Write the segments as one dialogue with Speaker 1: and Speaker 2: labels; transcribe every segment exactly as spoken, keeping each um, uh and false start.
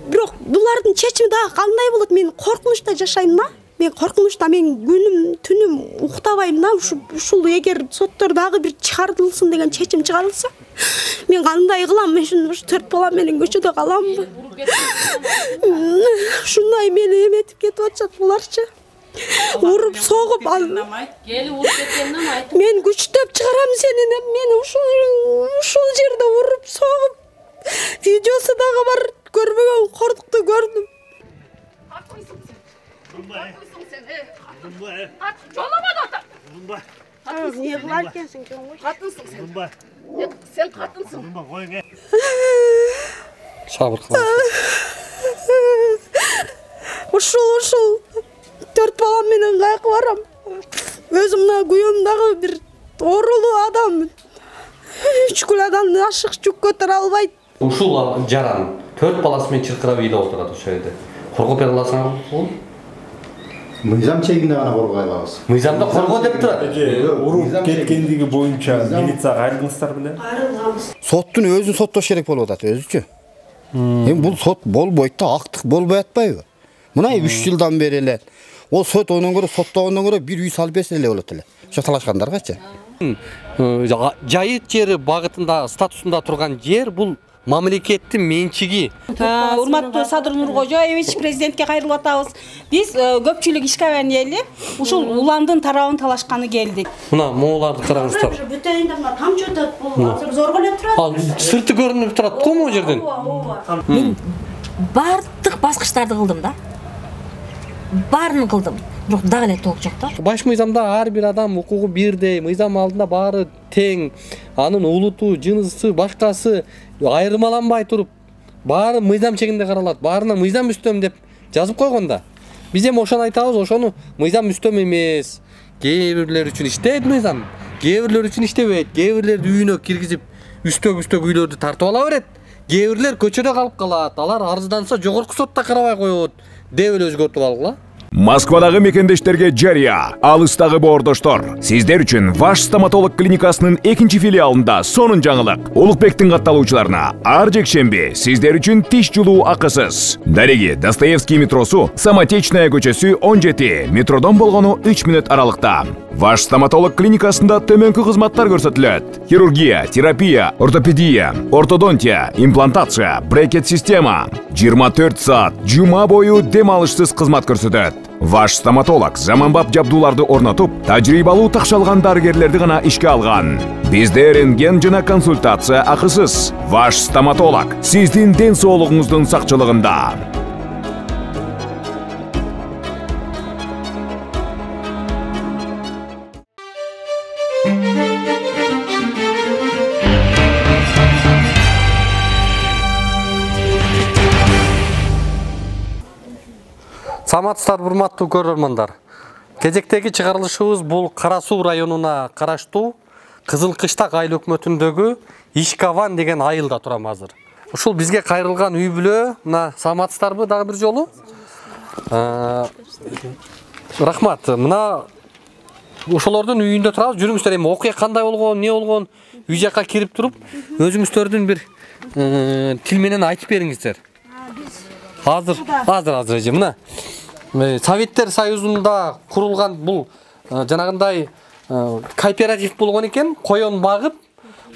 Speaker 1: бирок булардын чечими дагы кандай болот? Мен коркунучта жашайм да. Мен коркунучта, мен күнүм түнүм уктабайм да. Ушул эгер соттор дагы бир чыгарылсын деген чечим чыгарылса, мен кандай кылам? Мен ушуну төрт бала менен көчөдө каламбы? Ушундай мени эметип кетип атышат буларчы. Уруп согуп
Speaker 2: Кели уруп кеткенден айт.
Speaker 1: Мен күчтөп чыгарам сени деп мени ушул ушул жерде уруп согуп. Видеосу дагы бар, көрбөгөн кордукту көрдүм.
Speaker 2: Жолома да.
Speaker 1: Не кылар экенсиң жөн кой.
Speaker 2: Катынсың сен. Сен катынсың.
Speaker 3: Сабыр кылыңыз.
Speaker 1: Ушул ушул төрт балам менен кайкы барам. Өзүм мына күйөөм дагы бир оорулуу адам. Үч күлөдөн ашык жүк көтөрө албайт.
Speaker 3: Ушул жаран төрт баласы менен чыркырап үйдө отурат ошол жерде. Коргоп бере аласыңарбы?
Speaker 4: Мыйзам чегинде гана коргой алабыз.
Speaker 3: Мыйзамда коргоо деп турат.
Speaker 5: Уруп кеткендиги боюнча милицияга кайрылдыңыздар беле?
Speaker 1: Кайрылганбыз.
Speaker 4: Соттун өзүн соттош керек болуп атат өзүчү. Эми бул сот болбойт да, актык болбой атпайбы? Мына үч жылдан бери эле ол сот онун көрө соттогондон көрө бир үй салып берсе эле болот эле. Ошо талашкандаргачы.
Speaker 3: Жайыт жери багытында статусунда турган жер бул мамлекеттин менчиги.
Speaker 6: Урматтуу Садыр Нуркожоевич, президентке кайрылып атабыз. Биз көпчүлүк ишкабан эли ушул уландын тарабын талашканы келдик.
Speaker 3: Мына мооларды караңыздар.
Speaker 1: Бүтөйүндө мына тамчы өтөт, бул азыр зорго эле турат.
Speaker 3: Ал сырты көрүнүп турат го могу жерден.
Speaker 7: Мен бардык баскычтарды кылдым да. Баарын кылдым. Бирок дагы эле толук жок да.
Speaker 3: Баш мыйзамда ар бир адам укугу бирдей, мыйзам алдында баары тең. Анын улуту, жынысы, башкасы айырмаланбай туруп, баары мыйзам чегинде каралат. Баарына мыйзам үстөм деп жазып койгонда. Биз эми ошону айтабыз, ошону мыйзам үстөм эмес. Кээ бирлер үчүн иштейт мыйзам, кээ бирлер үчүн иштебейт. Кээ бирлерди үйүнө киргизип, үстөк-үстөк үйлөрдү тартып ала берет. Кээ бирлер көчөдө калып калат. Алар арызданса жогорку сотто карабай коет деп эле өзгөртүп алгыла.
Speaker 8: Москвадагы мекендештерге жарыя, алыстагы боордоштор. Сиздер үчүн Ваш стоматолог клиникасынын экинчи филиалында сонун жаңылык. Улукбектин катталуучуларына ар жекшемби сиздер үчүн тиш жулуу акысыз. Дареги Достоевский метросу, Самотечная көчөсү он жети, метродон болгону үч мүнөт аралыкта. Ваш стоматолог клиникасында төмөнкү кызматтар көрсөтүлөт. Хирургия, терапия, ортопедия, ортодонтия, имплантация, брекет система. жыйырма төрт саат жума бою дем алышсыз кызмат көрсөтөт. Ваш стоматолог заманбап жабдууларды орнотуп, тажрыйбалуу такшалган дарыгерлерди гана ишке алган. Бизде рентген жана консультация акысыз. Ваш стоматолог сиздин ден соолугуңуздун сакчылыгында.
Speaker 3: Саламатсыздар, урматтуу көрөрмандар. Кезектеги чыгарылышыбыз бул Кара Суу районуна караштуу Кызыл Кыштак айыл өкмөтүндөгү Ишкаван деген айылда турам азыр. Ушул бизге кайрылган үй бүлө, мына саламатсыздарбы дагы бир жолу? Рахмат. Мына ошолордун үйүндө турабыз. Жүрүңүздөр, эми окуя кандай болгон, эмне болгон, үй жакка кирип туруп, өзүңүздөрдүн бир тил менен айтып бериңиздер. Азыр, азыр, азыр эже. Мына Советтер Союзунда курулган бул жанагындай кооператив болгон экен, коен багып,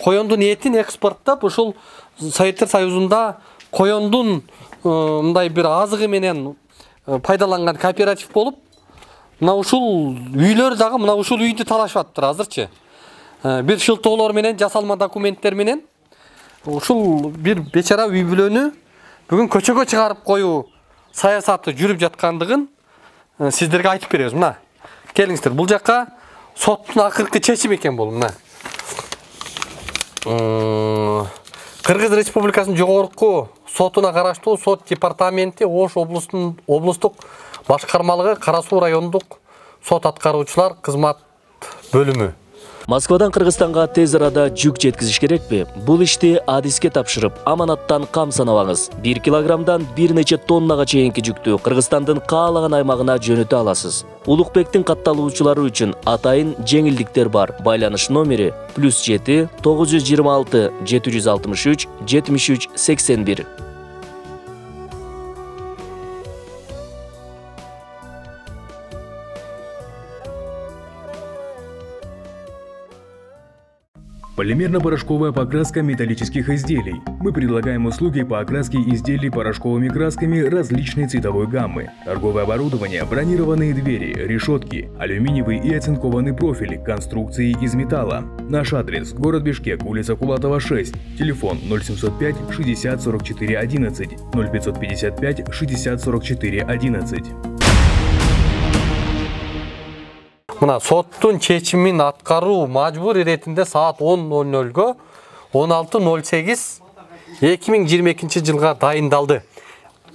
Speaker 3: коендун этин экспорттап, ушул Советтер Союзунда коендун мындай бир азыгы менен пайдаланган кооператив болуп, мына ушул үйлөр дагы мына ушул үйдү талашып атыптыр азырчы. Бир шылтоолор менен, жасалма документтер менен ушул бир бечара үй бүлөнү бүгүн көчөгө чыгарып коюу саясаты жүрүп жаткандыгын сиздерге айтып беребиз. Мына келиңиздер, бул жакка соттун акыркы чечими экен бул. Мына Кыргыз Республикасынын жогорку сотуна караштуу сот департаменти Ош облустун облустук башкармалыгы Кара Суу райондук сот аткаруучулар кызмат бөлүмү.
Speaker 9: Москвадан Кыргызстанга тез арада жүк жеткизиш керекпи? Бул ишти адиске тапшырып, аманаттан кам санабаңыз. бир килограммдан бир нече тоннага чейинки жүктү Кыргызстандын каалаган аймагына жөнөтө аласыз. Улукбектин катталуучулары үчүн атайын жеңилдиктер бар. Байланыш номери плюс жети тогуз жүз жыйырма алты жети жүз алтымыш үч жетимиш үч сексен бир.
Speaker 8: Полимерно-порошковая покраска металлических изделий. Мы предлагаем услуги по окраске изделий порошковыми красками различной цветовой гаммы. Торговое оборудование, бронированные двери, решетки, алюминиевый и оцинкованный профиль, конструкции из металла. Наш адрес – город Бишкек, улица Кулатова, шесть. Телефон ноль семьсот пять шестьдесят сорок четыре одиннадцать, ноль пятьсот пятьдесят пять шестьдесят сорок четыре одиннадцать.
Speaker 3: Мына соттун чечимин аткаруу мажбур иретинде саат он ноль нөлгө он алты ноль сегиз эки миң жыйырма экинчи жылга дайындалды.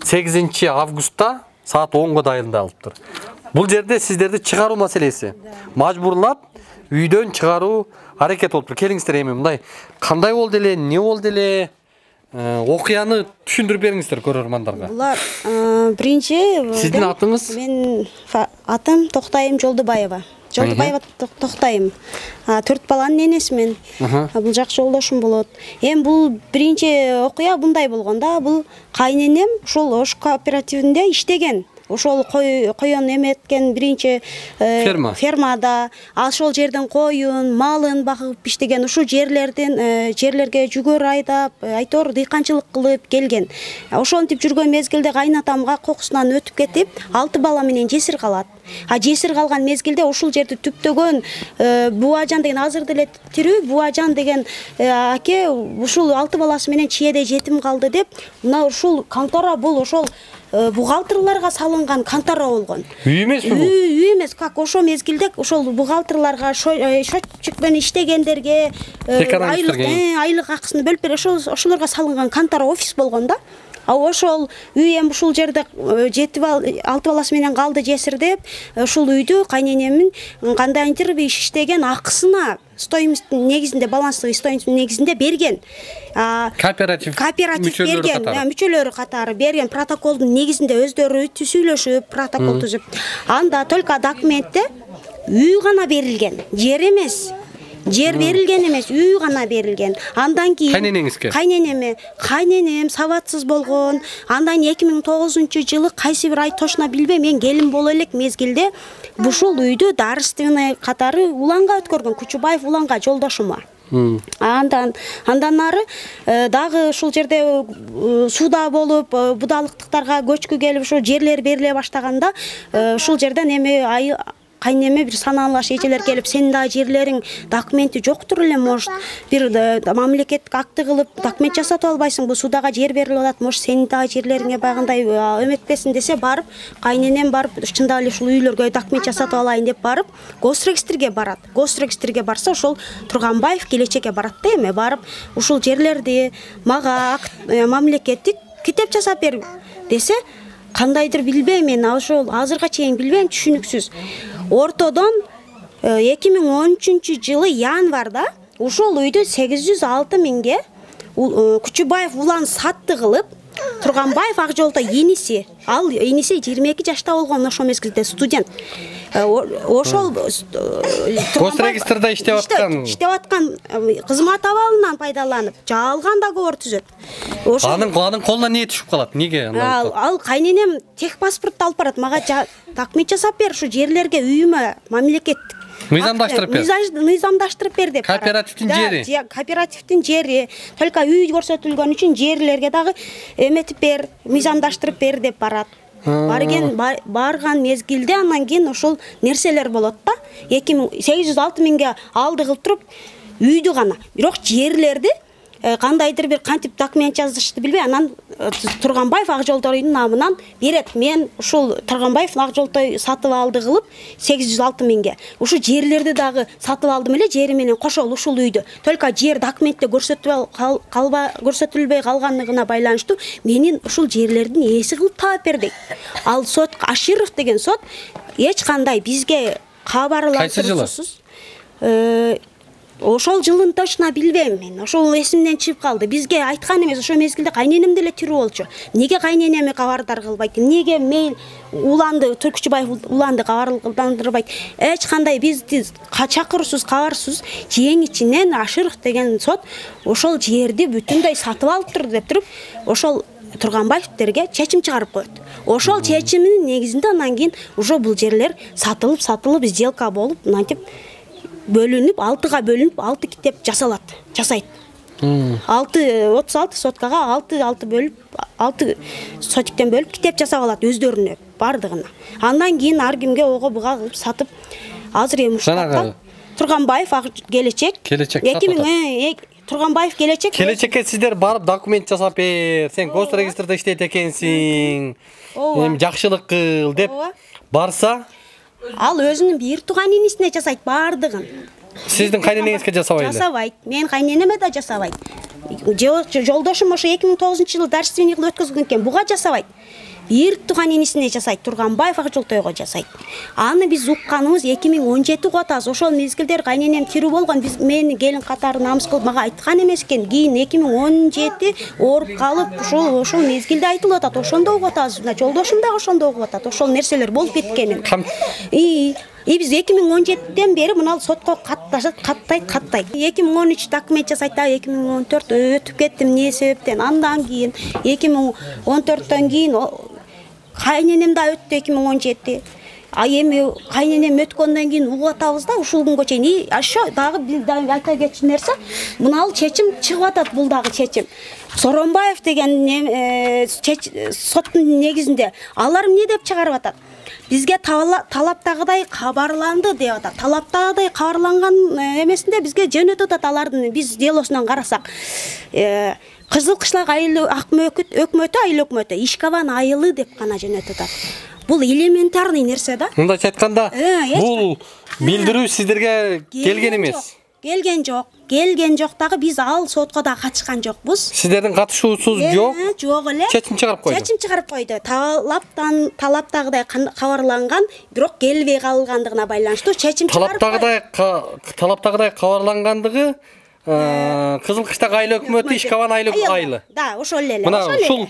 Speaker 3: сегизинчи августта саат онго дайындалыптыр. Бул жерде сиздерди чыгаруу маселеси. Мажбурлап үйдөн чыгаруу аракет болуптур. Келиңиздер эми мындай кандай болду эле, эмне болду эле? Окуяны түшүндүрүп бериңиздер көрөрмандарга.
Speaker 1: Булар биринчи
Speaker 3: сиздин атыңыз?
Speaker 1: Мен атым Токтайым Жолдубаева. Жолдубаева Токтайым. Төрт баланын энесимин. Бул жакшы жолдошум болот. Эми бул биринчи окуя мындай болгон да, бул кайненем ошол Ош кооперативинде иштеген. Ошол коюн эметкен биринчи
Speaker 3: ферма.
Speaker 1: Фермада, ошол жерден коюн, малын багып иштеген, ушул жерлерден жерлерге жүгөр айдап, айтор дыйканчылык кылып келген. Ошентип жүргөн мезгилде кайнатамга кокусунан өтүп кетип, алты бала менен жесир калат. А жесир калган мезгилде ушул жерди түптөгөн Буажан деген азыр деле тирүү, Буажан деген аке ушул алты баласы менен чиеде жетим калды деп, мына ушул контора бул ошол бухгалтерларга салынган контора болгон.
Speaker 3: Үй эмеспи бул?
Speaker 1: Үй эмес, как ошол мезгилде ошол бухгалтерларга счетчикпен иштегендерге айлык айлык акысын бөлүп берип ошолорго салынган контора офис болгон да. А ошол үй эми ушул жерде жети алты баласы менен калды жесир деп, ушул үйдү кайненемин кандайдыр бир иш иштеген акысына стоимосттун негизинде, баланстык стоимосттун негизинде берген.
Speaker 3: Кооператив
Speaker 1: кооператив берген, мүчөлөрү катары берген протоколдун негизинде өздөрү сүйлөшүп, протокол түзүп. Анда только документте үй гана берилген, жер эмес. Жер берилген эмес, үй гана берилген. Андан кийин
Speaker 3: кайненеңизге?
Speaker 1: Кайненеме, кайненем сабатсыз болгон. Андан эки миң тогузунчу жылы кайсы бир ай точно билбейм, мен келин боло элек мезгилде ушул үйдү дарственный катары уланга өткөргөн, Кучубаев уланга жолдошума. Андан андан ары дагы ушул жерде сууда болуп, будалыктыктарга көчкү келип ошо жерлер бериле баштаганда ушул жерден эми кайнеме бир санаалаш эжелер келип, сенин да жерлериң документи жоктур эле, может, бир мамлекеттик акты кылып документ жасатып албайсың, бул судага жер берилип атат, может, сенин да жерлериңе багындай эметпесин десе, барып, кайненем барып, чындап эле ушул үйлөргө документ жасатып алайын деп барып, госрегистрге барат. Госрегистрге барса, ошол Турганбаев келечекке барат да эми, барып, ушул жерлерди мага мамлекеттик китеп жасап бер десе, кандайдыр билбейм, мен ошол азырга чейин билбейм, түшүнүксүз. Ортодон эки миң он үчүнчү жылы январда ушол үйдү сегиз жүз алты миңге Кучубаев улан сатты кылып, Турганбаев Акжолто иниси, ал иниси жыйырма эки жашта болгон, ошол мезгилде студент. Ошол
Speaker 3: госрегистрде иштеп аткан
Speaker 1: иштеп аткан кызмат абалынан пайдаланып, жалган договор түзөт.
Speaker 3: Анын анын колуна эмне түшүп калат? Неге?
Speaker 1: Ал ал кайненем техпаспортду алып барат, мага документ жасап бер, ушу жерлерге үйүмө мамлекет
Speaker 3: мыйзамдаштырып бер.
Speaker 1: Мыйзамдаштырып бер деп.
Speaker 3: Кооперативдин жери.
Speaker 1: Кооперативдин жери. Только үй көрсөтүлгөн үчүн жерлерге дагы эметип бер, мыйзамдаштырып бер деп барат. Барген барган мезгилде андан кийин ошол нерселер болот да. эки миң сегиз жүз алты миңге алды кылып туруп үйдү гана. Бирок жерлерди кандайдыр бир кантип документ жазышты билбей, анан Турганбаев Акжолтойдун намынан берет. Мен ушул Турганбаев Акжолтой сатып алды кылып сегиз жүз алты миңге. Ушу жерлерди дагы сатып алдым эле, жери менен кошол ушул үйдү. Только жер документте көрсөтүлбөй калба көрсөтүлбөй калганлыгына байланыштуу менин ушул жерлердин ээси кылып таап бердик. Ал сот Аширов деген сот эч кандай бизге кабарландыруусуз ошол жылын точно билбейм мен. Ошол эсимден чыгып калды. Бизге айткан эмес, ошол мезгилде кайненем деле тирүү болчу. Неге кайненеми кабардар кылбайт? Неге мен уланды, Кучубаев уланды кабарландырбайт? Эч кандай бизди чакырусуз, кабарсыз жең ичинен Аширов деген сот ошол жерди бүтүндөй сатып алыптыр деп туруп, ошол Турганбаевтерге чечим чыгарып коет. Ошол чечимдин негизинде андан кийин уже бул жерлер сатылып, сатылып, сделка болуп, мынтип бөлүнүп, алтыга бөлүнүп, алты китеп жасалат, жасайт. алты отуз алты соткага алты алты бөлүп, алты сотиктен бөлүп китеп жасап алат өздөрүнө бардыгына. Андан кийин ар кимге ого буга кылып сатып, азыр эми ушул Турганбаев келечек.
Speaker 3: Келечек
Speaker 1: эки миң Турганбаев келечек.
Speaker 3: Келечекке сиздер барып документ жасап бер, сен гос регистрде иштейт экенсиң. Эми жакшылык кыл деп барса,
Speaker 1: ал өзүнүн бир тууган инисине жасайт бардыгын.
Speaker 3: Сиздин кайненеңизге жасабайт эле?
Speaker 1: Жасабайт. Мен кайненеме да жасабайт. Жолдошум ошо эки миң тогузунчу жылы дарственный кылып өткөзгөн экен, буга жасабайт. Бир тууган инисине жасайт, Турганбаев Акжолтойго жасайт. Аны биз укканыбыз эки миң он жети кутабыз. Ошол мезгилдер кайненем тирүү болгон, биз мени келин катары намыс кылып мага айткан эмес экен. Кийин эки миң он жети ооруп калып, ошол ошол мезгилде айтылып атат. Ошондо угуп атабыз. Мына жолдошум да ошондо угуп атат. Ошол нерселер болуп кеткенин. И И биз эки миң он жетиден бери мына сотко катташат, каттайт, каттайт. эки миң он үч документ жасайт, да эки миң он төрт өтүп кетти эмне себептен. Андан кийин эки миң он төрттөн кийин кайненем да өттү эки миң он жети. А эми кайненем өткөндөн кийин угуп атабыз да ушул күнгө чейин. И ошо дагы бир айта кетчү нерсе, мына чечим чыгып атат, бул дагы чечим. Соронбаев деген соттун негизинде алар эмне деп чыгарып атат? Бизге талаптагыдай кабарланды деп атат. Талаптагыдай кабарланган эмесинде бизге жөнөтүп атат алардын, биз делосунан карасак. Кызыл Кышлак айыл өкмөтү, айыл өкмөтү, Ишкабан айылы деп гана жөнөтүп атат. Бул элементарный нерсе да.
Speaker 3: Мындайча айтканда, бул билдирүү сиздерге келген эмес.
Speaker 1: Келген жок. Келген жок дагы биз ал сотко да катышкан жокпуз.
Speaker 3: Сиздердин катышуусуз жок.
Speaker 1: Жок эле.
Speaker 3: Чечим чыгарып койду.
Speaker 1: Чечим чыгарып койду. Талаптан талаптагыдай кабарланган, бирок келбей калгандыгына байланыштуу чечим чыгарып.
Speaker 3: Талаптагыдай талаптагыдай кабарлангандыгы Кызыл Кыштак айыл өкмөтү, Ишкабан айылы.
Speaker 1: Да, ошол эле.
Speaker 3: Мына ушул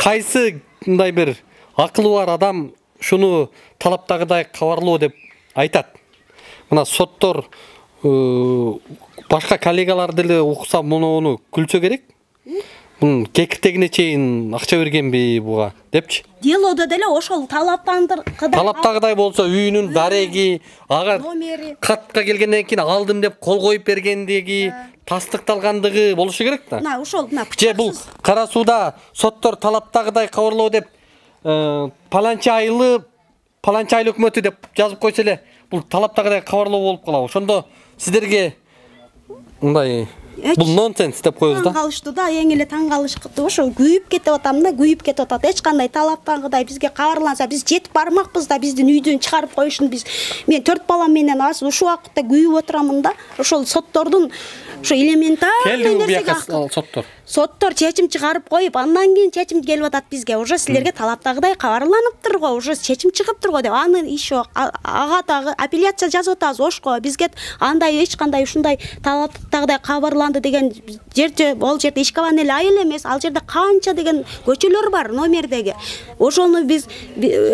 Speaker 3: кайсы мындай бир акылы бар адам шуну талаптагыдай кабарлоо деп айтат. Мына соттор башка коллегалар деле укса муну күлсө керек. Мунун кекиртегине чейин акча бергенби буга депчи.
Speaker 1: Делодо деле ошол талаптандыргыдай.
Speaker 3: Талаптагыдай болсо үйүнүн дареги, ага катка келгенден кийин алдым деп кол коюп бергендиги, тастыкталгандыгы болушу керек да.
Speaker 1: Мына ошол мына.
Speaker 3: Же бул Кара сууда соттор талаптагыдай кабарлоо деп паланча айылы, паланча айыл өкмөтү деп жазып койсо эле, бул талаптагыдай кабарлоо болуп калабы. Ошондо сиздерге мындай бул нонсенс деп коебуз да.
Speaker 1: Таң калыштуу да, эң эле таң калышты. Ошо күйүп кетип атам да, күйүп кетип атат. Эч кандай талаптагыдай бизге кабарланса, биз жетип бармакпыз да, биздин үйдөн чыгарып коюшун биз. Мен төрт балам менен азыр ушул убакытта күйүп отурамын да. Ошол соттордун ошо элементарный нерсеге
Speaker 3: соттор.
Speaker 1: Соттор чечим чыгарып коюп, андан кийин чечим келип атат бизге. Уже силерге талаптагыдай кабарланыптыр го, уже чечим чыгыптыр го деп. Аны иш жок. Ага дагы апелляция жазып атабыз ошко. Бизге андай эч кандай ушундай талаптагыдай кабарланды деген жерде, ол жерде Ишкабан эле айыл эмес, ал жерде канча деген көчөлөр бар номердеги. Ошону биз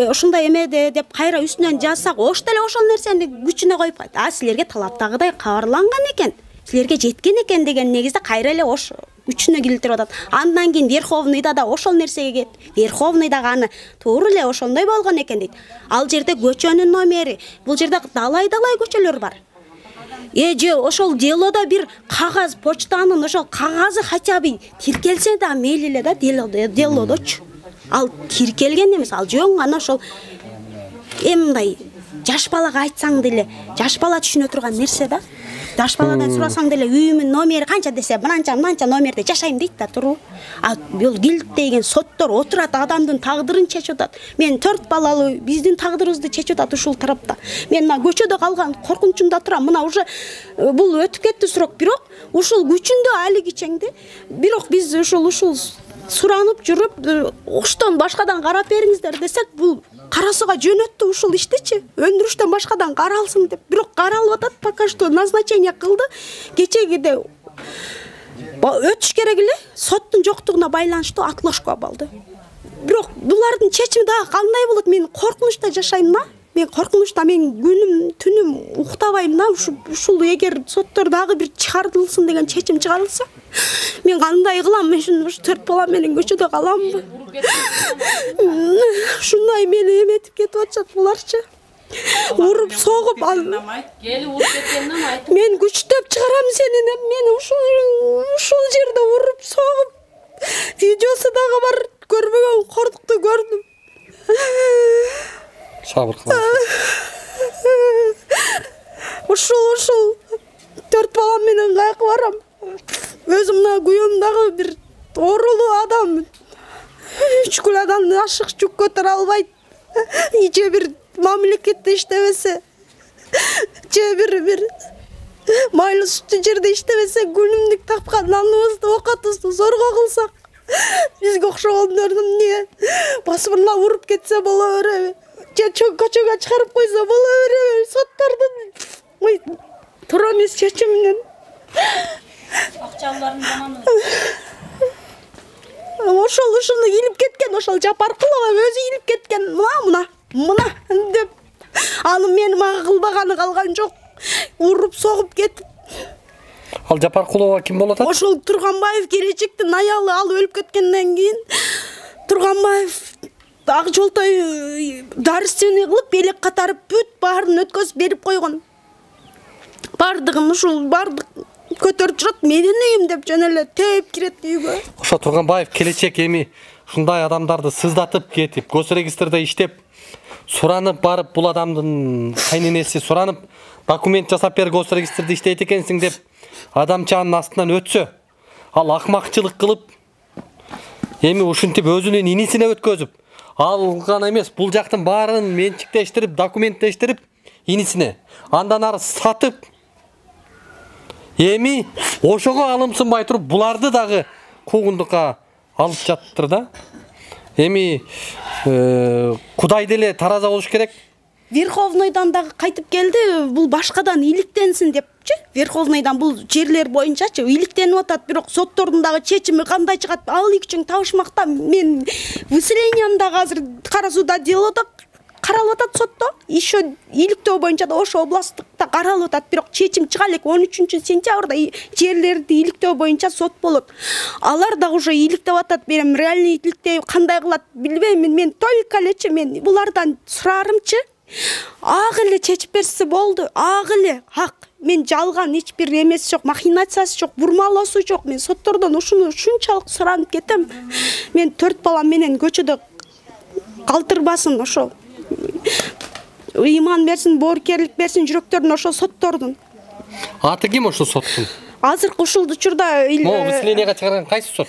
Speaker 1: ушундай эме деп кайра үстүнөн жазсак, ош деле ошол нерсени күчүнө коюп, а силерге талаптагыдай кабарланган экен, силерге жеткен экен деген негизде кайра эле ош үчүнө келтирип атат. Андан кийин Верховныйда да ошол нерсеге кет. Верховный дагы аны туура эле ошондой болгон экен дейт. Ал жерде көчөнүн номери, бул жерде далай-далай көчөлөр бар. Э же ошол делодо бир кагаз, почтанын ошол кагазы хотя бы тиркелсе да мейли эле да, делодочу. Ал тиркелген эмес, ал жөн гана ошол эмдай жаш балага айтсаң деле, жаш бала түшүнө турган нерсе да. Жаш баладан сурасаң деле үйүмүн номери канча десе, мынанча мынанча номерде жашайм дейт да, туру. А бул килттеген соттор отурат, адамдын тагдырын чечип атат. Мен төрт балалуу биздин тагдырыбызды чечип атат ушул тарапта. Мен мына көчөдө калган коркунучумда турам. Мына уже бул өтүп кетти срок, бирок ушул күчүндө али кичеңди. Бирок биз ушул ушул суранып жүрүп, оштон башкадан карап бериңиздер десек, бул Кара сууга жөнөттү ушул иштичи. Өндүрүштөн башкадан каралсын деп. Бирок каралып атат, пока что назначение кылды. Кечегиде өтүш керек эле, соттун жоктугуна байланыштуу отложка болду. Бирок булардын чечими дагы кандай болот? Мен коркунучта жашайм да. Мен коркунучта, мен күнүм, түнүм уктабайм да. Ушул эгер соттор дагы бир чыгарылсын деген чечим чыгарылса, мен кандай кылам? Мен ушун төрт бала менен көчөдө каламбы? Ушундай мени эметип кетип атышат буларчы. уруп согуп ал
Speaker 2: Келип уруп кеткенине айт.
Speaker 1: мен күчтөп чыгарам сени деп мени ушул ушул жерде уруп согуп видеосу дагы бар, көрбөгөн кордукту көрдүм.
Speaker 3: Сабыр кылыңыз.
Speaker 1: Ушул ушул төрт балам менен кайыкка барам. Өзүм мына күйөөм дагы бир оорулуу адам. Үч күн адамды ашык жүк көтөрө албайт. Же бир мамлекетте иштебесе, же бир бир майлуу сүттүү жерде иштебесе, күнүмдүк тапкан наныбызды, оокатыбызды зорго кылсак, бизге окшогондорду эмне басымына уруп кетсе боло береби? Же көчөгө чыгарып койсо боло береби? Соттордун туура эмес чечими менен
Speaker 6: акчаларын заманы
Speaker 1: ошол ушуну илип кеткен, ошол Жапаркулова өзү илип кеткен. Мына мына мына деп аны мени мага кылбаганы калган жок. Уруп согуп кетип.
Speaker 3: Ал Жапаркулова ким болот?
Speaker 1: Ошол Турганбаев келечектин аялы, ал өлүп кеткенден кийин Турганбаев ак жолтой дарственный кылып белек катарып бүт баарын өткөзүп берип койгон. Бардыгын ушул бардык көтөрүп жүрөт, менин үйүм деп жөн эле тээп кирет үйгө.
Speaker 3: Ошо Турганбаев келечек эми ушундай адамдарды сыздатып кетип, госрегистрде иштеп, суранып барып, бул адамдын кайненеси суранып, документ жасап бер, госрегистрде иштейт экенсиң деп, адамчанын астынан өтсө, ал акмакчылык кылып, эми ушинтип өзүнүн инисине өткөзүп, ал гана эмес, бул жактын баарын менчиктештирип, документтештирип, инисине, андан ары сатып, эми ошого алымсынбай туруп, буларды дагы куугундукка алып жатыр да. Эми Кудай деле тараза болуш керек.
Speaker 1: Верховныйдан дагы кайтып келди, бул башкадан иликтенсин депчи. Верховныйдан бул жерлер боюнчачы иликтенип атат, бирок соттордун дагы чечими кандай чыгат, ал үчүн табышмакта. Мен выселением дагы азыр Кара сууда дело каралып атат сотто. Еще иликтөө боюнча да Ош областтыкта каралып атат, бирок чечим чыга элек он үчүнчү сентябрда жерлерди иликтөө боюнча сот болот. Алар дагы уже иликтеп атат, берем реальный иликтөө кандай кылат билбеймин. Мен только элечи мен булардан сурарымчы, ак эле чечип берсе болду, ак эле ак. Мен жалган эч бир эмеси жок, махинациясы жок, бурмалоосу жок. Мен соттордон ушуну ушунчалык суранып кетем. Мен төрт балам менен көчөдө калтырбасын ошо. Ыйман берсин, боорукерлик берсин жүрөктөрүн ошо соттордун.
Speaker 3: Аты ким ошо соттун?
Speaker 1: Азыркы ушул учурда
Speaker 3: Могу выселенияга чыгарган кайсы сот?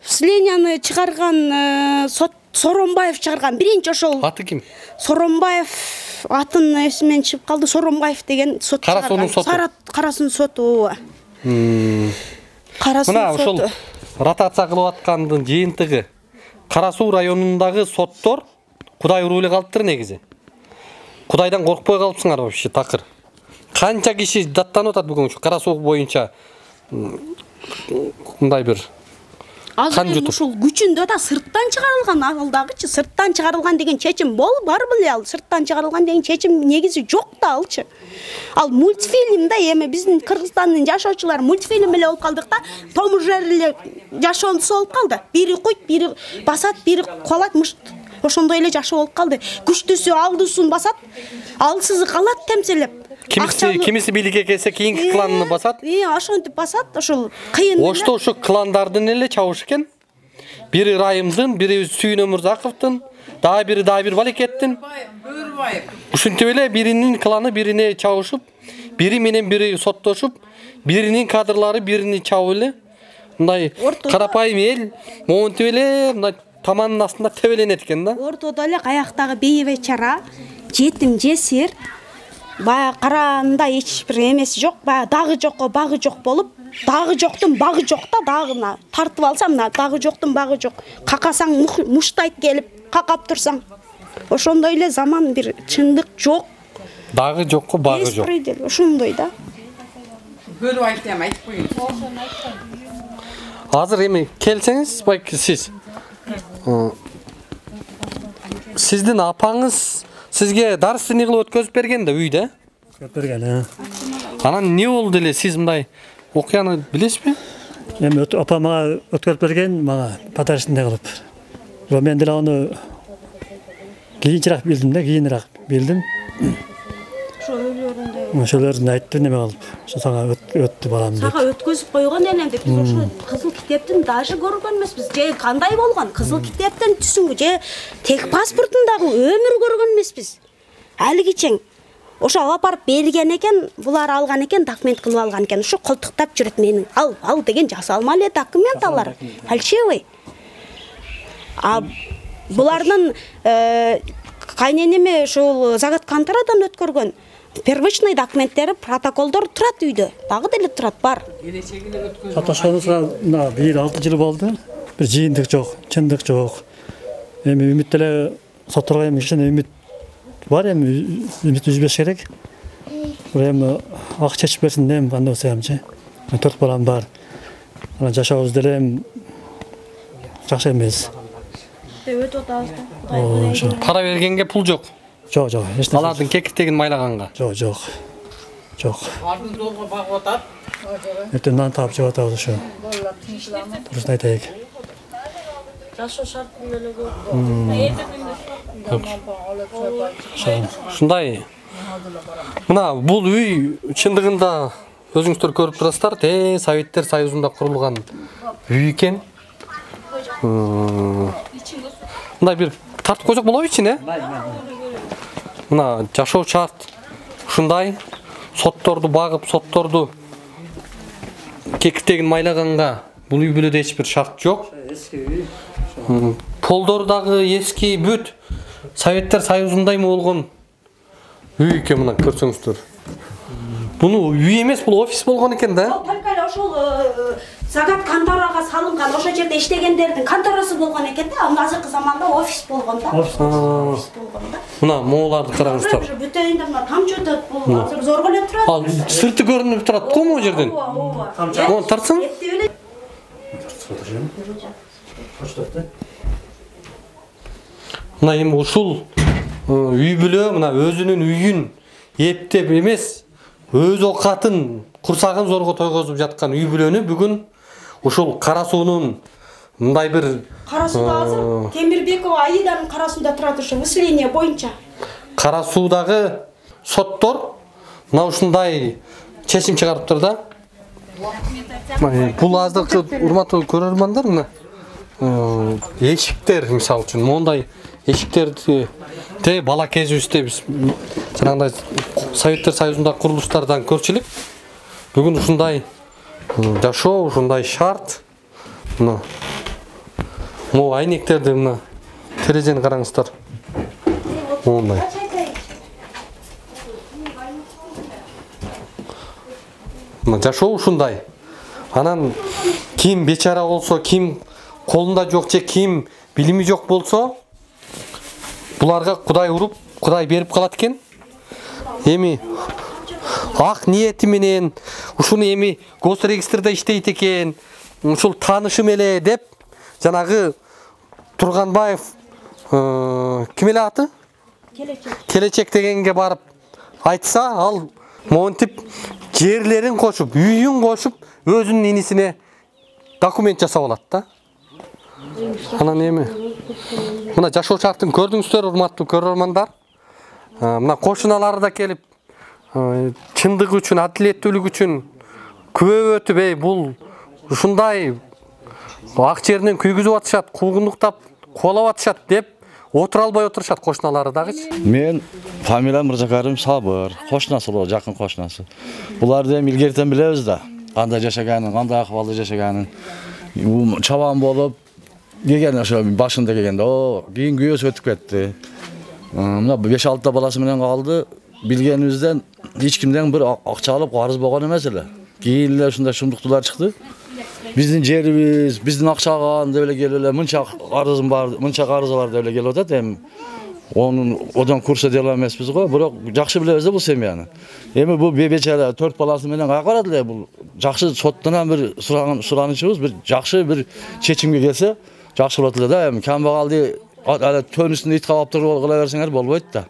Speaker 1: Выселенияны чыгарган сот Соромбаев чыгарган. Биринчи ошол.
Speaker 3: Аты ким?
Speaker 1: Соромбаев атын эсимен чыгып калды. Соромбаев деген сот чыгарган.
Speaker 3: Кара суунун соту.
Speaker 1: Кара суунун соту. Кара суунун
Speaker 3: соту. Мына ошол ротация кылып аткандын жыйынтыгы. Кара суу районундагы соттор Кудай уруп эле калыптыр негизи. Кудайдан коркпой калыпсыңар вообще такыр. Канча киши даттанып атат бүгүн ушу Кара суу боюнча мындай бир
Speaker 1: Азыр ушул күчүндө да сырттан чыгарылган, ал дагычы сырттан чыгарылган деген чечим бол бар беле, ал сырттан чыгарылган деген чечим негизи жок да алчы. Ал мультфильмде эми биздин Кыргызстандын жашоочулары мультфильм эле болуп калдык да, Том и Джерри эле жашоонусу болуп калды. Бири куйт, бири басат, бири куалат, мышт. Ошондой эле жашоо болуп калды. Күчтүүсү алдысын басат, алсызы калат темселеп.
Speaker 3: Кимиси кимиси бийликке келсе кийинки кланны басат.
Speaker 1: Э, ошентип басат, ошол кыйын.
Speaker 3: Ошто ушу кландардын эле чабыш экен. Бири Райымдын, бири Сүйүн Өмүрзаковдун, дагы бири дагы бир Балекеттин. Ушинтип эле биринин кланы бирине чабышып, бири менен бири соттошуп, биринин кадрлары бирини чабып эле мындай карапайым эл монтип эле мындай таманын астында тебеленет экен да.
Speaker 1: Ортодо эле каяктагы бей бечара, жетим жесир, баягы караанда эч бир эмеси жок, баягы дагы жокко багы жок болуп, дагы жоктун багы жок да, дагы мына тартып алсам, мына дагы жоктун багы жок. Какасаң муштайт келип, какап турсаң. Ошондой эле заман бир чындык жок.
Speaker 3: Дагы жокко багы жок.
Speaker 1: Беспредел, ошондой да.
Speaker 10: Бөлүп айтам, айтып коюн.
Speaker 3: Азыр эми келсеңиз, байки сиз Сиздин апаңыз сизге дарственный кылып өткөзүп берген да үйдө?
Speaker 11: Өткөзүп берген, э.
Speaker 3: Анан не болду эле, сиз мындай окуяны билесизби?
Speaker 11: Эми апам мага өткөзүп берген, мага подарочный кылып. Мен деле аны кийинчерээк билдим да, кийинирээк билдим.
Speaker 1: ошо үйлөрүндө.
Speaker 11: Ошолордун айтты неме кылып, ошо сага өттү балам деп.
Speaker 1: Сага өткөзүп койгон элем деп. Биз ошо кызыл китептин даже көргөн эмеспиз. Же кандай болгон? Кызыл китептен түсүңбү же тек паспортундагы өмүр көргөн эмеспиз. Алигичең ошо алып барып берген экен, булар алган экен, документ кылып алган экен. Ошо колтуктап жүрөт менин. Ал, ал деген жасалма эле документ алар. Фальшивый. А булардын кайненеме ушул заготконторадан өткөргөн первичный документтери, протоколдор турат үйдө. Дагы деле турат, бар.
Speaker 11: Саташканыбызга мына бир алты жыл болду. Бир жыйындык жок, чындык жок. Эми үмүт эле сотторго эми ишен үмүт бар, эми үмүт үзбөш керек. Эми ак чечип берсин эми кандай болсо эмчи. Төрт балам бар. Анан жашообуз деле эми жакшы эмес.
Speaker 1: Өтүп атабыз.
Speaker 3: Пара бергенге пул жок.
Speaker 11: Жок, жок. Эч нерсе.
Speaker 3: Алардын кекиртегин майлаганга.
Speaker 11: Жок, жок. Жок.
Speaker 10: Ардын долго багып атат.
Speaker 11: Эртең нан таап жеп атабыз ошо. Турусын айтайык.
Speaker 2: Жашоо шартын эле көп.
Speaker 3: Ушундай. Мына бул үй чындыгында өзүңүздөр көрүп турасыздар, те Советтер Союзунда курулган үй экен. Мындай бир тартып койсок болобу ичине? Мына жашоо шарт ушундай. Сотторду багып, сотторду кекиртегин майлаганга бул үй бүлөдө эч бир шарт жок. Полдор дагы эски бүт. Советтер Союзундаймы болгон үй экен, мына көрсөңүздөр. Буну үй эмес, бул офис болгон экен да.
Speaker 1: Только эле ошол загат конторага салынган, ошол жерде иштегендердин конторасы болгон экен да. Азыркы заманда офис болгон да. Офис болгон да.
Speaker 3: Мына мооларды караңыздар.
Speaker 1: Бүтөйүндө мына тамчы өтөт, бул азыр зорго эле турат.
Speaker 3: Ал сырты көрүнүп турат го могу жерден. Тамчы тартсаң? Мына эми ушул үй бүлө мына өзүнүн үйүн эптеп эмес, өз окатын, курсагын зорго тойгозуп жаткан үй бүлөнү бүгүн ушул Кара суунун мындай бир
Speaker 1: Кара сууда азыр Темирбекова Аиданын Кара сууда турат, ошо выселение боюнча.
Speaker 3: Кара суудагы соттор мына ушундай чечим чыгарыптыр да. Бул азыркы урматтуу көрөрмандар, мына эшиктер мисалы үчүн мондай эшиктерди те бала кезибизде биз жанагындай Советтер Союзунда курулуштардан көрчү элек. Бүгүн ушундай жашоо, ушундай шарт. Мына могу айнектерди, мына терезени караңыздар. Мондай. Мына жашоо ушундай. Анан ким бечара болсо, ким колунда жок же ким билими жок болсо, буларга Кудай уруп, Кудай берип калат экен. Эми ак ниети менен ушуну эми госрегистрде иштейт экен, ушул таанышым эле деп жанагы Турганбаев ким эле аты? Келечек. Келечек дегенге барып айтса, ал монтип жерлерин кошуп, үйүн кошуп, өзүнүн инисине документ жасап алат да. Анан эми мына жашоо шартын көрдүңүздөр, урматтуу көрөрмандар. Мына кошуналары да келип чындык үчүн, адилеттүүлүк үчүн күбө өтүп, эй бул ушундай ак жеринен күйгүзүп атышат, куугундуктап кубалап атышат деп отура албай отурушат кошуналары дагычы.
Speaker 12: Мен фамилиям Мырзакарым Сабыр, кошунасы болот, жакын кошунасы. Буларды эми илгертен билебиз да, кандай жашаганын, кандай акыбалда жашаганын. Чабан болуп келген ошо башында келгенде, о, кийин күйөөсү өтүп кетти. Мына беш алты баласы менен калды. Билгенибизден эч кимден бир акча алып карыз болгон эмес эле. Кийин эле ушундай шумдуктуулар чыкты. Биздин жерибиз, биздин акчага деп эле келип эле мынча карызым бар, мынча карызы бар деп эле келип атат. Эми онун одан курса дел эмеспиз го, бирок жакшы билебиз да бул семьяны. Эми бул бечара төрт баласы менен кайга барат эле, бул жакшы соттон бир суранычыбыз, бир жакшы бир чечимге келсе, жакшы болот эле да. Эми камбагалды ala tönüsünde it kavap turib kıla versenger bolboyt da.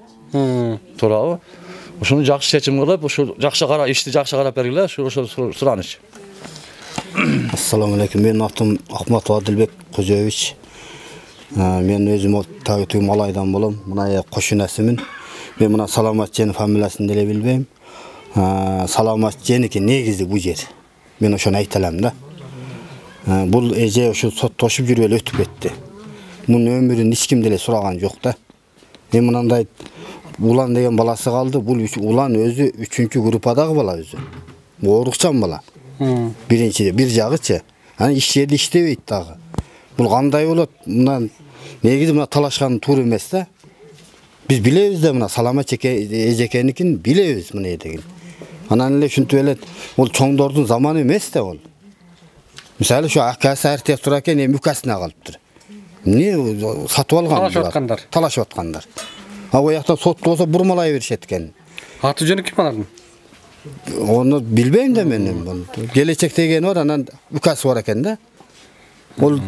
Speaker 12: Turabı. Uşunu jakşı seçim kılıp, uşu jakşı kara işti jakşı karap bergile, şu uşu suranış.
Speaker 4: Assalamu alaikum. Men adım Ahmet Adilbek Kozoviç. Men özüm Tağıtı Malaydan bolam. Mına koşun esimin. Мен мына Саламат Жени фамилиясын деле билбейм. Саламат Женики негизи бу жер. Мен ошону айта алам да. Бул эже ошо соттошуп жүрүп эле өтүп кетти. Мунун өмүрүн эч ким деле сураган жок да. Мен мынандай Улан деген баласы калды. Бул Улан өзү үчүнчү группадагы бала өзү. Оорукчан бала. Биринчи, бир жагычы. Аны иш жерде иштебейт дагы. Бул кандай болот? Мына негизи мына талашкан туура эмес да. Биз билебиз да, мына Саламат эжекеникин билебиз мына деген. Анан эле ушинтип эле ол чоңдордун заманы эмес да ол. Мисалы ушу акасы архитектор экен, эми укасына калыптыр. Эмне сатып алган?
Speaker 3: Талашып аткандар.
Speaker 4: Талашып аткандар. А оякта сот болсо бурмалай беришет экен.
Speaker 3: Аты жөнү ким анардын?
Speaker 4: Onu bilbeyim de benim. Gelecekte gen var, anan ükası var eken de. Ol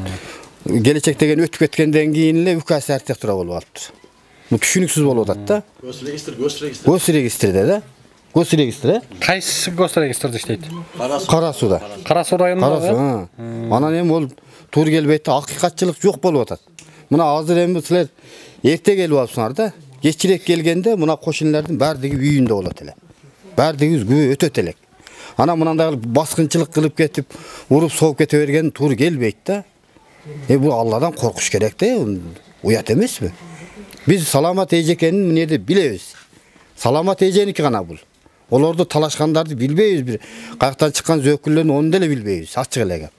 Speaker 4: gelecekte gen ötüp etkenden keyinle ükası arxitektura bolup alıptır. Bu düşünüksüz bolup atat da.
Speaker 12: Gos registr, gos registr.
Speaker 4: Gos registrde de. Gos registre.
Speaker 3: Kayсы gos registrde иштейт?
Speaker 4: Карасуда.
Speaker 3: Карасу районунда.
Speaker 4: Карасу, ha. Анан эми ол тур келбейт, акыйкатчылык жок болуп атат. Мына азыр эми силер эрте келип алыпсыңар да. Кечирээк келгенде мына кошунлардын баардыгы үйүндө болот эле. Баардыгыбыз күбө өтөт элек. Ана мынандай баскынчылык кылып кетип, уруп соғып кете берген тур келбейт да. Э бул Алладан коркуш керек да, уят эмеспи? Биз Саламат эжекенин эмнеде билебиз. Саламат эженики гана бул. Олорду талашкандарды билбейбиз, бир каяктан чыккан зөкүллөрүн onu деле билбейбиз, ачык эле кеп.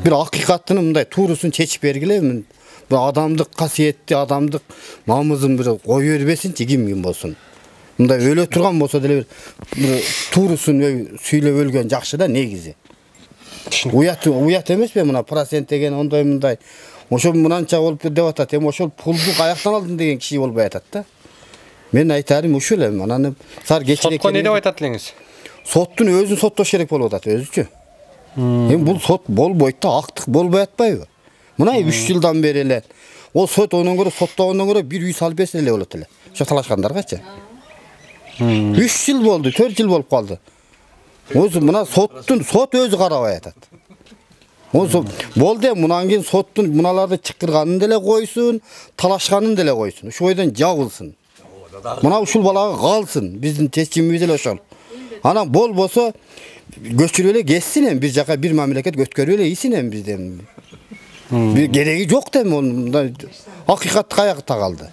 Speaker 4: Бир акыйкаттын мындай туурусун чечип бергиле, бул адамдык касиетти, адамдык намызын бир кой бербесинчи ким ким болсун. Мындай өлө турган болсо деле бир туурусун сүйлөп өлгөн жакшы да негизи. Уят уят эмеспи мына процент деген ондой мындай. Ошо мынанча болуп деп атат, эми ошол пулду каяктан алдым деген киши болбой атат да. Мен айтарым ушул эми анан сар кечирээк.
Speaker 3: Сотко не деп айтат элеңиз?
Speaker 4: Соттун өзүн соттош керек болуп атат өзүчү. Эми бул сот болбойт да, актык болбой атпайбы? Мына үч жылдан бери эле ол сот онун көрө соттогондон көрө бир үй салып берсе эле болот эле. Ошо талашкандаргачы. үч жыл болду, төрт жыл болуп калды. Өзү мына соттун сот өзү карабай атат. Ошо болду, мындан кийин соттун мыналарды чыккырганын деле койсун, талашканын деле койсун. Ошо бойдон жабылсын. Мына ушул балага калсын. Биздин чечимибиз эле ошол. Анан болбосо көчүрүп эле кетсин эми бир жака бир мамлекет өткөрүп эле ийсин эми бизден. Бир кереги жок да мындай акыйкат каякта калды.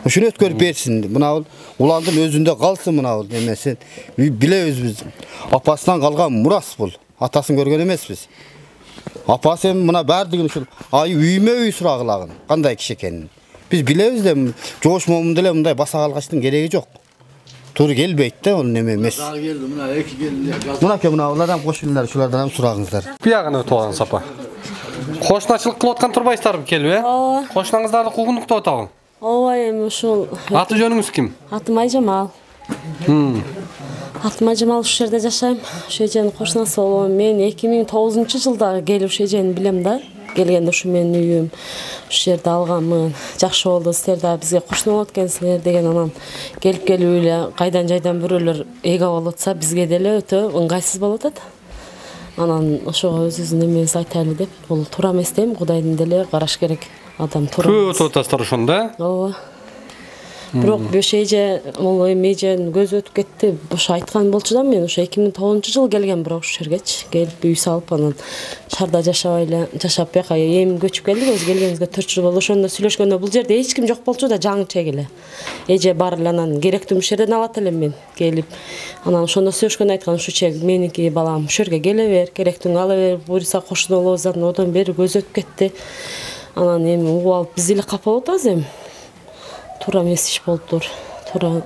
Speaker 4: Ошону өткөрүп берсин. Мына уландын өзүндө калсын мына бул эмеси. Билебиз биз. Апасынан калган мурас бул. Атасын көргөн эмеспиз. Апасы эми мына баардыгын ушул ай үймө үй сурагылагын. Кандай киши экенин. Биз билебиз да жоош момун деле мындай баса калгачтын кереги жок. Туура келбейт да, ал неме эмес.
Speaker 12: Дагы келди, мына эки келди.
Speaker 4: Мына ке мына улардан кошунулар, шулардан сурагыңыздар.
Speaker 3: Биягына өтүп алган сапа. Кошуначылык кылып аткан турбайсыздарбы келип, э?
Speaker 13: Ооба.
Speaker 3: Кошунаңыздарды куугунуктап атабы?
Speaker 13: Ооба, эми ушул.
Speaker 3: Аты жөнүңүз ким?
Speaker 13: Атым Айжамал.
Speaker 3: Хм.
Speaker 13: Атым Айжамал, ушул жерде жашайм. Ушул эженин кошунасы болом. Мен эки миң тогузунчу жылда келип ушул эжени билем да. Келгенде ушу менин үйүм. Ушул жерде алганмын. Жакшы болду, силер да бизге кошуна болот экенсиңер деген анан келип келип эле кайдан жайдан бирөөлөр эге болуп атса, бизге деле өтө ыңгайсыз болуп атат. Анан ошого өзүбүздүн эмебизди айтайлы деп, бул туура эмес дейм, Кудайдын деле караш керек. Адам туура.
Speaker 3: Көп өтүп атасыздар ошондо, э?
Speaker 13: Ооба. Бирок бош эже, могу эми эженин көзү өтүп кетти. Ошо айткан болчу да мен ошо эки миң тогузунчу жылы келген бирок ушул жергечи келип үй салып анан шаарда жашабай эле, жашап бияка эми көчүп келдик. Өз келгенибизге төрт жыл болду. Ошондо сүйлөшкөндө бул жерде эч ким жок болчу да, жаңычек эле. Эже бар эле анан керектүү ушул жерден алат элем мен келип. Анан ошондо сүйлөшкөндө айткан ушул чек меники балам, ушул жерге келе бер, керектүүңү ала бер, буюрса кошуна болобуз. Одан бери көзү өтүп кетти. Анан эми угуп алып биз эле капа болуп атабыз эми. Туура эмес иш болуптур. Туура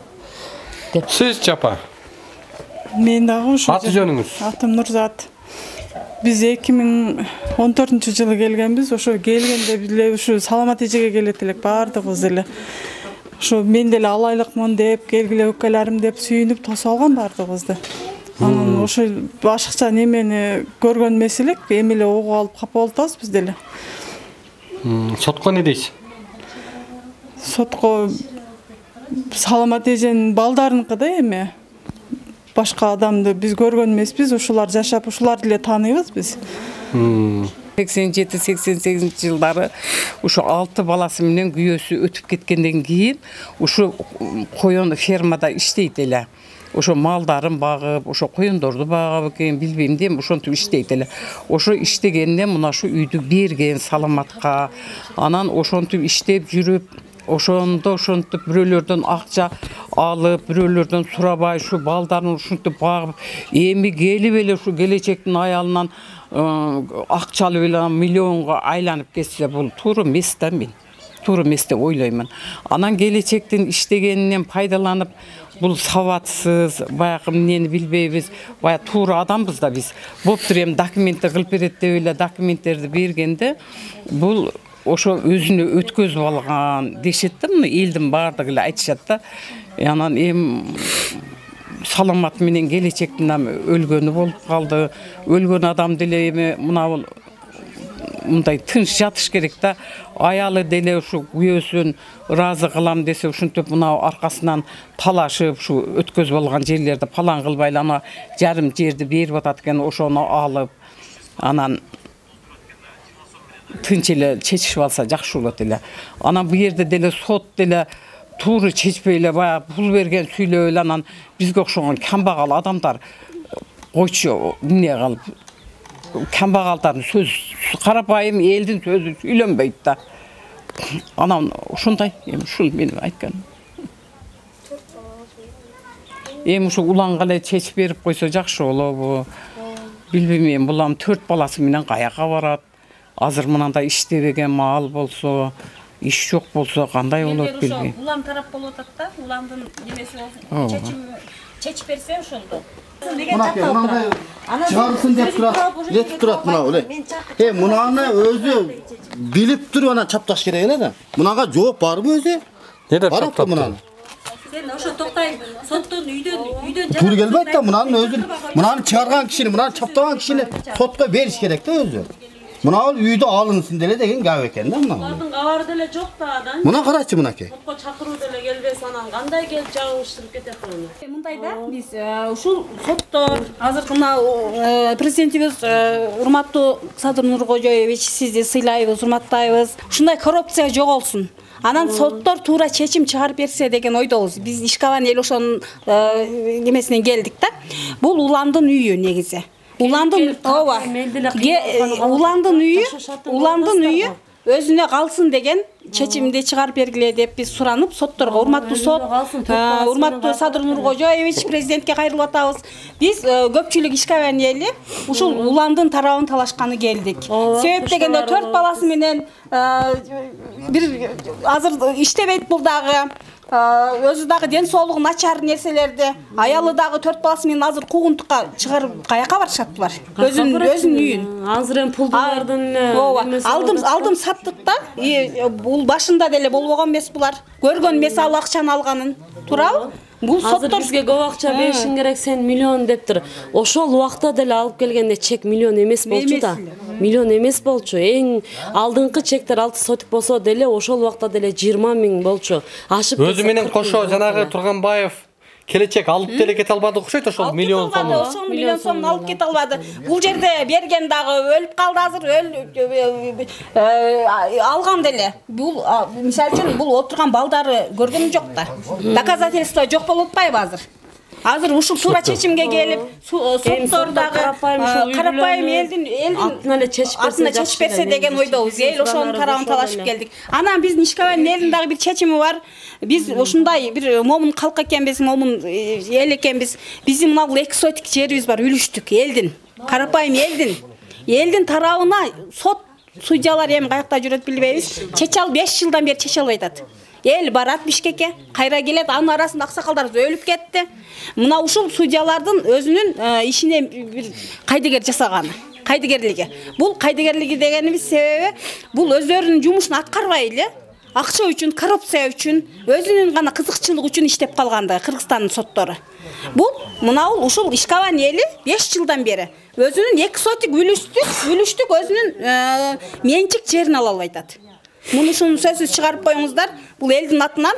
Speaker 13: деп.
Speaker 3: Сиз чапа.
Speaker 14: Мен дагы ушул.
Speaker 3: Аты жөнүңүз?
Speaker 14: Атым Нурзат. Биз эки миң он төртүнчү жылы келгенбиз. Ошо келгенде биле ушу Саламат эжеге келет элек баардыгыбыз эле. Ошо мен деле алайлыкмын деп, келгиле өкөлөрүм деп сүйүнүп тосуп алган баардыгыбызды. Анан ошо башкача немени көргөн эмес элек, эми эле угуп алып капа болуп атабыз биз деле.
Speaker 3: Сотко не дейсиз?
Speaker 14: Сотко Саламат эженин балдарыныкы да эми. Башка адамды биз көргөн эмеспиз, ушулар жашап, ушулар деле тааныйбыз биз.
Speaker 10: сексен жети сексен сегизинчи жылдары ушу алты баласы менен күйөөсү өтүп кеткенден кийин ушу коён фермада иштейт эле. Ошо малдарын багып, ошо коёндорду багып экен, билбейм дейм, ошентип иштейт эле. Ошо иштегенде мына шу үйдү берген саламатка. Анан ошентип иштеп жүрүп, ошондо ошентип бирөөлөрдөн акча алып, бирөөлөрдөн сурабай шу балдарын ушинтип багып, эми келип эле ушу келечектин аялынан акча алып эле миллионго айланып кетсе, бул туура эмес да мен. Туура эмес деп ойлоймун. Анан келечектин иштегенинен пайдаланып, бул сабатсыз, баягы эмнени билбейбиз, баягы туура адамбыз да биз. Боптур эми документти кылып берет деп эле документтерди бергенде, бул ошо өзүнө өткөзүп алган дешет да, муну элдин баардыгы эле айтышат да. Анан эми саламат менен келечектин өлгөнү болуп калды. Өлгөн адам деле эми мына бул мындай тынч жатыш керек да. Аялы деле ушу күйөөсүн ыраазы кылам десе, ушинтип мына аркасынан талашып, ушу өткөзүп алган жерлерди палан кылбайлы, ана жарым жерди берип атат экен, ошону алып, анан тынч эле чечишип алса жакшы болот эле. Анан бу жерде деле сот деле туура чечпей эле баягы пул берген сүйлөп эле, анан бизге окшогон камбагал адамдар койчу эмне кылып, камбагалдардын сөз, карапайым элдин сөзү сүйлөнбөйт да. Анан ушундай, эми ушул менин айтканым. Эми ушу уланга эле чечип берип койсо жакшы болобу? Билбейм, эми бул төрт баласы менен каяка барат? Азыр мынандай иштебеген мал болсо, иш жок болсо кандай болот билбейм.
Speaker 6: Улам тарап болуп атат да, уламдын немеси болсун, чечим чечип берсе ошондо.
Speaker 4: Мынандай чыгарсын деп турат, жетип турат мына эле. Э, мунаны өзү билип туруп анан чапташ керек эле да. Мунага жооп барбы өзү?
Speaker 3: Не деп чаптап
Speaker 4: мунаны?
Speaker 6: Сен ошо токтай, соттон үйдөн үйдөн
Speaker 4: Туура келбейт да, мунаны өзү, мунаны чыгарган кишини, мунаны чаптаган кишини сотко бериш керек да өзү. Мына ал үйдө алынсын деле деген гап экен да мына.
Speaker 2: Алардын кабары деле жок да адан.
Speaker 4: Мына карачы мынакей.
Speaker 2: Сотко чакыруу деле келбес, анан кандай келип жагыштырып кетет аны.
Speaker 6: Мындай да, биз ушул соттор азыр мына президентибиз урматтуу Садыр Нуркожоевич, сизди сыйлайбыз, урматтайбыз. Ушундай коррупция жоголсун. Анан соттор туура чечим чыгарып берсе деген ойдобуз. Биз ишкабан эл ошонун немесинен келдик да. Бул уландын үйү негизи. Уландын ооба. Уландын үйү, уландын үйү өзүнө калсын деген чечимди чыгарып бергиле деп биз суранып, сотторго урматтуу сот, урматтуу Садыр Нуркожоевич президентке кайрылып атабыз. Биз көпчүлүк ишкабан эли ушул уландын тарабын талашканы келдик. Себеп дегенде төрт баласы менен бир азыр иштебейт бул дагы. Өзү дагы ден соолугу начар нерселерди, аялы дагы төрт баласы менен азыр куугунтукка чыгарып каяка барышат булар? Өзүнүн өзүнүн үйүн.
Speaker 13: Азыр эми пулдулардын
Speaker 6: алдым алдым саттык да. Бул башында деле болбогон эмес булар. Көргөн эмес ал акчаны алганын. Туурабы? Бул соттор
Speaker 13: бизге көп акча беришиң керек, сен миллион дептир. Ошол убакта деле алып келгенде чек миллион эмес болчу да. Миллион эмес болчу. Эң алдыңкы чектер алты сотик болсо деле ошол убакта деле жыйырма миң болчу. Ашып
Speaker 3: өзү менен кошо жанагы Турганбаев келечек алып деле кете албады окшойт, ошол миллион сом.
Speaker 6: Ошол миллион сомун алып кете албады. Бул жерде берген дагы өлүп калды азыр, өл алган деле. Бул мисалы үчүн бул отурган балдары көргөнүм жок да. Доказательство жок болуп атпайбы азыр? Азыр ушул туура чечимге келип, соттор дагы карапайым элдин элдин
Speaker 13: артына эле чечип
Speaker 6: берсе деген ойдобуз. Эл ошонун тарабын талашып келдик. Анан биздин ишкабан элдин дагы бир чечими бар. Биз ушундай бир момун калк экенбиз, момун эл экенбиз. Биздин мына бул экзотик жерибиз бар, үлүштүк элдин. Карапайым элдин. Элдин тарабына сот судьялар эми каякта жүрөт билбейбиз. Чече ал беш жылдан бери чече албай атат. Эл барат Бишкекке, кайра келет, анын арасында аксакалдар өлүп кетти. Мына ушул судьялардын өзүнүн ишине бир кайдыгер жасаганы, кайдыгерлиги. Бул кайдыгерлиги дегенибиз себеби бул өздөрүнүн жумушун аткарбай эле акча үчүн, коррупция үчүн, өзүнүн гана кызыкчылык үчүн иштеп калганды Кыргызстандын соттору. Бул мына ушул ишкабан эли беш жылдан бери өзүнүн экзотик үлүштүк, үлүштүк өзүнүн менчик жерин ала албай атат. Муну ушуну сөзсүз чыгарып коюңуздар. Бул элдин атынан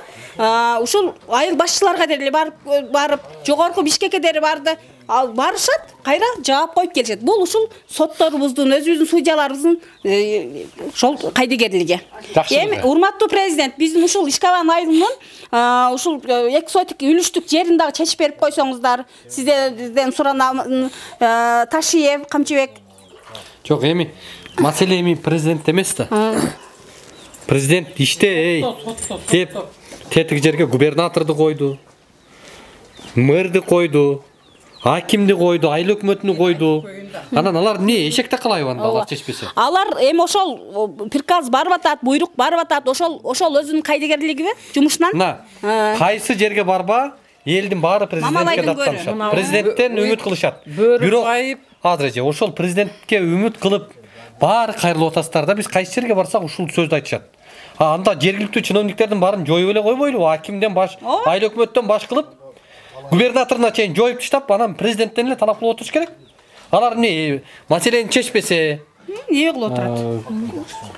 Speaker 6: ушул айыл башчыларга деле барып барып, жогорку Бишкекке деле барды. ал барышат, кайра жаап коюп келишет. Бул ушул сотторубуздун, өзүбүздүн судьяларыбыздын ошол кайдыгерлиги. Эми урматтуу президент, биздин ушул Ишкабан айылынын ушул эки сотик үлүштүк жерин дагы чечип берип койсоңуздар. Сиздерден суранам, Ташиев, Камчыбек.
Speaker 3: Жок, эми маселе эми президент эмес да. Президент иште эй деп тетик жерге губернаторду койду, мэрди койду, акимди койду, айыл өкмөтүнү койду. Анан алар эмне эшекте калайбы анда алар чечпесе?
Speaker 6: Алар эми ошол приказ барып атат, буйрук барып атат, ошол ошол өзүнүн кайдыгерлигиби жумушунан?
Speaker 3: Мына, кайсы жерге барба, элдин баары президентке даттанышат. Президенттен үмүт кылышат. Бирок азыр эже ошол президентке үмүт кылып баары кайрылып атасыздар да, биз кайсы жерге барсак ушул сөздү айтышат. Анда жергиликтүү чиновниктердин баарын жоюп эле койбойлубу? Акимден баш, айыл өкмөттөн баш кылып, губернаторуна чейин жоюп таштап, анан президенттен эле талап кылып отуруш керек. Алар эмне маселени чечпесе,
Speaker 6: эмне кылып отурат?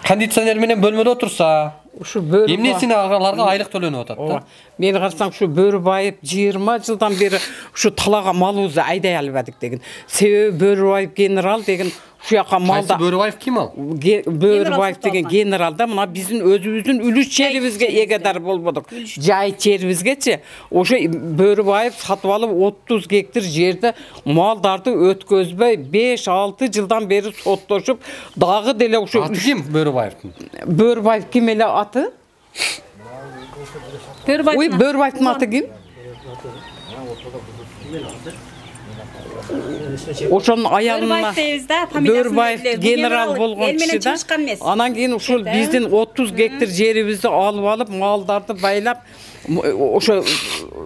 Speaker 3: Кондиционер менен бөлмөдө отурса,
Speaker 10: ушу бөрү
Speaker 3: эмнесине аларга айлык төлөнүп атат да?
Speaker 10: Мени карасаң, ушу Бөрүбаев жыйырма жылдан бери ушу талаага малыбызды айдай албадык деген. Себеби Бөрүбаев генерал деген ушу жака малда.
Speaker 3: Кайсы Бөрүбаев ким ал?
Speaker 10: Бөрүбаев деген генерал да, мына биздин өзүбүздүн үлүш жерибизге эгедар болбодук. Жай жерибизгечи ошо Бөрүбаев сатып алып отуз гектар жерди малдарды өткөзбөй беш алты жылдан бери соттошуп, дагы деле ошо
Speaker 3: аты ким Бөрүбаевдин?
Speaker 10: Бөрүбаев ким эле аты? Ой, Бөрүбаевдин аты ким? Ошонун аялына Бөрүбаев генерал болгон киши да. Анан кийин ушул биздин отуз гектар жерибизди алып алып, малдарды байлап, ошо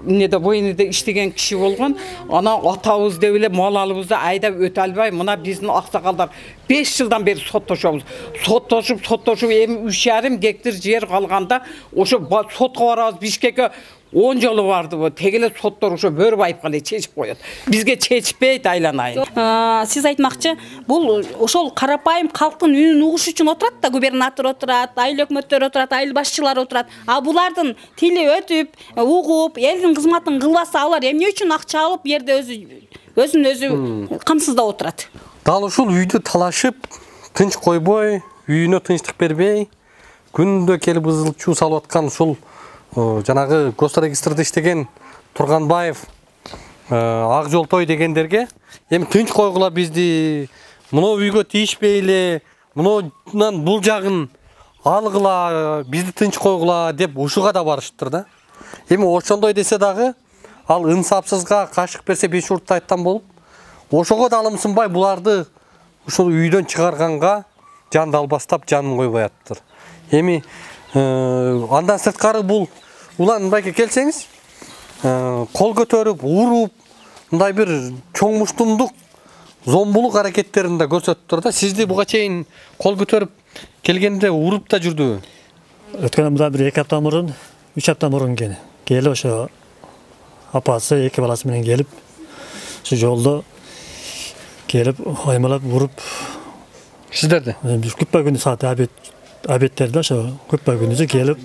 Speaker 10: эмнеде военныйда иштеген киши болгон. Анан атабыз деп эле мал алыбызды айдап өтө албай, мына биздин аксакалдар беш жылдан бери соттошобуз. Соттошуп, соттошуп, эми үч жарым гектар жер калганда ошо сотко барабыз, Бишкекке он жолу барды бу. Тегеле соттор ошо Бөрүбаевга эле чечип коет. Бизге чечпейт, айланайын.
Speaker 6: Сиз айтмакчы, бул ошол карапайым калктын үнүн угуш үчүн отурат да, губернатор отурат, айыл өкмөттөр отурат, айыл башчылары отурат. А булардын тили өтүп, угуп, элдин кызматын кылбаса, алар эмне үчүн акча алып, жерде өзү өзүн өзү камсыздап отурат?
Speaker 3: Дал ушул үйдү талашып, тынч койбой, үйүнө тынчтык бербей, күндө келип ызылчуу салып аткан ушул жанагы госрегистрде иштеген Турганбаев, Ак Жолтой дегендерге эми тынч койгула бизди, мына үйгө тийишпейли, мындан бул жагын алгыла, бизди тынч койгула деп ушуга да барышыптыр да. Эми ошондой десе дагы, ал инсапсызга кашык берсе беш уртта айткан болуп, ошого да алымсынбай буларды ушул үйдөн чыгарганга жанды албастап жанын койбой аттыр. Эми андан сырткары бул улан мындайга келсеңиз, кол көтөрүп, уруп, мындай бир чоң муштумдук, зомбулук аракеттерин да көрсөтүптүр да. Сизди буга чейин кол көтөрүп келгенде уруп да жүрдүбү?
Speaker 11: Өткөн мында бир эки апта мурун, үч апта мурун келди. Келип ошо апасы, эки баласы менен келип, ошо жолдо келип аймалап уруп.
Speaker 3: Сиздерди?
Speaker 11: Биз күппа күнү саат абет абеттерде ошо күппа күнү келип.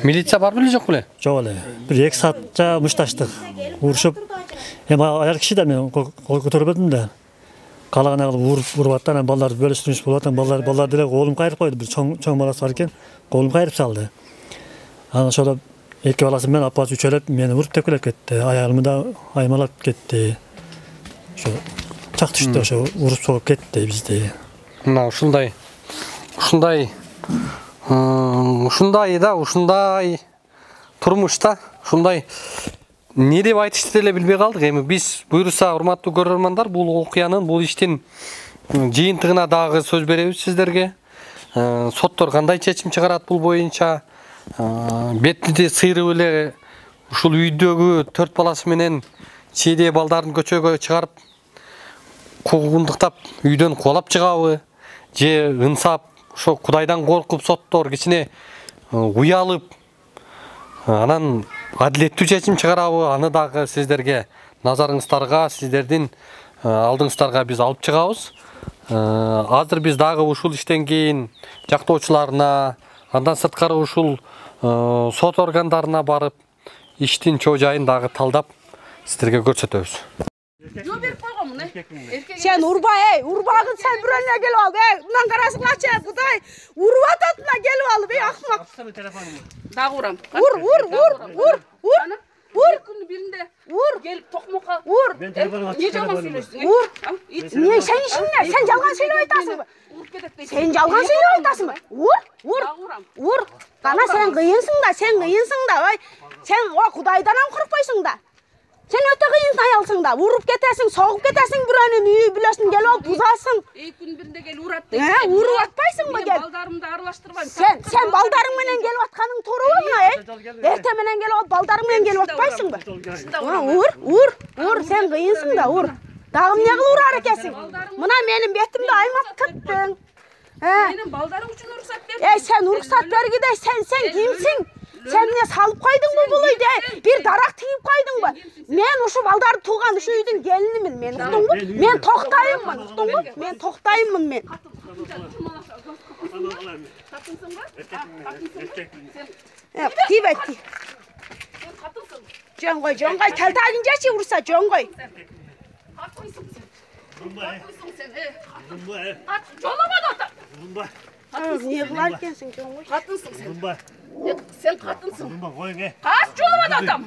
Speaker 3: Милиция бар беле жок беле?
Speaker 11: Жок эле. Бир эки саатча мушташтык. Урушуп, эми аяр киши да мен кол көтөрбөдүм да. Калагана кылып уруп, уруп аттан, анан балдарды бөлүштүрүш болуп аттан, балдар балдар деле колун кайрып койду. Бир чоң чоң баласы бар экен, колун кайрып салды. Анан ошол эки баласы менен апасы үчөлөп мени уруп тепкилеп кетти. Аягымды да аймалап кетти. Ошо чак түштү, ошо уруп соғып кетти бизди.
Speaker 3: Мына ушундай ушундай ушундай да, ушундай турмушта, ушундай не деп айтышты деле билбей калдык. Эми биз буйруса, урматтуу көрөрмандар, бул окуянын, бул иштин жыйынтыгына дагы сөз беребиз сиздерге. Соттор кандай чечим чыгарат бул боюнча, бетти сыйрып эле ушул үйдөгү төрт баласы менен чийдей балдарын көчөгө чыгарып, куугундуктап үйдөн кубалап чыгабы, же ынсап ошо Кудайдан коркуп соттор кичине уялып, анан адилеттүү чечим чыгарабы, аны дагы сиздерге назарыңыздарга, сиздердин алдыңыздарга биз алып чыгабыз. Азыр биз дагы ушул иштен кийин жактоочуларына, андан сырткары ушул сот органдарына барып, иштин чоо жайын дагы талдап сиздерге көрсөтөбүз.
Speaker 6: атамын, э.
Speaker 1: Сен урба, ey, урбагын sen бирөөнө келип ал, ey, мындан карасыңачы, Кудай, уруп атат мына келип алып, ey, акмак.
Speaker 6: Дагы урам.
Speaker 1: Ур, ур, ур, ур, ур. Ур.
Speaker 6: Күнү биринде
Speaker 1: ур
Speaker 6: келип токмокко.
Speaker 1: Ур.
Speaker 6: Не жалган сүйлөшсүң?
Speaker 1: Ур. Не сен ишиңне? Сен жалган сүйлөп айтасыңбы? Сен жалган сүйлөп айтасыңбы? Ур, ур. Ур. Кана сен кыйынсың да, сен кыйынсың да, ой. Сен о Кудайдан ham коркпойсуң да. Sen öte kıyın ayalsın da, vurup ketersin, soğup ketersin buranın üyü bilesin, gel ol buzasın.
Speaker 6: İyi gün birinde gel uğrattı.
Speaker 1: He, uğrup atpaysın mı gel?
Speaker 6: Baldarımı da arılaştırmayın.
Speaker 1: Sen, sen baldarın menen gelip atkanın toru mu ey? Erte menen gelip at, baldarın menen gelip atpaysın mı? Uğur, uğur, uğur, sen kıyınsın da uğur. Dağım ne kıl uğrar ekesin? Mına benim betimde aymat tıktın.
Speaker 6: Benim baldarım için ruhsat ver.
Speaker 1: Ey sen ruhsat ver gide, sen, sen kimsin? Sen ne salıp koydun mu bu uydu? Bir darak tiyip koydun mu? Men uşu baldarı tuğan şu üydün gelinimin, men uktun mu? Men toktayımın, uktun mu? Men toktayımın men. Tiyip et, tiyip. Jon koy, jon koy, tel tagınca çi vursa jon koy.
Speaker 6: Jolamadı ata.
Speaker 1: Ne kılar ekensin jon koy?
Speaker 6: Katınsın sen. Sen katınsın. Kaç jolamadı atam.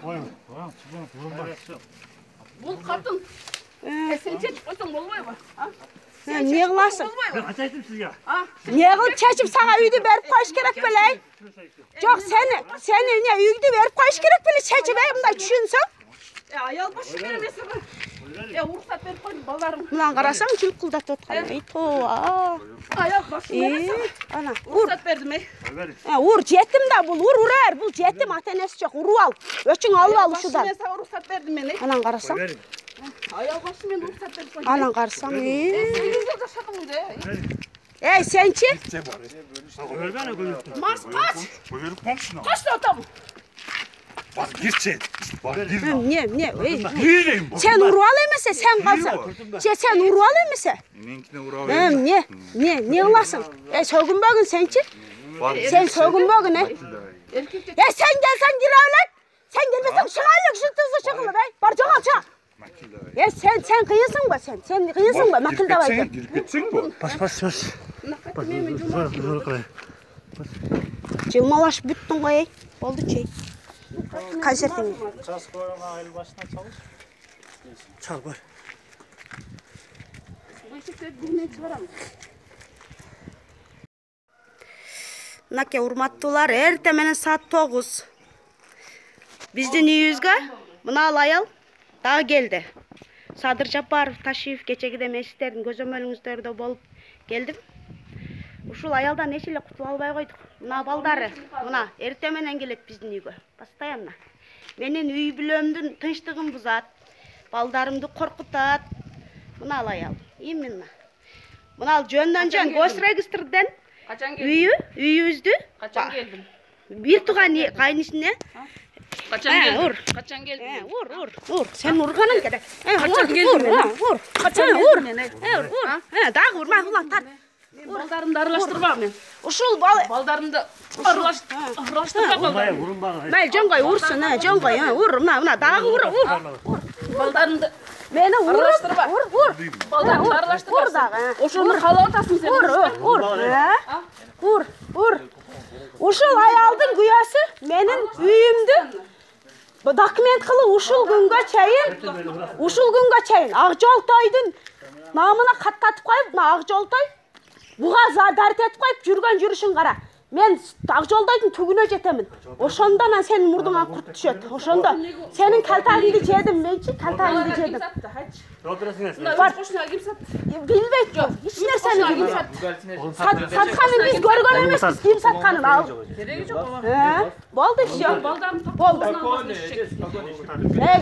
Speaker 6: Bul katın. Sen çekip koysan bolmay mı?
Speaker 1: Ne kılarsın?
Speaker 5: Ben kaçaydım sizge.
Speaker 1: Ne kılıp çeçip sana üydü verip koyuş gerek beley? Yok seni, seni ne üydü verip koyuş gerek beley çeçip ey bunday düşünsün.
Speaker 6: Ya ayal başı veremezsin. Ya ruhsat verip koydum ballarım.
Speaker 1: Ulan karasan çılk kıldat otkan. Ey toğa.
Speaker 6: Ayal başı veremezsin.
Speaker 1: Ana vur.
Speaker 6: Ruhsat verdim ey.
Speaker 1: Vur jetim da bul, vur urar. Bul jetim atenesi çok, uru al. Öçün al al şudan.
Speaker 6: Ben sana ruhsat verdim ben ey.
Speaker 1: Anan karasan.
Speaker 6: Ayal başı men ruhsat verip koydum.
Speaker 1: Anan karasan ey.
Speaker 6: sekiz yılda şadım uydu ey.
Speaker 1: Ey sençi?
Speaker 6: Mars kaç. Kaç da atam.
Speaker 5: Bak girçe. Bak gir.
Speaker 1: Ne ne ey.
Speaker 5: Gireyim.
Speaker 1: Sen uru al emese sen kalsan. Sen sen uru al emese.
Speaker 5: Meninkine ura
Speaker 1: Hem ne ne ne kılasın? Ey soğun bugün sençi? Sen soğun bugün ey. Ya sen gelsen giravlet. Sen gelmesen şıkaylık şu tızı çıkılı bey. Barca kalça. Ya sen sen kıyısın mı sen? Sen kıyısın mı? Makil da baydı.
Speaker 5: Girgitsin bu. Bas bas bas. Bas zor zor kılay.
Speaker 1: Cılmalaş büttün koy ey. Oldu çey. Konsertini.
Speaker 11: Ças koyana ayıl başına çalış.
Speaker 5: Çal koy.
Speaker 1: Nake urmattуулар, эрте менен saat тогуз. Биздин үйүбүзгө мына ал аял дагы келди. Садыр Жапаров Ташиев кечегиде мен сиздердин көзөмөлүңүздөрдө болуп келдим. Ушул аялдан эч эле кутула албай койдук. Мына балдары, мына эрте менен келет биздин үйгө. Постоянно. Менин үй бүлөмдүн тынчтыгын бузат. Балдарымды коркутат. Мына ал аял. Именно. Мына ал жөндөн жөн госрегистрден үйү, үйүбүздү.
Speaker 6: Качан келдим?
Speaker 1: Бир тууган кайнысына.
Speaker 6: Качан келдим? Качан келдим?
Speaker 1: Ур, ур, ур. Сен урганың керек.
Speaker 6: Качан келдим?
Speaker 1: Ур.
Speaker 6: Качан келдим мен?
Speaker 1: Ур, ур. Дагы урма, улан тар.
Speaker 6: Балдарымды аралаштырба мен.
Speaker 1: Ушул
Speaker 6: балдарымды аралаштырба балдарым.
Speaker 1: Май жоңгой урсун, жоңгой, ур, мына, мына дагы ур, ур.
Speaker 6: Балдарымды
Speaker 1: мени
Speaker 6: аралаштырба.
Speaker 1: Ур, ур.
Speaker 6: Балдарымды аралаштырба.
Speaker 1: Ур дагы.
Speaker 6: Ошону каалап атасың сен.
Speaker 1: Ур, ур. Ур, ур. Ушул аялдын күйөөсү менин үйүмдү документ кылып ушул күнгө чейин, ушул күнгө чейин Акжолтойдун намына каттатып коюп, мына Акжолтой буга зарт этип коюп жүргөн жүрүшүн кара. Мен Акжолтойдун түгүнө жетемин. Ошондо анан сенин мурдуңа курт түшөт. Ошондо сенин калтагыңды жедим менчи, калтагыңды жедим. Билбейт жок. Эч нерсени билбейт. Сатканын биз көргөн эмеспиз, ким сатканын ал.
Speaker 6: Кереги жок ага.
Speaker 1: Э, болду всё.
Speaker 6: Балдарым
Speaker 1: болду.
Speaker 6: Э,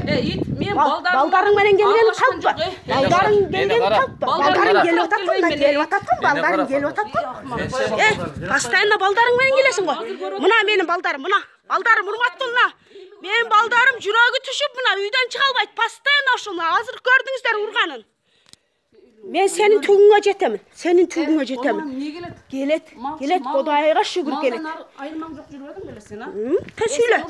Speaker 6: мен балдарым
Speaker 1: балдарың менен келгени таппа. Балдарың келгени таппа. Балдарың келип атат, мына келип атат, балдарың келип атат. Э, постоянно балдарың менен келесиң го. Мына менин балдарым, мына. Балдарым урматтуу мына. Менин балдарым жүрөгү түшүп мына үйдөн чыга албайт. Постоянно ушуну азыр көрдүңүздөр урганын. Мен senin tüğüne jetemin. Senin tüğüne jetemin.
Speaker 6: Niye gelet?
Speaker 1: Gelet. Gelet Kodayga şükür gelet.
Speaker 6: Ayılmam yok жүрбөдүң беле сен, а?
Speaker 1: Та söyle.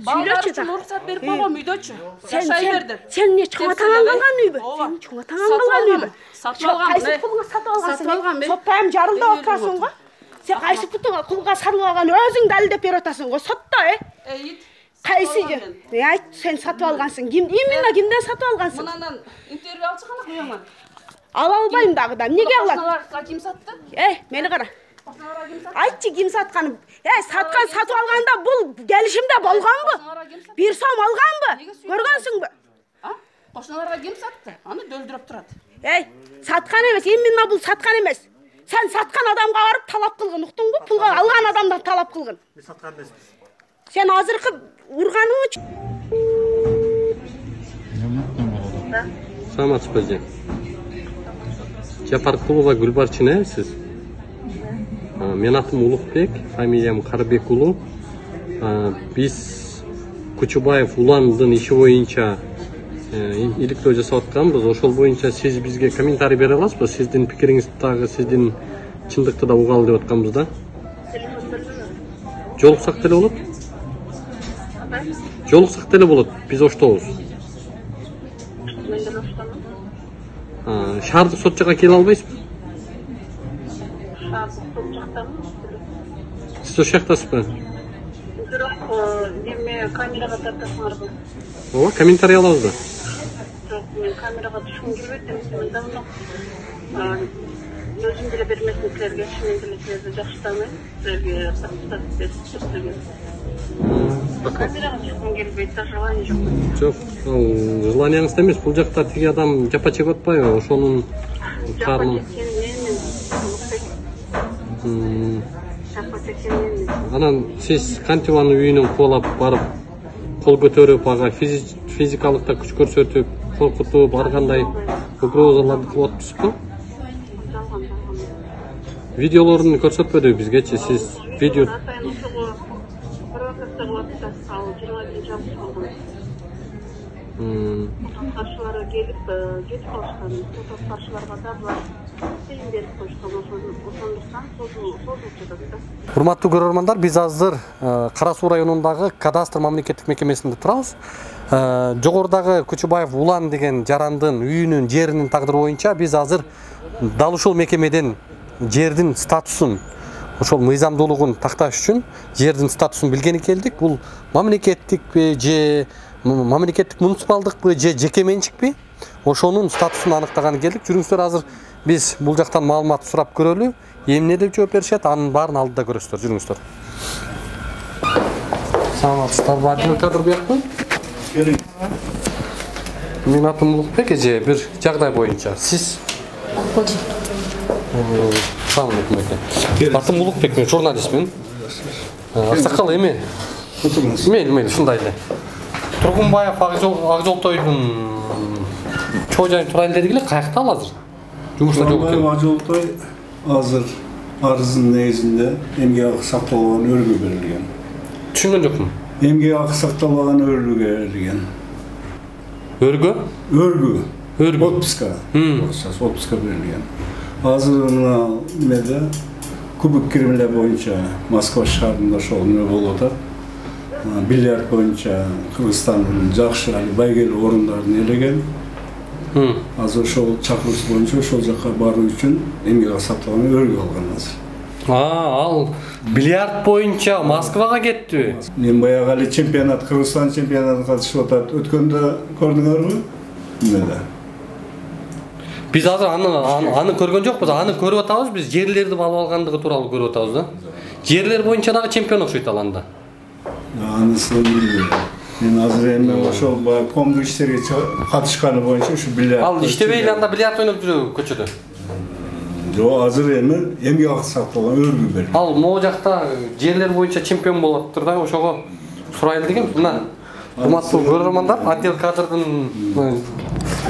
Speaker 6: Söyle çı. Уруксат берип койгом үйдөчү.
Speaker 1: Sen sen sen ne çoğa taŋangan үйбү? Sen çoğa taŋangan үйбү?
Speaker 6: Сатып алгам.
Speaker 1: Кайсы пулга сатып алгансың?
Speaker 6: Сатып алгам мен.
Speaker 1: Соттайм жарылда отурасың го. Sen кайсы пулга сатып алган өзүң далилдеп берип атасың го. Сотто, э?
Speaker 6: Эйит.
Speaker 1: Кайсы же? Ne ayt sen сатып алгансың? Ким? Именно кимден сатып алгансың?
Speaker 6: Мындан интервью алчы кана коёңар.
Speaker 1: Ала албайм дагы да. Эмнеге алам?
Speaker 6: Кошуналарга ким сатты?
Speaker 1: Эй, мени кара. Айтчы ким сатканын. Эй, саткан сатып алганда бул келишимде болгонбу? Бир сом алганбы? Көргөнсүңбү?
Speaker 6: А? Кошуналарга ким сатты? Аны дөлдүрөп турат.
Speaker 1: Эй, саткан эмес, именно бул саткан эмес. Sen саткан адамга барып талап кылгын, уктуңбу? Пулга алган адамдан талап кылгын.
Speaker 11: Мен саткан эмесмин.
Speaker 1: Sen азыркы урганың үчүн.
Speaker 3: Саламатсызбы эже? Жапаркулова Гүлбарчын, э, сиз? Мен атым Улукбек, фамилиям Карбек уулу. Биз Кучубаев Уландын иши боюнча иликтөө жасап атканбыз. Ошол боюнча сиз бизге комментарий бере аласызбы? Сиздин пикириңизди дагы, сиздин чындыкты да угалы деп атканбыз да. Жолуксак деле болот? Жолуксак деле болот. Биз оштобуз. Шаардык сот жакка келе албайсызбы?
Speaker 15: Шаардык сот жактамы?
Speaker 3: Сиз ошол жактасызбы?
Speaker 15: Бирок эме камерага тартасыңарбы?
Speaker 3: Ооба, комментарий алабыз да.
Speaker 15: Жок, мен камерага түшкүм келбейт, мен давно өзүм деле бермесин силерге, мен деле силерди жакшы тааныйм, силерге тартып берип силерге. Камерага түшкүм келбейт, желание жок.
Speaker 3: Жок, ал желанияңызда эмес, бул жакта тиги адам жапа чегип атпайбы? Ошонун карны. Анан сиз кантип анын үйүнөн кубалап барып, кол көтөрүп, ага физикалык да күч көрсөтүп, коркутуп, ар кандай угрозаларды кылып атпайсызбы? Видеолорун көрсөтпөдү бизгечи, сиз видео
Speaker 15: Каршылары келип, кетип калышкан, сот каршыларга да булар фильм берип коюшкан, ошондуктан созулуп жатат да.
Speaker 3: Урматтуу көрөрмандар, биз азыр Кара Суу районундагы кадастр мамлекеттик мекемесинде турабыз. Жогорудагы Кучубаев Улан деген жарандын үйүнүн, жеринин тагдыры боюнча биз азыр дал ушул мекемеден жердин статусун, ошол мыйзамдуулугун такташ үчүн жердин статусун билгени келдик. Бул мамлекеттикпи же мамлекеттик муниципалдыкпы же жеке менчикпи? Ошонун статусун аныктаганы келдик. Жүрүңүздөр, азыр биз бул жактан маалымат сурап көрөлү. Эмне деп жооп беришет, анын баарын алдыда көрөсүздөр. Жүрүңүздөр. Саламатсыздарбы? Адил кадр биякпы?
Speaker 5: Келиң.
Speaker 3: Менин атым Улукбек эже, бир жагдай боюнча. Сиз? Салам алейкум эке. Атым Улукбек, мен журналистмин. Аксакал эме? Мейли, мейли, ушундай эле. Тургунбаев Ак Жолтойдун чоо жайын турайын дедик эле, каякта ал азыр? Жумушта жок экен.
Speaker 5: Ак Жолтой азыр арыздын негизинде эмгек акы сакталбаган өргө берилген.
Speaker 3: Түшүнгөн жокмун.
Speaker 5: Эмгек акы сакталбаган өргө берилген.
Speaker 3: Өргө?
Speaker 5: Өргө.
Speaker 3: Өргө.
Speaker 5: Отпуска. Отпуска берилген. Азыр мына немеде кубок киримлер боюнча Москва шаарында ошол неме болуп атат. Бильярд боюнча Кыргызстандын жакшы али байгелүү орундарын ээлеген. Азыр ошол чакырууусу боюнча ошол жакка баруу үчүн эмгек акы сакталган өргө алган азыр.
Speaker 3: А, ал бильярд боюнча Москвага кеттиби?
Speaker 5: Мен баягы али чемпионат, Кыргызстан чемпионатына катышып атат. Өткөндө көрдүңөрбү? Эмеде?
Speaker 3: Биз азыр аны аны көргөн жокпуз, аны көрүп атабыз, биз жерлерди алып алгандыгы тууралуу көрүп атабыз да. Жерлер боюнча дагы чемпион окшойт ал анда.
Speaker 5: Анысын билбейм. Мен азыр эми ошол баягы коомдук иштерге катышканы боюнча ушу бильярд.
Speaker 3: Ал иштебей эле анда бильярд ойноп жүрөбү көчөдө?
Speaker 5: Жок, азыр эми эмгек акы сакталган өргө берилген.
Speaker 3: Ал могу жакта жерлер боюнча чемпион болуп атыптыр да, ошого сурайлы дегем. Мына урматтуу көрөрмандар, отдел кадрдын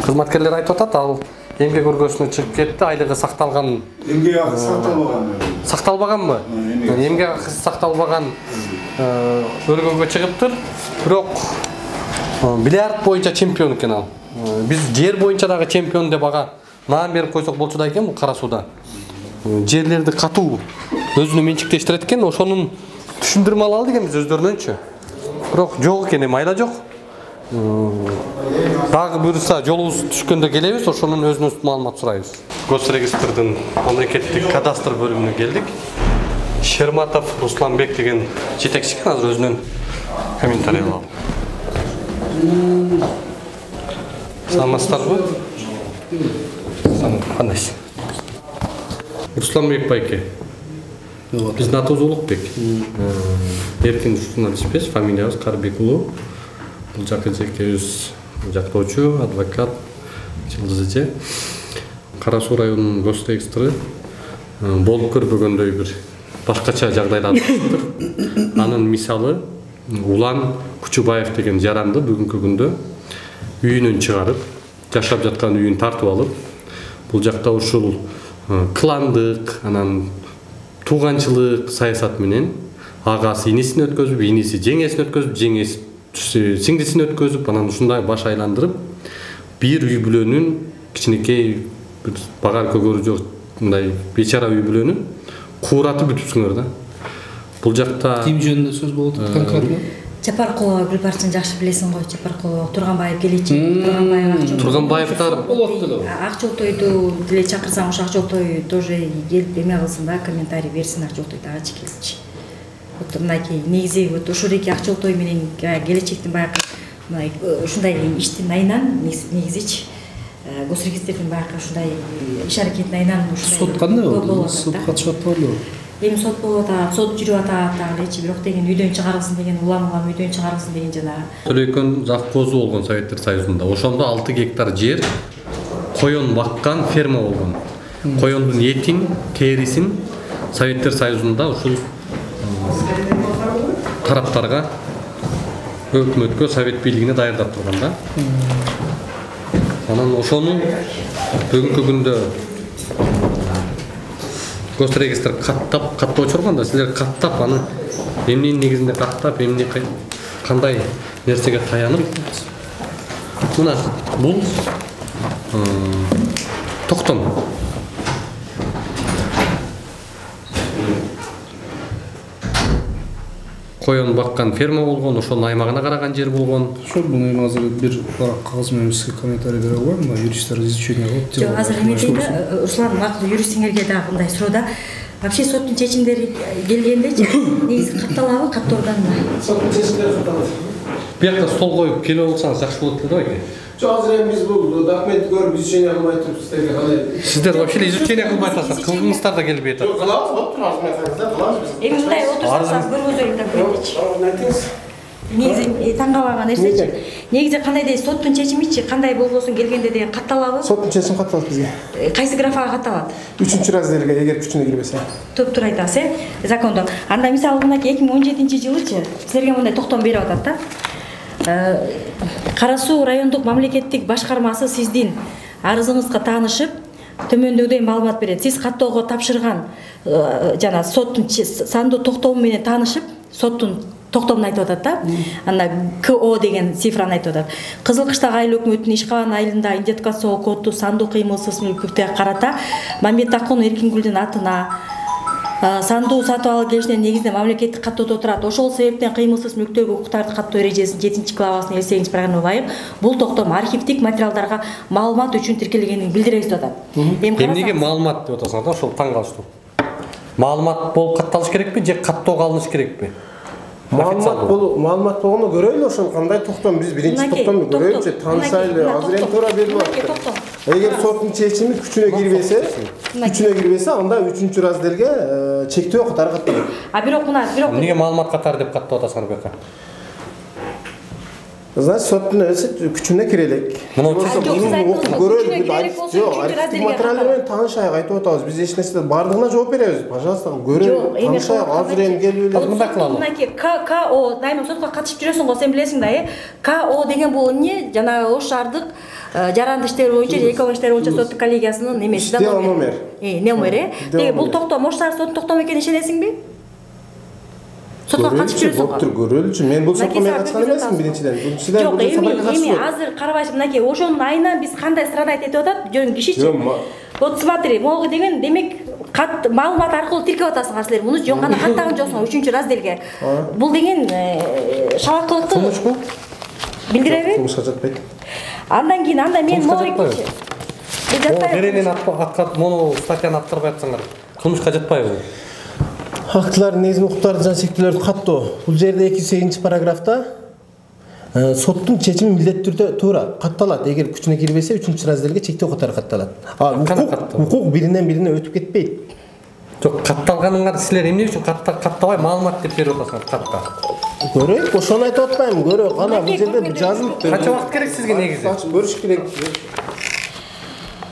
Speaker 3: кызматкерлери айтып атат, ал эмгек өргөсүнө чыгып кетти, айлыгы сакталган.
Speaker 5: Эмгек акы сакталбаган.
Speaker 3: Сакталбаганбы? Эмгек акы сакталбаган өргөгө чыгыптыр. Бирок бильярд боюнча чемпион экен ал. Биз жер боюнча дагы чемпион деп ага наам берип койсок болчу да экен бул Кара сууда. Жерлерди катуу өзүнө менчиктештирет экен, ошонун түшүндүрмө ала алды экенбиз өздөрүнөнчү. Бирок жок экен, эми айла жок. Дагы буюрса жолубуз түшкөндө келебиз, ошонун өзүнөн маалымат сурайбыз. Госрегистрдин мамлекеттик кадастр бөлүмүнө келдик. Шерматов Русланбек деген жетекчи экен, азыр өзүнөн комментарий алалы. Саламатсыздарбы? Кандайсыз? Русланбек байке. Биздин атыбыз Улукбек. Эркин журналистпиз, фамилиябыз Карбек уулу. Бул жакы жекебиз жактоочу, адвокат Жылдыз эже. Кара суу районунун госрегистры болуп көрбөгөндөй бир башкача жагдайда атыптыр. Анын мисалы Улан Кучубаев деген жаранды бүгүнкү күндө үйүнөн чыгарып, жашап жаткан үйүн тартып алып, бул жакта ушул кландык, анан тууганчылык саясат менен агасы инисин өткөзүп, иниси жеңесин өткөзүп, жеңеси сиңдисин өткөзүп, анан ушундай баш айландырып, бир үй бүлөнүн кичинекей бир багар көгөрү жок мындай бечара үй бүлөнү кууратып бүтүпсүңөр да. Бул жакта
Speaker 16: ким жөнүндө сөз болуп атат конкретно?
Speaker 7: Жапаркулова Гүлбарчын жакшы билесиң го, Жапаркулова Турганбаев келечи. Турганбаев
Speaker 3: Турганбаевтар
Speaker 16: болот деле.
Speaker 7: Акчолтойду деле чакырсаң, ошо Акчолтой тоже келип эме кылсын да, комментарий берсин Акчолтой дагычы келчи. Вот мынакей негизи вот ушуреки Акчолтой менен келечектин баягы мындай ушундай иштин айынан негизичи госрегистрдин баягы ушундай иш аракетин айынан ушундай
Speaker 16: сот кандай болду? Сот катышып атпайлыбы?
Speaker 7: Эми сот болуп атат, сот жүрүп атат дагы элечи, бирок деген үйдөн чыгарылсын деген, улам улам үйдөн чыгарылсын деген жанагы.
Speaker 3: Төлөйкөн завхозу болгон Советтер Союзунда. Ошондо алты гектар жер коен баккан ферма болгон. Коендун этин, терисин Советтер Союзунда ушул тараптарга, өкмөткө, совет бийлигине даярдап турган да. Анан ошону бүгүнкү күндө госрегистр каттап, каттоочу орган да, силер каттап аны эмненин негизинде каттап, эмне кандай нерсеге таянып, мына бул токтом. Коен баккан ферма болгон, ошонун аймагына караган жер болгон.
Speaker 16: Ошо буну эми азыр бир кагаз менен сизге комментарий бере албайм, юристтер изучение кылып.
Speaker 7: Жок, азыр эме дейт да, Руслан макул юристиңерге дагы мындай суроодо. Вообще соттун чечимдери келгендечи, негизи катталабы, каттоорганбы?
Speaker 3: Биякта стол коюп келип алсаңыз жакшы болот эле да байке.
Speaker 17: Жок, азыр эми биз бул документти көрүп изучение кылбай туруп сиздерге кандай?
Speaker 3: Сиздер вообще изучение кылбай атасыздар, кылгыңыздар да келбей атат.
Speaker 17: Жок, кылабыз, болуп турабыз, мен айтсаңыздар кылабыз биз.
Speaker 7: Эми мындай отурсаңыз көргөзөйүн да көрөчү.
Speaker 17: Айтыңыз.
Speaker 7: Негизи таң калган нерсечи. Негизи кандай дейт, соттун чечимичи кандай болбосун келгенде деген катталабы?
Speaker 17: Соттун чечими катталат бизге.
Speaker 7: Кайсы графага катталат?
Speaker 17: үчүнчү разделге эгер күчүнө кирбесе.
Speaker 7: Топтур айтасыз, э? Закондо. Анда мисалы мынакей эки миң он жетинчи жылычы силерге мындай токтом берип атат да. Кара суу райондук мамлекеттик башкармасы сиздин арызыңызга таанышып, төмөндөгүдөй маалымат берет. Сиз каттоого тапшырган жана соттун сандуу токтому менен таанышып, соттун токтомун айтып атат да. Анда КО деген цифраны айтып атат. Кызыл Кыштак айыл өкмөтүнүн ишкалан айылында идентификациялоо коду сандуу кыймылсыз мүлкүгө карата Мамбетакун Эркингүлдүн атына сандуу сатып алуу келишинин негизинде мамлекеттик каттоодо турат. Ошол себептен кыймылсыз мүлктөргө укуктарды каттоо эрежесинин жетинчи главасынын элүү сегизинчи параграфына ылайык бул токтом архивдик материалдарга маалымат үчүн тиркелгенин билдиребиз деп атат.
Speaker 3: Эмнеге маалымат деп атасыңар да, ошол таң калыштуу. Маалымат болуп катталыш керекпи же каттоого алыныш керекпи?
Speaker 17: Маалымат болуп, маалымат болгону көрөйлү, ошол кандай токтом биз биринчи токтомду көрөйлүчү, таанышайлы, азыр эми туура берип атат. Эгер соттун чечими күчүнө кирбесе, күчүнө кирбесе, анда үчүнчү разделге чектөө катары катталат.
Speaker 7: А бирок мына, бирок
Speaker 3: эмнеге маалымат катары деп каттап атасыңар буяка?
Speaker 17: Значит, соттун өзү күчүнө кире элек.
Speaker 3: Мына
Speaker 17: көрөлү, жок, архивдик материалдар менен таанышайык айтып атабыз. Биз эч нерсе бардыгына жооп беребиз. Пожалуйста, көрөлү, таанышайык. Азыр эми келип эле
Speaker 3: мындай кылалы.
Speaker 7: Мынакей КО, дайыма сотко катышып жүрөсүң го, сен билесиң да, э? КО деген бул эмне? Жанагы Ош шаардык жаранды иштер боюнча, экөө иштер боюнча соттук коллегиясынын немеси да,
Speaker 17: номер.
Speaker 7: Э, номер, э? Деги бул токтом Ош шаар соттун токтому экенине ишенесиңби? Сотко катышып жүрөсүң.
Speaker 17: Доктор көрөлүчү. Мен бул сотко мен катышкан эмесмин биринчиден. Биринчиден
Speaker 7: бул сапарга эми азыр карабайсың, мынакей ошонун айынан биз кандай страдать этип атат, жөн кишичи. Вот смотри, могу деген демек кат маалымат аркылуу тиркеп атасыңар силер. Муну жөн гана каттаган жоксуң үчүнчү разделге. Бул деген шабакылыкты
Speaker 17: кылмышпу?
Speaker 7: Билдиреби?
Speaker 17: Кылмышка жатпайт.
Speaker 7: Андан кийин анда мен могу экинчи.
Speaker 3: Беренин аткат мону статьяны аткарбай атсаңар, кылмышка жатпайбы?
Speaker 17: Актылардын негизги укуктарды жана шектүүлөрдү каттоо. Бул жерде эки жүз сегизинчи параграфта соттун чечими милдеттүү түрдө туура катталат. Эгер күчүнө кирбесе үчүнчү разделге чектөө катары катталат. А укук биринен бирине өтүп кетпейт.
Speaker 3: Жок, катталганыңар силер эмне үчүн каттабай маалымат деп берип атасыңар катта?
Speaker 17: Көрөйүк, ошону айтып атпаймынбы? Көрөйүк, ана бул жерде жазылып.
Speaker 3: Канча убакыт керек сизге негизи?
Speaker 17: Көрүш керек.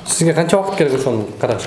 Speaker 3: Сизге канча убакыт керек ошону караш?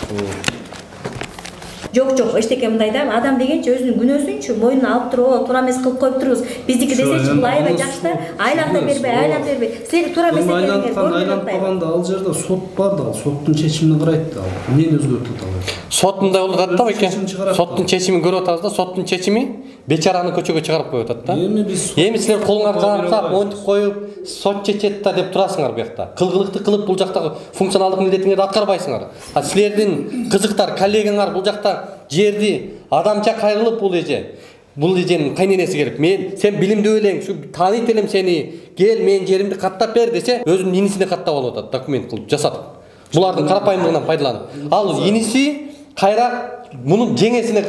Speaker 7: Жок, жок, эчтеке мындай да, адам дегенчи өзүнүн күнөөсүнчү мойнуна алып туруп, туура эмес кылып коюп турубуз. Биздики десечи бул аябай жакшы да, айланта бербей, айланта бербей. Силер туура эмес экендигиңерди көрүп атпайбы?
Speaker 16: Айлантпаганда ал жерде сот бар да, соттун чечимин карайт да. Эмнени өзгөртүп атат?
Speaker 3: Сот мындай болуп атат да, беке. Соттун чечимин көрүп атабыз да, соттун чечими бечараны көчөгө чыгарып коюп атат да.
Speaker 16: Эми биз
Speaker 3: Эми силер колуңарды жаап, монтип коюп, сот чечет да деп турасыңар бу жакта. Кылгылыкты кылып бул жактагы функционалдык милдетиңерди аткарбайсыңар. А силердин кызыктар, коллегаңар бул жакта жерди адамча кайрылып бул эже. Бул эженин кайненеси келип, мен сен билимдүү элең, ушу тааныйт элем сени. Кел, мен жеримди каттап бер десе, өзүнүн инисине каттап алып атат, документ кылып жасатып. Булардын карапайымдыгынан пайдаланып. Ал иниси кайра мунун жеңесине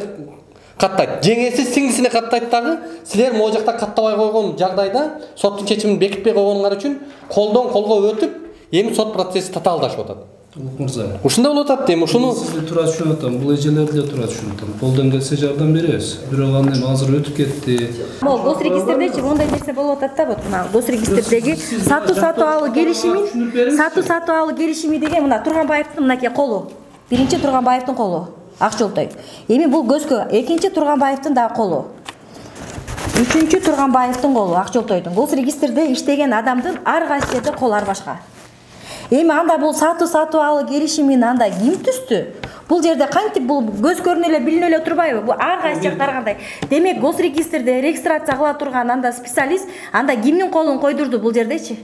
Speaker 3: каттайт. Жеңеси сиңдисине каттайт дагы. Силер могу жакта каттабай койгон жагдайда соттун чечимин бекитпей койгонуңар үчүн колдон колго өтүп, эми сот процесси татаалдашып атат.
Speaker 16: Мырза.
Speaker 3: Ушундай болуп атат эми, ушуну
Speaker 16: сизди туура түшүнүп атам. Бул эжелерди эле туура түшүнүп атам. Колдон келсе жардам беребиз. Бирок аны эми азыр өтүп кетти.
Speaker 7: Могу гос регистрдечи мондай нерсе болуп атат да, вот мына гос регистрдеги сатуу сатуу алуу келишими, сатуу сатуу алуу келишими деген мына Турганбаевдин мынакей колу. Биринчи Турганбаевдин колу. Акчолтой. Эми бул көзгө, экинчи Турганбаевдин дагы колу. Үчүнчү Турганбаевдин колу, Акчолтойдун. Гос регистрде иштеген адамдын ар кайсы жерде колу ар башка. Эми анда бул сатуу сатуу алуу келишимин анда ким түздү? Бул жерде кантип бул көз көрүнө эле билине эле турбайбы? Бул ар кайсы жактар кандай? Демек гос регистрде регистрация кыла турган анда специалист анда кимдин колун койдурду бул жердечи?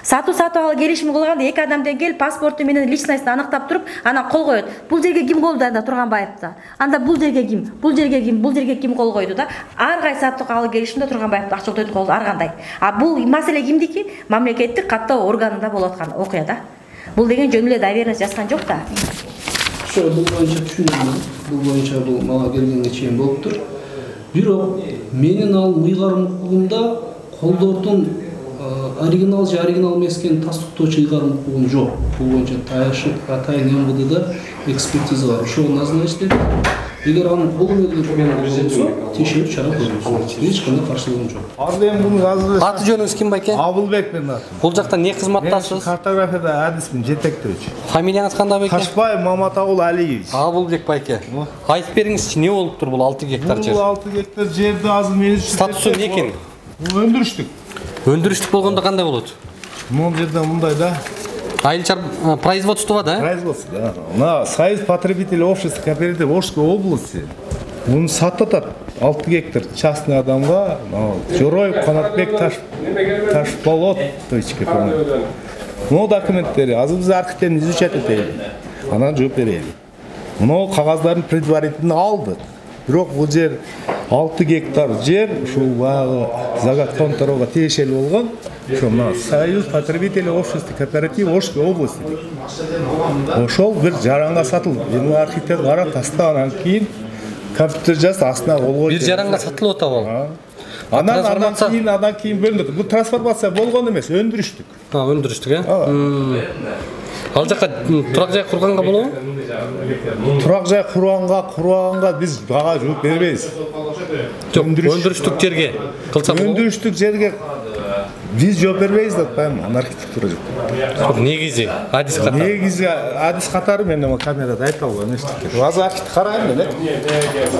Speaker 7: Сатуу сатуу алуу келишими кылганда эки адамдан келип паспорту менен личностун аныктап туруп, анан кол коет. Бул жерге ким колду анда Турганбаевда? Анда бул жерге ким? Бул жерге ким? Бул жерге ким кол койду да? Ар кайсы сатуу алуу келишимде Турганбаевдин Акчолтойдун колу ар кандай. А бул маселе кимдики? Мамлекеттик каттоо органында болуп аткан окуя да. Бул деген жөн эле доверенность жазган жок да.
Speaker 16: Ошо бул боюнча түшүнөм. Бул боюнча бул мага келгенге чейин болуптур. Бирок менин ал ыйгарым укугумда колдордун оригинал же оригинал эмес экенин тастыктоочу ыйгарым укугум жок. Бул боюнча атайын эм вэ дэда экспертиза бар. Ошого назначить. Эгер анын колу менен болсо, тиешелүү чара көрүлсүн. Эч кандай каршылыгым жок.
Speaker 17: Арды эми муну азыр
Speaker 3: аты жөнүңүз ким байке?
Speaker 17: Абылбек мен атым.
Speaker 3: Бул жакта не кызматтасыз?
Speaker 17: Картографияда адисмин, жетектөөчү.
Speaker 3: Фамилияңыз кандай байке?
Speaker 17: Ташбаев Маматагул Алиевич.
Speaker 3: Абылбек байке. Айтып бериңизчи, эмне болуптур бул алты гектар жер?
Speaker 17: Бул алты гектар жерди азыр мен үчүн
Speaker 3: статусу эмне экен?
Speaker 17: Бул өндүрүштүк.
Speaker 3: Өндүрүштүк болгондо кандай болот?
Speaker 17: Бул жерде мындай да.
Speaker 3: Айылчар производство да?
Speaker 17: Производство, да. На Союз потребителей общества кооператив Орской области. Муну сатып атат алты гектар частный адамга, Жороев Канатбек Таш Ташболот точка ком. Муну документтери азыр биз архивден изучать этели. Анан жооп берели. Муну кагаздарын предварительно алдык. Бирок бул жер алты гектар жер ушул баягы загадконторого тиешелүү болгон. Ошо мына Союз потребителей общества кооператив Орской области. Ошол бир жаранга сатылды. Эми архивден карап тастап анан кийин компьютер жазып астына кол койду.
Speaker 3: Бир жаранга сатылып атабы ал?
Speaker 17: Анан андан кийин андан кийин бөлүнөт. Бул трансформация болгон эмес, өндүрүштүк.
Speaker 3: А, өндүрүштүк, э? Ал жака турак жай курганга болобу?
Speaker 17: Турак жай курганга, курганга биз бага жооп бербейбиз.
Speaker 3: Жок, өндүрүштүк жерге кылса болобу?
Speaker 17: Өндүрүштүк жерге биз жооп бербейбиз деп атпаймынбы, аны архитектура жооп.
Speaker 3: Негизи, адис катары.
Speaker 17: Негизи адис катары мен эми камерада айта албайм эчтеке. Азыр архитектура карайм эле.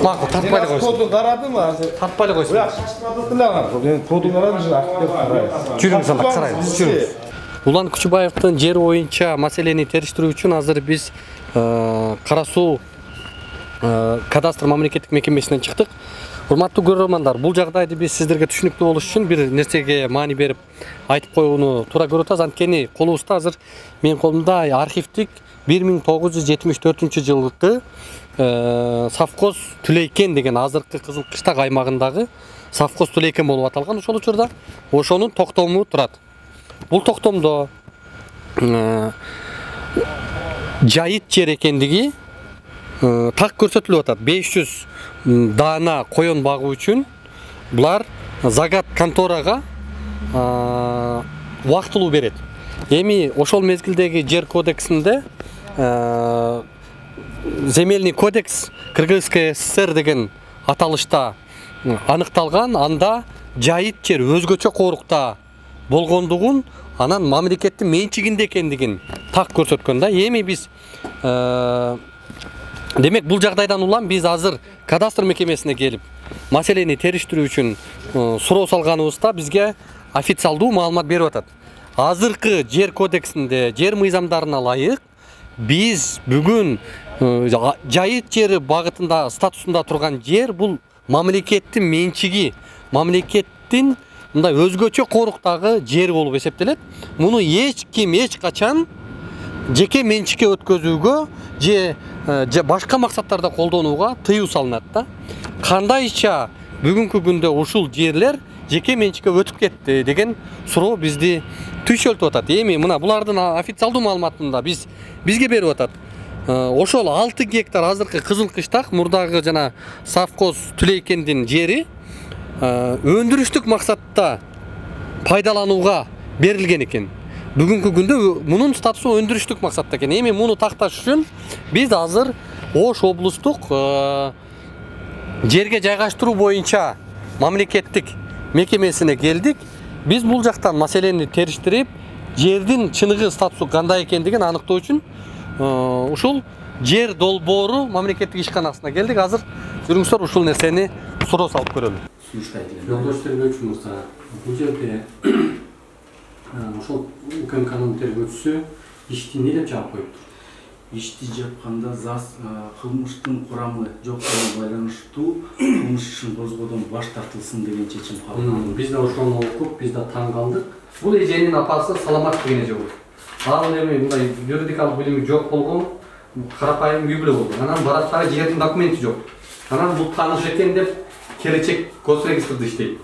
Speaker 3: Макул, тартпай эле койсун.
Speaker 17: Коду карадым, азыр
Speaker 3: тартпай эле койсун.
Speaker 17: Буяк чачпадык эле аны. Мен коду карадым, архитектура карайбыз.
Speaker 3: Жүрүңүз анда карайбыз, жүрүңүз. Улан Күчүбаевдин жери боюнча маселени териштирүү үчүн азыр биз Кара Суу кадастр мамлекеттик мекемесинен чыктык. Урматтуу көрөрмандар, бул жагдайды биз сиздерге түшүнүктүү болуш үчүн бир нерсеге маани берип айтып коюуну туура көрүп атабыз. Анткени колубузда азыр менин колумда архивдик бир миң тогуз жүз жетимиш төртүнчү жылкы совхоз Түлейкен деген азыркы Кызыл Кыштак аймагындагы совхоз Түлейкен болуп аталган. Ошол учурда ошонун токтому турат. Бул токтомдо жайыт жер экендиги так көрсөтүлүп атат. беш жүз даана коен багуу үчүн булар загат конторага убактылуу берет. Эми ошол мезгилдеги жер кодексинде земельный кодекс Кыргызская ССР деген аталышта аныкталган. Анда жайыт жер өзгөчө корукта болгондугун, анан мамлекеттин менчигинде экендигин так көрсөткөн да. Эми биз демек бул жагдайдан улам биз азыр кадастр мекемесине келип маселени териштирүү үчүн суроо салганыбызда бизге официалдуу маалымат берип атат. Азыркы жер кодексинде, жер мыйзамдарына ылайык биз бүгүн жайыт жери багытында статусунда турган жер бул мамлекеттин менчиги, мамлекеттин мындай өзгөчө коруктагы жер болуп эсептелет. Муну эч ким эч качан жеке менчикке өткөзүүгө же башка максаттарда колдонууга тыюу салынат да. Кандайча бүгүнкү күндө ушул жерлер жеке менчикке өтүп кетти деген суроо бизди түйшөлтүп атат. Эми мына булардын официалдуу маалыматында биз бизге берип атат. Ошол алты гектар азыркы Кызыл Кыштак мурдагы жана совхоз Түлейкендин жери өндүрүштүк максатта пайдаланууга берилген экен. Бүгүнкү күндө мунун статусу өндүрүштүк максатта экен. Эми муну такташ үчүн биз азыр Ош облустук жерге жайгаштыруу боюнча мамлекеттик мекемесине келдик. Биз бул жактан маселени териштирип, жердин чыныгы статусу кандай экендигин аныктоо үчүн ушул жер долбоору мамлекеттик ишканасына келдик. Азыр жүрүңүздөр ушул нерсени суроо салып көрөлү. Жолдош тергөөчү мырза, бул жерде ошол УКМКнын тергөөчүсү ишти эмне деп жаап коюптур?
Speaker 18: Ишти жапканда зас кылмыштын курамы жок менен байланыштуу кылмыш ишин козгоодон баш тартылсын деген чечим кабыл алынды.
Speaker 3: Биз да ошону окуп, биз да таң калдык. Бул эженин апасы Саламат деген эже болот. Ал эми мындай юридикалык билими жок болгон, карапайым үй бүлө болгон. Анан барат дагы жердин документи жок. Анан бул тааныш экен деп келечек госрегистрде иштейт.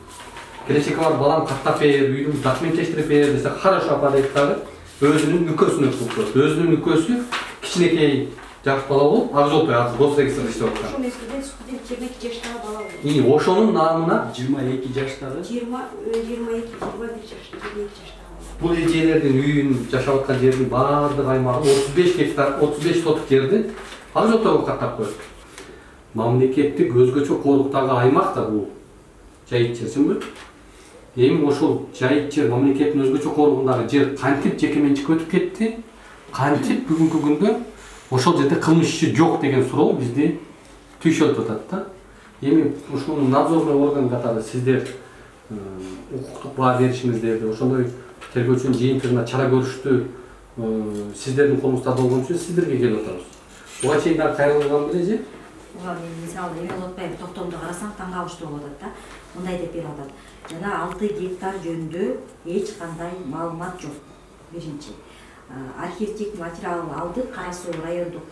Speaker 3: Келечекке бар балам каттап бер, үйдүн документтештирип бер десе, хорошо апа дейт дагы өзүнүн нүкөсүнө өткөрүп коет. Өзүнүн нүкөсү кичинекей жаш бала болуп, ак жол ак госрегистрде иштеп аткан.
Speaker 19: Ошол мезгилде студент жыйырма эки жаштагы бала болот.
Speaker 3: И ошонун наамына
Speaker 18: жыйырма эки жаштагы
Speaker 19: жыйырма эки жыйырма бир жаштагы жыйырма эки жаштагы.
Speaker 3: Бул эжелердин үйүн жашап аткан жердин баардык аймагы отуз беш гектар, отуз беш соток жерди ак жолдорго каттап коет. Мамлекеттик өзгөчө коруктагы аймак да бул жайыт жерсиңби? Эми ошол жайыт жер мамлекеттин өзгөчө коругундагы жер кантип жеке менчикке өтүп кетти? Кантип бүгүнкү күндө ошол жерде кылмыш иши жок деген суроо бизди түйшөлтүп атат да. Эми ушунун надзорный орган катары сиздер укуктук баа беришиңиздерди, ошондой тергөөчүнүн жыйынтыгына чара көрүштү сиздердин колуңузда болгон үчүн сиздерге келип атабыз. Буга чейин дагы кайрылган бележе?
Speaker 19: Буга мен мисалы эме болуп атпайбы, токтомду карасаң таң калыштуу болуп атат да. Мындай деп берип атат. Жана алты гектар жөнүндө эч кандай маалымат жок. Биринчи. Архивдик материал алдык, Кара Суу райондук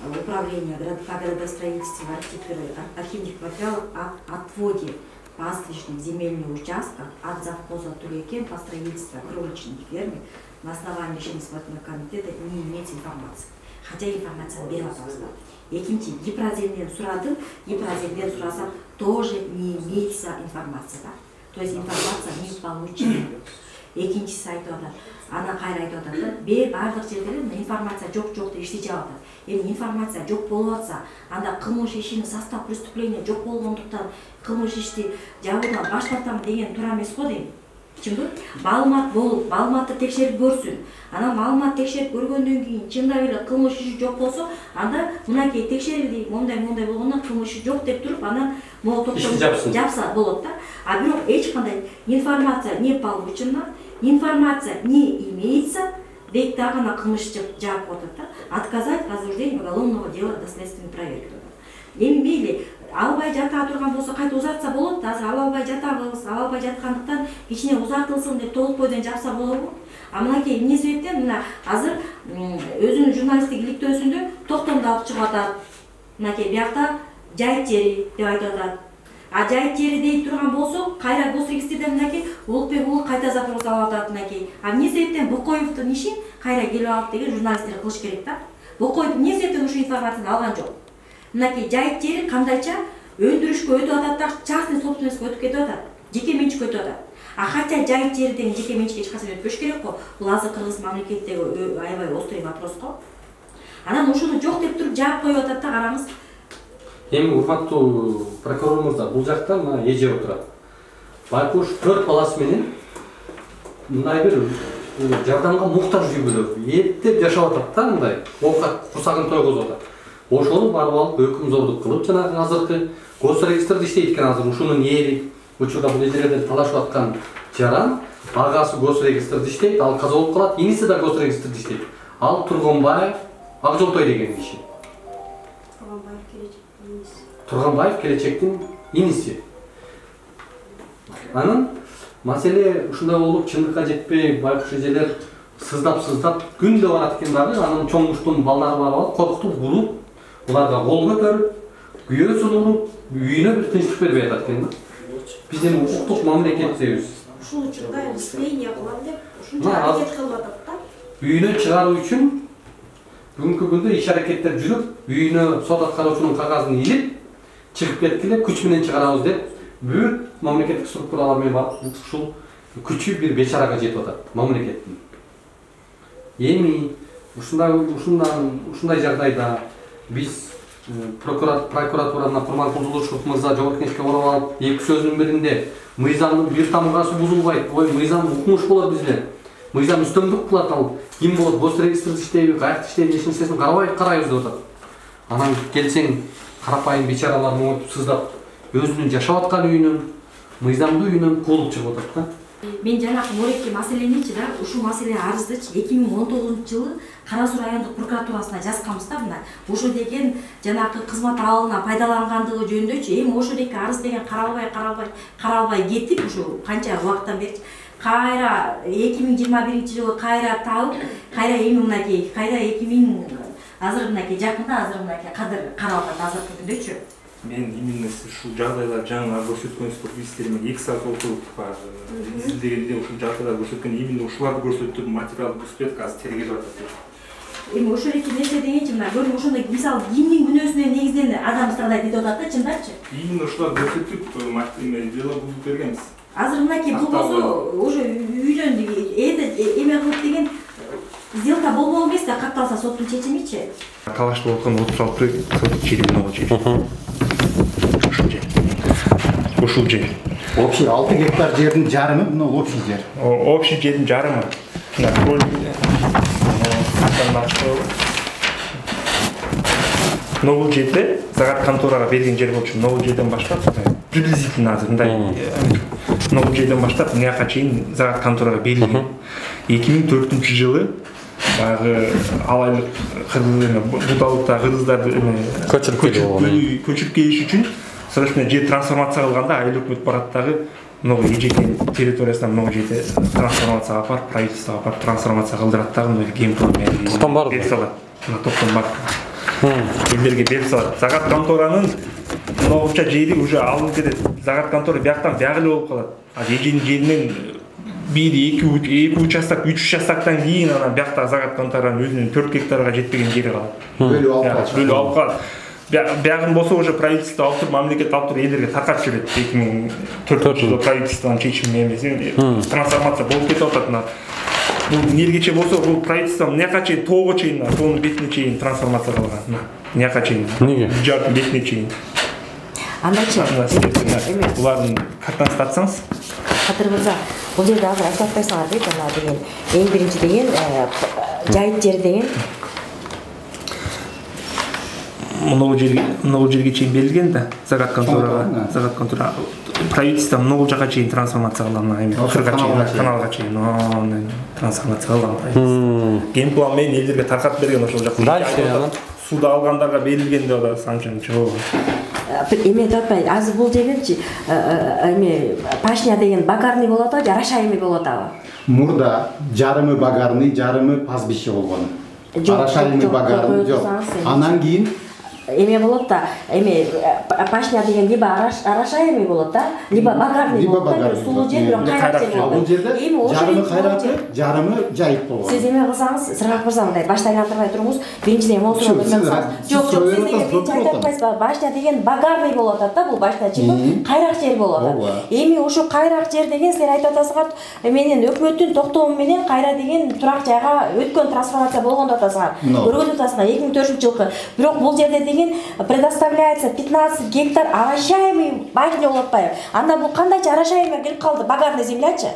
Speaker 19: управление по градостроительству архивдик материал о отводе пастбищных земельных участков от завхоза Түлейкен по строительству кроличных ферм на основании решения исполнительного комитета не имеется информации. Хотя информация берип атабыз. Экинчи, Гипроземден сурадым, Гипроземден сурасам тоже не имеется информация. То есть информация не получена. Экинчиси айтып атат. Ана кайра айтып атат да, баардык жерде информация жок-жок деп ишти жаап атат. Эми информация жок болуп атса, анда кылмыш ишинин состав преступления жок болгондуктан кылмыш ишти жабуудан баш тартам деген туура эмес го дейм. Түшүндүңбү? Маалымат болуп, маалыматты текшерип көрсүн. Анан маалымат текшерип көргөндөн кийин чындап эле кылмыш иши жок болсо, анда мынакей текшерилди, мондай-мондай болгондон кылмыш иши жок деп туруп, анан могу токтом жапса болот да. А бирок эч кандай информация не получена, информация не имеется, дейт дагы ана кылмыш жаап атат да. Отказать возбуждение уголовного дела до следственной проверки. Эми мейли албай жата турган болсо кайта узартса болот да. Азыр ала албай жатабыз, ала албай жаткандыктан кичине узартылсын деп толук бойдон жапса болобу? А мынакей эмне себептен мына азыр өзүнүн журналисттик иликтөөсүндө токтомду алып чыгып атат. Мынакей биякта жайыт жери деп айтып атат. А жайыт жери дейт турган болсо, кайра госрегистрден мынакей Улукбек уулу кайта запрос алып атат мынакей. А эмне себептен Бокоевдун ишин кайра келип алып деген журналисттер кылыш керек да. Бокоев эмне себептен ушул информацияны алган жок? Мынакей жайыт жери кандайча өндүрүшкө өтүп атат да, частный собственностько өтүп кетип атат. Жеке менчикке өтүп атат. А хотя жайыт жери деген жеке менчикке эч качан өтпөш керек го. Бул азыр кыргыз мамлекетиндеги аябай острый вопрос го. Анан ушуну жок деп туруп жаап коюп атат да, караңыз.
Speaker 3: Эми урматтуу прокурор мырза, бул жакта мына эже отурат. Байкуш төрт баласы менен мындай бир жардамга муктаж үй-бүлө эптеп жашап атат да, мындай оокат курсагын тойгозуп атат. Ошону барып алып өкүмзордук кылып, жанагы азыркы госрегистрде иштейт экен азыр ушунун ээри. Учурда бул эжелерден талашып аткан жаран агасы госрегистрде иштейт, ал каза болуп калат, иниси да госрегистрде иштейт. Ал Тургунбаев Акжолтой деген киши. Тургунбаев келечектин иниси. Анын маселе ушундай болуп чындыкка жетпей байкуш эжелер сыздап-сыздап күндө барат экен дагы, анын чоңуштун балдары барып алып коркутуп уруп, уларга кол көтөрүп, күйөөсүн уруп, үйүнө бир тынчтык бербей атат экен да. Биз эми укуктук мамлекеттебиз.
Speaker 1: Ушул учурда расследование кылам деп ушунча аракет кылып атат да.
Speaker 3: Үйүнө чыгаруу үчүн бүгүнкү күндө иш аракеттер жүрүп, үйүнө сот аткаруучунун кагазын илип, чыгып кеткиле күч менен чыгарабыз деп бүт мамлекеттик структуралар менен барып ушул күчү бир бечарага жетип атат мамлекеттин. Эми ушундай ушундан ушундай жагдайда биз прокуратуранын Курманкулов мырза жогорку кеңешке барып алып, эки сөзүнүн биринде мыйзамдын бир тамгасы бузулбайт, ой мыйзам укмуш болот бизде. Мыйзам үстөмдүк кылат, ал ким болот, госрегистрде иштейби, каякта иштейби, эч нерсесин карабай карайбыз деп атат. Анан келсең карапайым бечаралар моңотуп сыздап, өзүнүн жашап аткан үйүнөн, мыйзамдуу үйүнөн куулуп чыгып атат да.
Speaker 19: Мен жанагы морекке маселеничи да, ушул маселе арыздычы эки миң он тогузунчу жылы Кара Суу райондук прокуратурасына жазганбыз да мына. Ошо деген жанагы кызмат абалына пайдалангандыгы жөнүндөчү. Эми ошо деги арыз деген каралбай, каралбай, каралбай кетип, ушу канча убакыттан бери кайра эки миң жыйырма биринчи жылы кайра табып, кайра эми мынакей, кайра эки миң азыр мынакей жакында азыр мынакей кадыр каралат азыркы күндөчү.
Speaker 20: Мен именно ушул жагдайлар жаңы көрсөткөнсүздөр бизтерме эки саат отуруп изилдегенде ушул жагдайлар көрсөткөн именно ушуларды көрсөтүп материал көрсөтүп азыр тергелип атат.
Speaker 19: Эми ошол эки нерсе дегенчи мына көрүп ошондой мисалы кимдин күнөөсүнө негизден адам страдайт деп атат да, чындапчы?
Speaker 20: Именно ушуларды көрсөтүп дело бузуп бергенбиз.
Speaker 19: Азыр мынакей бул болсо уже үйдөн эме кылып деген сделка болбол эмес да, катталса соттун чечимичи.
Speaker 20: Талашып аткан отуз алты сотук жери могу жер. Ушул жер. Ушул жер.
Speaker 4: Общий алты гектар жердин жарымы мына общий жер.
Speaker 20: Общий жердин жарымы. Мына көл. Новый жерде загат конторага берген жер болчу. Новый жерден баштап приблизительно азыр мындай Новый жерден баштап мынаяка чейин загат конторага берилген. эки миң төртүнчү жылы баягы алайлык будалыкта кыргыздарды көчүрүп келиш үчүн срочно жер трансформация кылганда айыл өкмөт барат дагы много эжекенин территориясынан много жерде трансформацияга апарып, правительствого апарып трансформация кылдырат дагы мындай кем план менен
Speaker 3: токтом бар
Speaker 20: берип салат. Мына токтом бар. Элдерге берип салат. Загат конторанын новча жери уже алынып кетет. Загат контора бияктан бияк эле болуп калат. А эженин жеринен бир эки участок, үч участоктон кийин анан биякта загат конторанын өзүнүн төрт гектарга жетпеген жери калат.
Speaker 4: Бөлүп алып калат.
Speaker 20: Бөлүп алып калат. Биягын болсо уже правительство алып туруп, мамлекет алып туруп элдерге таркатып жиберет. эки миң төртүнчү жылы правительствонун чечими эмес, трансформация болуп кетип атат. Бул эмнегече болсо бул правительство мынаяка чейин тоого чейин, тоонун бетине чейин трансформация кылган. Мынаяка чейин. Эмнеге? Жардын бетине чейин.
Speaker 19: Андайчы.
Speaker 20: Булардын картасын тартсаңыз.
Speaker 19: Кадыр мырза, бул жерде азыр айтып атпайсыңар дейт, ана деген эң биринчи деген жайыт жер деген.
Speaker 20: Много жерге, много жерге чейин берилген да, загат конторага, загат контора правительство много жака чейин трансформация кылган, эми кырга чейин, каналга чейин, трансформация кылган. Ген план менен элдерге таркатып берген ошол жакта.
Speaker 3: Дальше
Speaker 20: суда алгандарга берилген деп атат, анча-мынча болгон.
Speaker 19: эме деп атпайбы, азыр бул жердечи эме пашня деген багарный болот атабы, арашайымы болот атабы?
Speaker 4: Мурда жарымы багарный, жарымы пастбище болгон. Арашайымы багарный жок. Анан кийин
Speaker 19: эме болот да, эме пашня деген либо арашайымы болот да, либо багарный болот да, сулуу жер, бирок кайрак жер болот.
Speaker 4: Бул жерде жарымы кайракчы, жарымы жайык болгон.
Speaker 19: Сиз эме кылсаңыз, Сыргак мырза, мындай башта айлантырбай туруңуз. Биринчиден моусура көрмөңүз. Жок, жок, сиз деген биринчи айтып атпайсызбы? Башта деген багарный болот да, бул баштачы, кайрак жер болот. Эми ушу кайрак жер деген силер айтып атасыңар, менен өкмөттүн токтому менен кайра деген турак жайга өткөн трансформация болгон деп атасыңар. Көргөзүп атасыңар эки миң төртүнчү жылкы. Бирок бул жерде деген предоставляется пятнадцать гектар арашаемый башня болуп атпайбы? Анда бул кандайча арашаемый кирип калды, багарный землячы?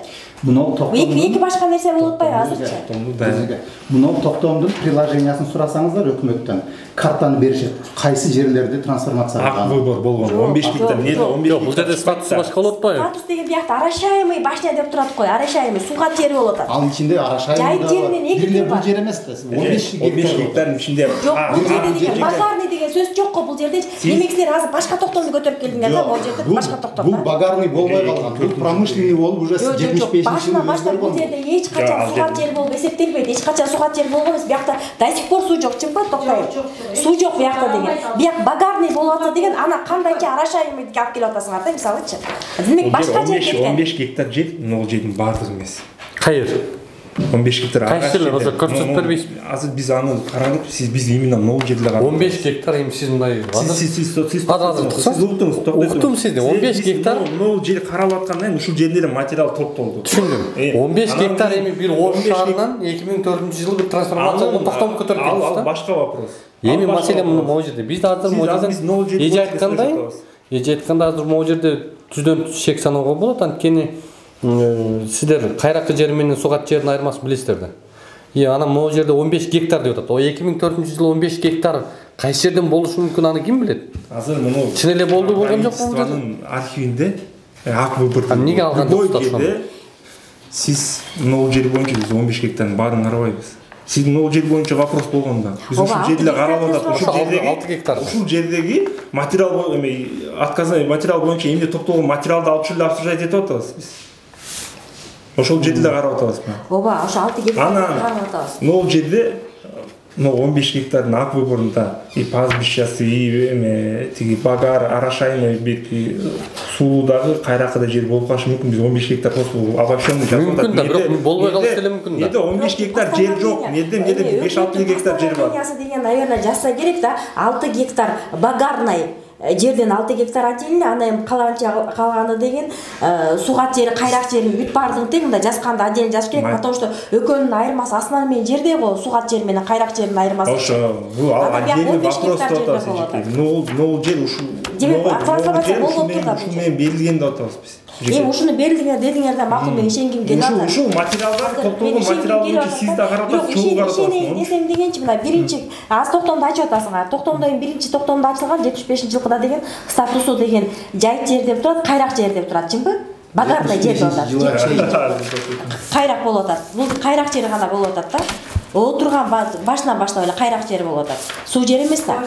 Speaker 4: Муну токтом.
Speaker 19: Эки башка нерсе болуп атпайбы азырчы?
Speaker 4: Муну токтомдун приложениясын сурасаңыздар өкмөттөн картаны беришет. Кайсы жерлерде трансформация кылган?
Speaker 20: Ак выбор болгон. он беш гектар эмне? он беш.
Speaker 3: Бул жерде статусу башка болуп атпайбы?
Speaker 19: Статус деген биякта арашаемый башня деп турат кой, арашаемый сугат жери болуп атат.
Speaker 4: Ал ичинде арашаемый да бар. Бир эле бул жер эмес да.
Speaker 20: он беш гектардын ичинде.
Speaker 19: Жок, бул жерде деген багарный деген сөз жок го бул жерде. Демек силер азыр башка токтомду көтөрүп келдиңер да, бул жерде башка токтом.
Speaker 4: Бул багарный болбой калган. Бул промышленный болуп уже жетимиш бешинчи жылы
Speaker 19: башта бул жерде эч качан сугат жер болуп эсептелбейт. Эч качан сугат жер болгон эмес. Биякта до сих пор суу жок, чынбы токтой? Суу жок биякта деген. Бияк багарный болуп атат деген, ана кандайча арашаемый алып келип атасыңар да, мисалычы. Демек башка жер кеткен.
Speaker 20: он беш гектар жер, могу жердин баардыгы эмес.
Speaker 3: Кайер?
Speaker 20: он беш гектар.
Speaker 3: Кайсы жерлер ошо көрсөтүп бербейсизби?
Speaker 20: Азыр биз аны карадык, сиз биз именно могу жерде карадык.
Speaker 3: он беш гектар эми сиз мындай.
Speaker 20: Сиз сиз сиз
Speaker 3: сиз уктуңуз, уктум сизди. он беш гектар
Speaker 20: могу жер каралып аткандан ушул жерлерде материал топтолду.
Speaker 3: Түшүндүм. он беш гектар эми бир Ош шаарынан эки миң төртүнчү жылы бир трансформация болгон токтомду көтөрүп келдиңиз да?
Speaker 20: Ал башка вопрос.
Speaker 3: Эми маселе могу жерде. Биз азыр могу жерде эже айткандай, эже айтканда азыр могу жерде түздөн түз шек саноого болот, анткени сиздер кайракы жер менен сугат жердин айырмасын билесиздер да. И анан могу жерде он беш гектар деп атат. О эки миң төртүнчү жылы он беш гектар кайсы жерден болушу мүмкүн, аны ким билет?
Speaker 20: Азыр муну
Speaker 3: чын эле болду болгон жок бул
Speaker 20: жердин архивинде ак выбор.
Speaker 3: Эмнеге алган
Speaker 20: жоксуз? Сиз могу жер боюнча биз он беш гектардын баарын карабайбыз. Сиздин могу жер боюнча вопрос болгондо биз ушул жерде карап атат. Ушул жердеги алты гектар. Ушул жердеги материал эме отказный материал боюнча эмне топтолгон материалды алып чүлүп обсуждать этип атабыз биз. Ошол жерде эле карап атабызбы?
Speaker 19: Ооба, ошо алты гектар карап атабыз.
Speaker 20: Могу жерде могу он беш гектардын ак выборунда и пастбищасы, и эме тиги багар, арашайымы, бетки суулуудагы кайракы да жер болуп калышы мүмкүн. Биз он беш гектар просто обобщенный жазып атат.
Speaker 3: Мүмкүн да, бирок болбой калышы деле мүмкүн да.
Speaker 20: Эмне он беш гектар жер жок, эмне эмне беш алты гектар жер бар.
Speaker 19: Постановление деген, наверное, жазса керек да, алты гектар багарный жерден алты гектар отдельно, анда эми калганча калганы деген сугат жери, кайрак жери бүт баардыгын тең мындай жазганда отдельно жазыш керек, потому что экөөнүн айырмасы асынан менен жерде го, сугат жер менен кайрак жердин айырмасы.
Speaker 20: Ошо, бул отдельный вопрос деп атабыз. Ну, ну жер ушул.
Speaker 19: Демек, трансформация болуп турат.
Speaker 20: Ушул менен берилген деп атабыз биз.
Speaker 19: Эми ушуну берилдиңер дедиңер да, макул, мен ишенгим келип атат.
Speaker 20: Ушул материалдар топтолгон материал боюнча сиз да карап атасыз, чогуу карап атасыз.
Speaker 19: Несем дегенчи мына биринчи аз токтомду ачып атасыңар. Токтомдо эми биринчи токтомдо ачылган жетимиш бешинчи жылкыда деген статусу деген жайык жер деп турат, кайрак жер деп турат, чынбы? Багарный жер деп атат. Кайрак болуп атат. Бул кайрак жери гана болуп атат да. Отурган башынан баштап эле кайрак жери болуп атат. Суу жер эмес да.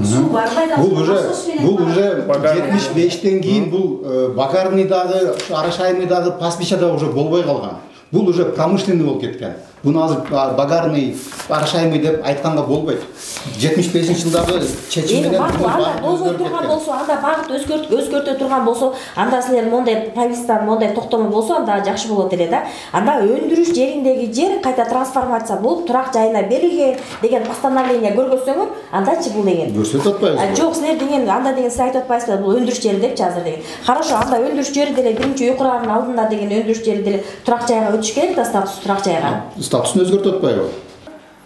Speaker 4: Суу барбайда. Бул уже бул уже жетимиш бештен кийин бул багарный дагы, арашайымый дагы, пастбища дагы уже болбой калган. Бул уже промышленный болуп кеткен. Буну азыр багарный, арашайымый деп айтканга болбойт. жетимиш бешинчи жылдагы чечим менен
Speaker 19: анда болбой турган болсо, анда багыт өзгөрт өзгөртө турган болсо, анда силер мондай правительствонун мондай токтому болсо, анда жакшы болот эле да. Анда өндүрүш жериндеги жер кайта трансформация болуп турак жайына берилген деген постановление көргөзсөңөр, андачы бул деген.
Speaker 4: Көрсөтүп атпайбызбы?
Speaker 19: Жок, силер деген анда деген сиз айтып атпайсызбы, бул өндүрүш жери депчи азыр деген. Хорошо, анда өндүрүш жери деле биринчи үй курганын алдында деген өндүрүш жери деле турак жайга өтүш керек да, статус турак жайга.
Speaker 4: Статусын өзгөртүп атпайбы?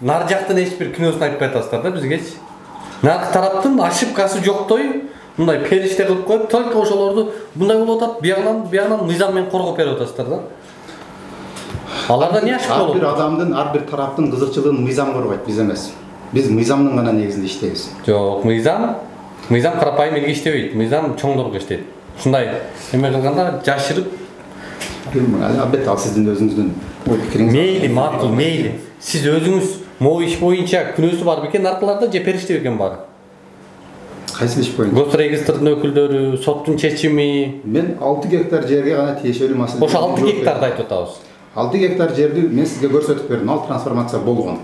Speaker 3: Нар жактын эч бир күнөөсүн айтпай атасыздар да бизгечи. Нар тараптын ошибкасы жоктой, мындай периште кылып коюп, только ошолорду мындай болуп атат, биягынан биягынан мыйзам менен коргоп берип атасыздар да. Аларда эмне ашык болот?
Speaker 4: Ар бир адамдын, ар бир тараптын кызыкчылыгын мыйзам коргойт, биз эмес. Биз мыйзамдын гана негизинде иштейбиз.
Speaker 3: Жок, мыйзам, мыйзам карапайым элге иштебейт, мыйзам чоңдорго иштейт. Ушундай эме кылганда жашырып
Speaker 4: албетте ал сиздин өзүңүздүн ой пикириңиз.
Speaker 3: Мейли, макул, мейли. Сиз өзүңүз могу иш боюнча күнөөсү бар бекен наркыларда же периште бекен бары?
Speaker 4: Кайсы иш боюнча?
Speaker 3: Госрегистрдин өкүлдөрү, соттун чечими.
Speaker 4: Мен алты гектар жерге гана тиешелүү маселе.
Speaker 3: Ошо алты гектарды айтып атабыз.
Speaker 4: алты гектар жерди мен сизге көрсөтүп бердим. Ал трансформация болгон.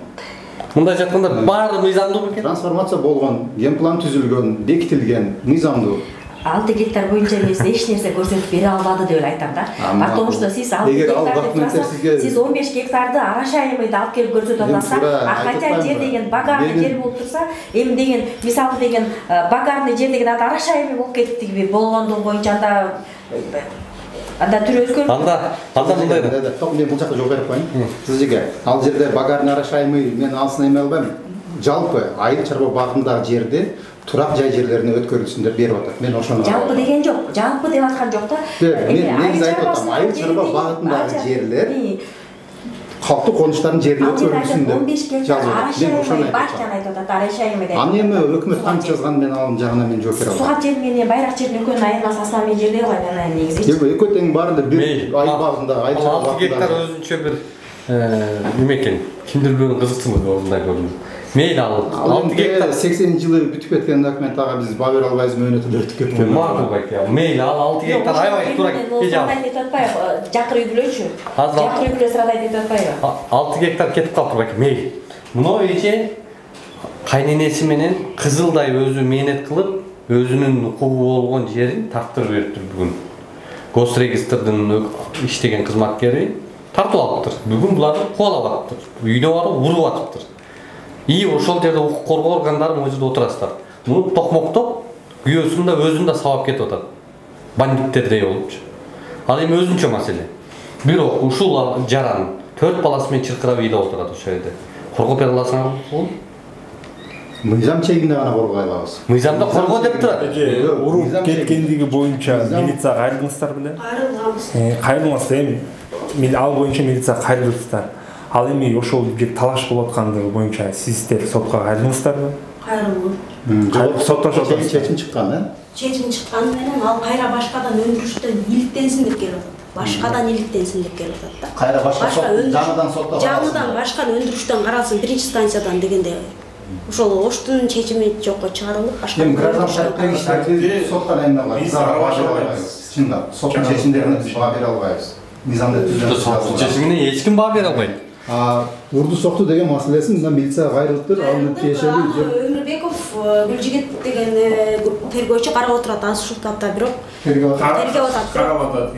Speaker 3: Мындай жатканда баары мыйзамдуу бекен?
Speaker 4: Трансформация болгон, генплан түзүлгөн, бекитилген, мыйзамдуу.
Speaker 19: алты гектар боюнча мен сизге эч нерсе көрсөтүп бере албады деп эле айтам да. Потому что сиз алты гектарды сиз он беш гектарды арашайымды алып келип көрсөтүп атасыз. А хотя жер деген багарный жер болуп турса, эми деген мисалы деген багарный жер деген аты арашайымы болуп кетти болгондугу боюнча анда анда түрү өзгөрүп.
Speaker 3: Анда анда мындай
Speaker 4: да. Ток мен бул жакка жооп берип коеюн. Сизге ал жерде багарный арашайымы мен анысын эме албайм. Жалпы айыл чарба багындагы жерди турак жай жерлерине өткөрүлсүн деп берип атат. Мен ошону
Speaker 19: жалпы деген жок. Жалпы деп аткан жок да.
Speaker 4: Мен негизи айтып атам, айыл чарба багытындагы жерлер калктуу конуштардын жерине өткөрүлсүн деп.
Speaker 19: он беш гектар арашайымы бар жана айтып атат, арашайымы деп.
Speaker 4: Аны эми өкмөт кантип жазган мен ал жагына мен жооп бере албайм.
Speaker 19: Суга жер менен байрак жердин экөөнүн айырмасы асла мен жерде алайын анан негизи.
Speaker 4: Экөө тең баарында бир айыл багында, айыл чарба багында.
Speaker 3: алты гектар өзүнчө бир неме экен, кимдир бирөөнүн кызыкчылыгы орундай көрүнүп. Мейли ал алты гектар
Speaker 4: сексенинчи жылы бүтүп кеткен документ ага биз баа бере албайбыз, мөөнөтү өтүп кеткен.
Speaker 3: Макул байке. Мейли ал алты гектар аябай туура
Speaker 19: эже ал. Айтып атпайбы, жакыр үй бүлөчү. Жакыр үй бүлө сырада айтып атпайбы.
Speaker 3: алты гектар кетип калыптыр байке. Мейли. Мына эже кайненеси менен кызылдай өзү мээнет кылып, өзүнүн укугу болгон жерин тартып бериптир бүгүн. Госрегистрдин иштеген кызматкери тартып алыптыр. Бүгүн буларды кубалап атыптыр. Үйдө барып уруп атыптыр. И ошол жерде укук коргоо органдары могу жерде отурасыздар. Муну токмоктоп, күйөөсүн да өзүн да сабап кетип атат. Бандиттердей болупчу. Ал эми өзүнчө маселе. Бирок ушул жаран төрт баласы менен чыркырап ыйдап отурат ошол жерде. Коргоп бере аласыңарбы?
Speaker 4: Мыйзам чегинде гана коргой алабыз.
Speaker 3: Мыйзамда коргоо деп турат.
Speaker 20: Уруп кеткендиги боюнча милицияга кайрылдыңыздар беле?
Speaker 1: Кайрылганбыз.
Speaker 20: Кайрылмаса эми ал боюнча милицияга кайрылдыңыздар. Ал эми ошол бир талаш болуп аткандыгы боюнча сиздер сотко кайрылдыңыздарбы?
Speaker 1: Кайрылдым.
Speaker 20: Соттошо
Speaker 4: чечим чыккан, э?
Speaker 1: Чечим чыккан менен ал кайра башкадан өндүрүштөн иликтенсин деп келип атат. Башкадан иликтенсин деп келип атат да.
Speaker 4: Кайра башка жаңыдан сотто
Speaker 1: жаңыдан башка өндүрүштөн каралсын, биринчи станциядан дегенде ошол оштун чечими жокко чыгарылып башка.
Speaker 4: Эми граждан шарттагы иштерди соттан айналат. Чындап, соттун чечимдерине биз баа бере албайбыз. Мыйзамда түзүлгөн
Speaker 3: соттун чечимине эч ким баа бере албайт.
Speaker 4: А урду сокту деген маселесин мына милицияга кайрылыптыр, аны тиешелүү жер.
Speaker 1: Өмүрбеков Гүлжигит деген тергөөчү карап отурат азыр ушул тапта, бирок тергөө атат.
Speaker 20: Карап атат.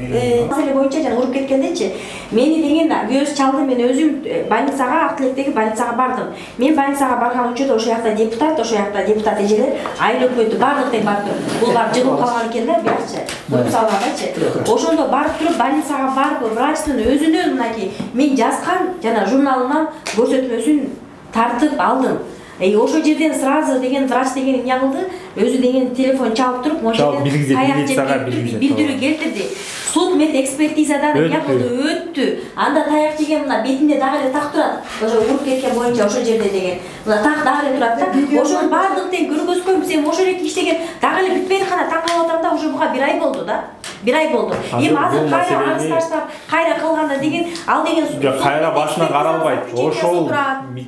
Speaker 19: Маселе боюнча жана уруп кеткендечи, мени деген күйөөсү чалды, мен өзүм больницага, Ак Тилектеги больницага бардым. Мен больницага барган учурда ошол жакта депутат, ошол жакта депутат эжелер, айыл өкмөтү бардык тең барып туруп, булар жыгылып калган экен да, биякчы. Буюп салгандачы. Ошондо барып туруп больницага барып, врачтын өзүнүн мынакей мен жазган жана журналынан көрсөтмөсүн тартып алдым. Эй, ошол жерден сразу деген врач деген эмне кылды? Өзү деген телефон чалып туруп,
Speaker 20: ошол жерде таяк
Speaker 19: билдирүү келтирди. Суд мет экспертизадан эмне кылды? Өттү. Анда таяк жеген мына бетинде дагы эле так турат. Ошо уруп кеткен боюнча ошол жерде деген. Мына так дагы эле турат да. Ошол бардык тең көргөзгөм, сен ошол эки иштеген дагы эле бүтпөйт кана таң калып атам да, уже буга бир ай болду да. Бир ай болду. Эми азыр кайра арыз таштап, кайра кылганда деген, ал деген
Speaker 20: кайра башынан каралбайт. Ошол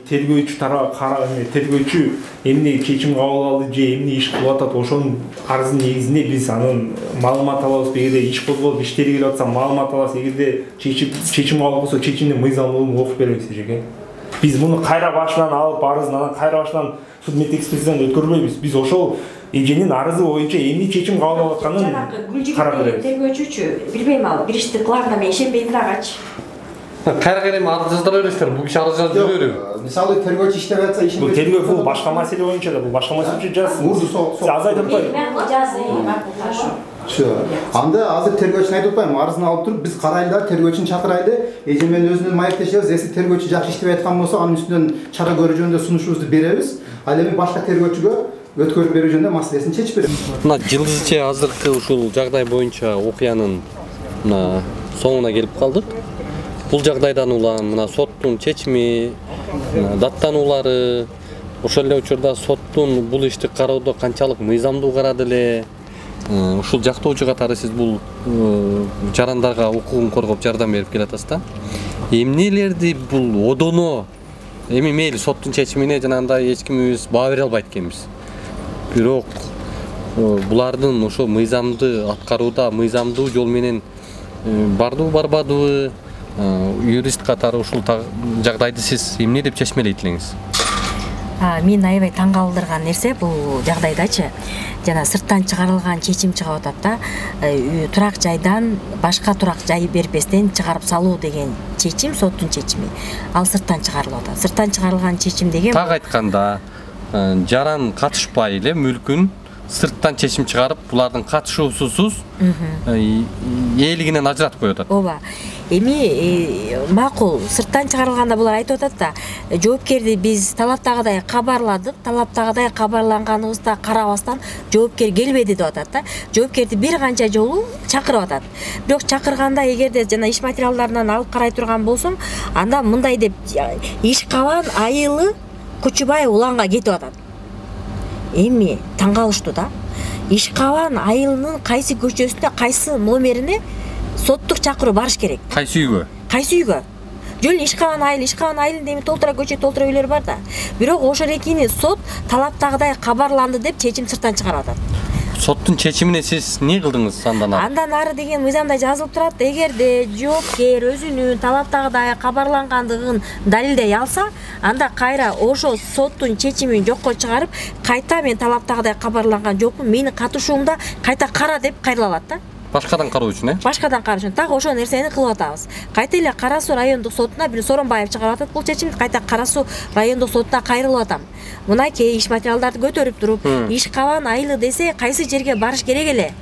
Speaker 20: тергөөчү тарап тергөөчү эмне чечим кабыл алды же эмне иш кылып атат, ошонун арыздын негизинде биз анын маалымат алабыз. Эгерде иш козголуп иштери келип атса маалымат алабыз. Эгерде чечим чечим кабыл болсо чечимдин мыйзамдуулугун окуп беребиз эжеке. Биз муну кайра башынан алып арызын анан кайра башынан суд мет экспертизадан өткөрбөйбүз. Биз ошол эженин арызы боюнча эмне чечим кабыл алып атканын карап беребиз.
Speaker 19: Тергөөчүчү билбейм ал бир ишти кыларына мен ишенбейм дагычы.
Speaker 3: Кайра керем арыз жаздыра бересиздер, бул киши арыз жазып жүрөбүрбү?
Speaker 4: Мисалы тергөөчү иштеп атса ишин.
Speaker 20: Бул тергөө бул башка маселе боюнча да, бул башка маселе жазсын. Аз айтып атпайбы?
Speaker 19: Мен жазсын, макул.
Speaker 4: Şu, anda azır tergөөчүн айтып атпайбы, арызын алып туруп, биз карайлы да, тергөөчүн чакырайлы, эже менен өзүнүн маектешебиз, эси тергөөчү жакшы иштеп аткан болсо, анын үстүнөн чара көрүү жөнүндө сунушубузду беребиз. Ал эми башка тергөөчүгө өткөрүп берүү жөнүндө маселесин чечип беребиз.
Speaker 3: Мына жылдызча азыркы ушул жагдай боюнча окуянын мына соңуна келип калдык. Бул жагдайдан улам мына соттун чечими, даттануулары, ошол эле учурда соттун бул ишти кароодо канчалык мыйзамдуу карады эле, ушул жактоочу катары сиз бул жарандарга укугун коргоп жардам берип келатасыз да. Эмнелерди бул одоно эми мейли соттун чечимине жанагындай эч кимибиз баа бере албайт экенбиз. Бирок булардын ошо мыйзамды аткарууда мыйзамдуу жол менен бардыбы барбадыбы, юрист катары ушул жагдайды сиз эмне деп чечмелейт элеңиз?
Speaker 7: Мен аябай таң калтырган нерсе бул жагдайдачы жана сырттан чыгарылган чечим чыгып атат да, турак жайдан башка турак жай бербестен чыгарып салуу деген чечим, соттун чечими. Ал сырттан чыгарылып атат. Сырттан чыгарылган чечим деген
Speaker 3: так айтканда жаран катышпай эле мүлкүн сырттан чечим чыгарып, булардын катышуусусуз ээлигинен ажыратып коюп атат.
Speaker 7: Ооба. Эми макул сырттан чыгарылганда булар айтып атат да, жоопкерди биз талаптагыдай кабарладык, талаптагыдай кабарланганыбызда карабастан жоопкер келбеди деп атат да. Жоопкерди бир канча жолу чакырып атат. Бирок чакырганда эгерде жана иш материалдарынан алып карай турган болсоң, анда мындай деп Ишкабан айылы Кучубай уланга кетип атат. Эми таң калыштуу да. Ишкабан айылынын кайсы көчөсүнө, кайсы номерине соттук чакыруу барыш керек.
Speaker 3: Кайсы үйгө?
Speaker 7: Кайсы үйгө? Жөн Ишкабан айыл, Ишкабан айылында эми толтура көчө, толтура үйлөр бар да. Бирок ошол экини сот талаптагыдай кабарланды деп чечим сырттан чыгарып атат.
Speaker 3: Соттун чечимине сиз эмне кылдыңыз андан ары?
Speaker 7: Андан ары деген мыйзамда жазылып турат, эгерде жоопкер өзүнүн талаптагыдай кабарлангандыгын далилдей алса, анда кайра ошо соттун чечимин жокко чыгарып, кайта мен талаптагыдай кабарланган жокмун, менин катышуумда кайта кара деп кайрыла алат да.
Speaker 3: Башкадан кароо үчүн, э?
Speaker 7: Башкадан кароо үчүн. Так ошол нерсени кылып атабыз. Кайта эле Кара суу райондук сотуна бир Соронбаев чыгарып атат бул чечимди, кайта Кара суу райондук сотуна кайрылып атам. Мынакей иш материалдарды көтөрүп туруп, Ишкабан айылы десе кайсы жерге барыш керек эле?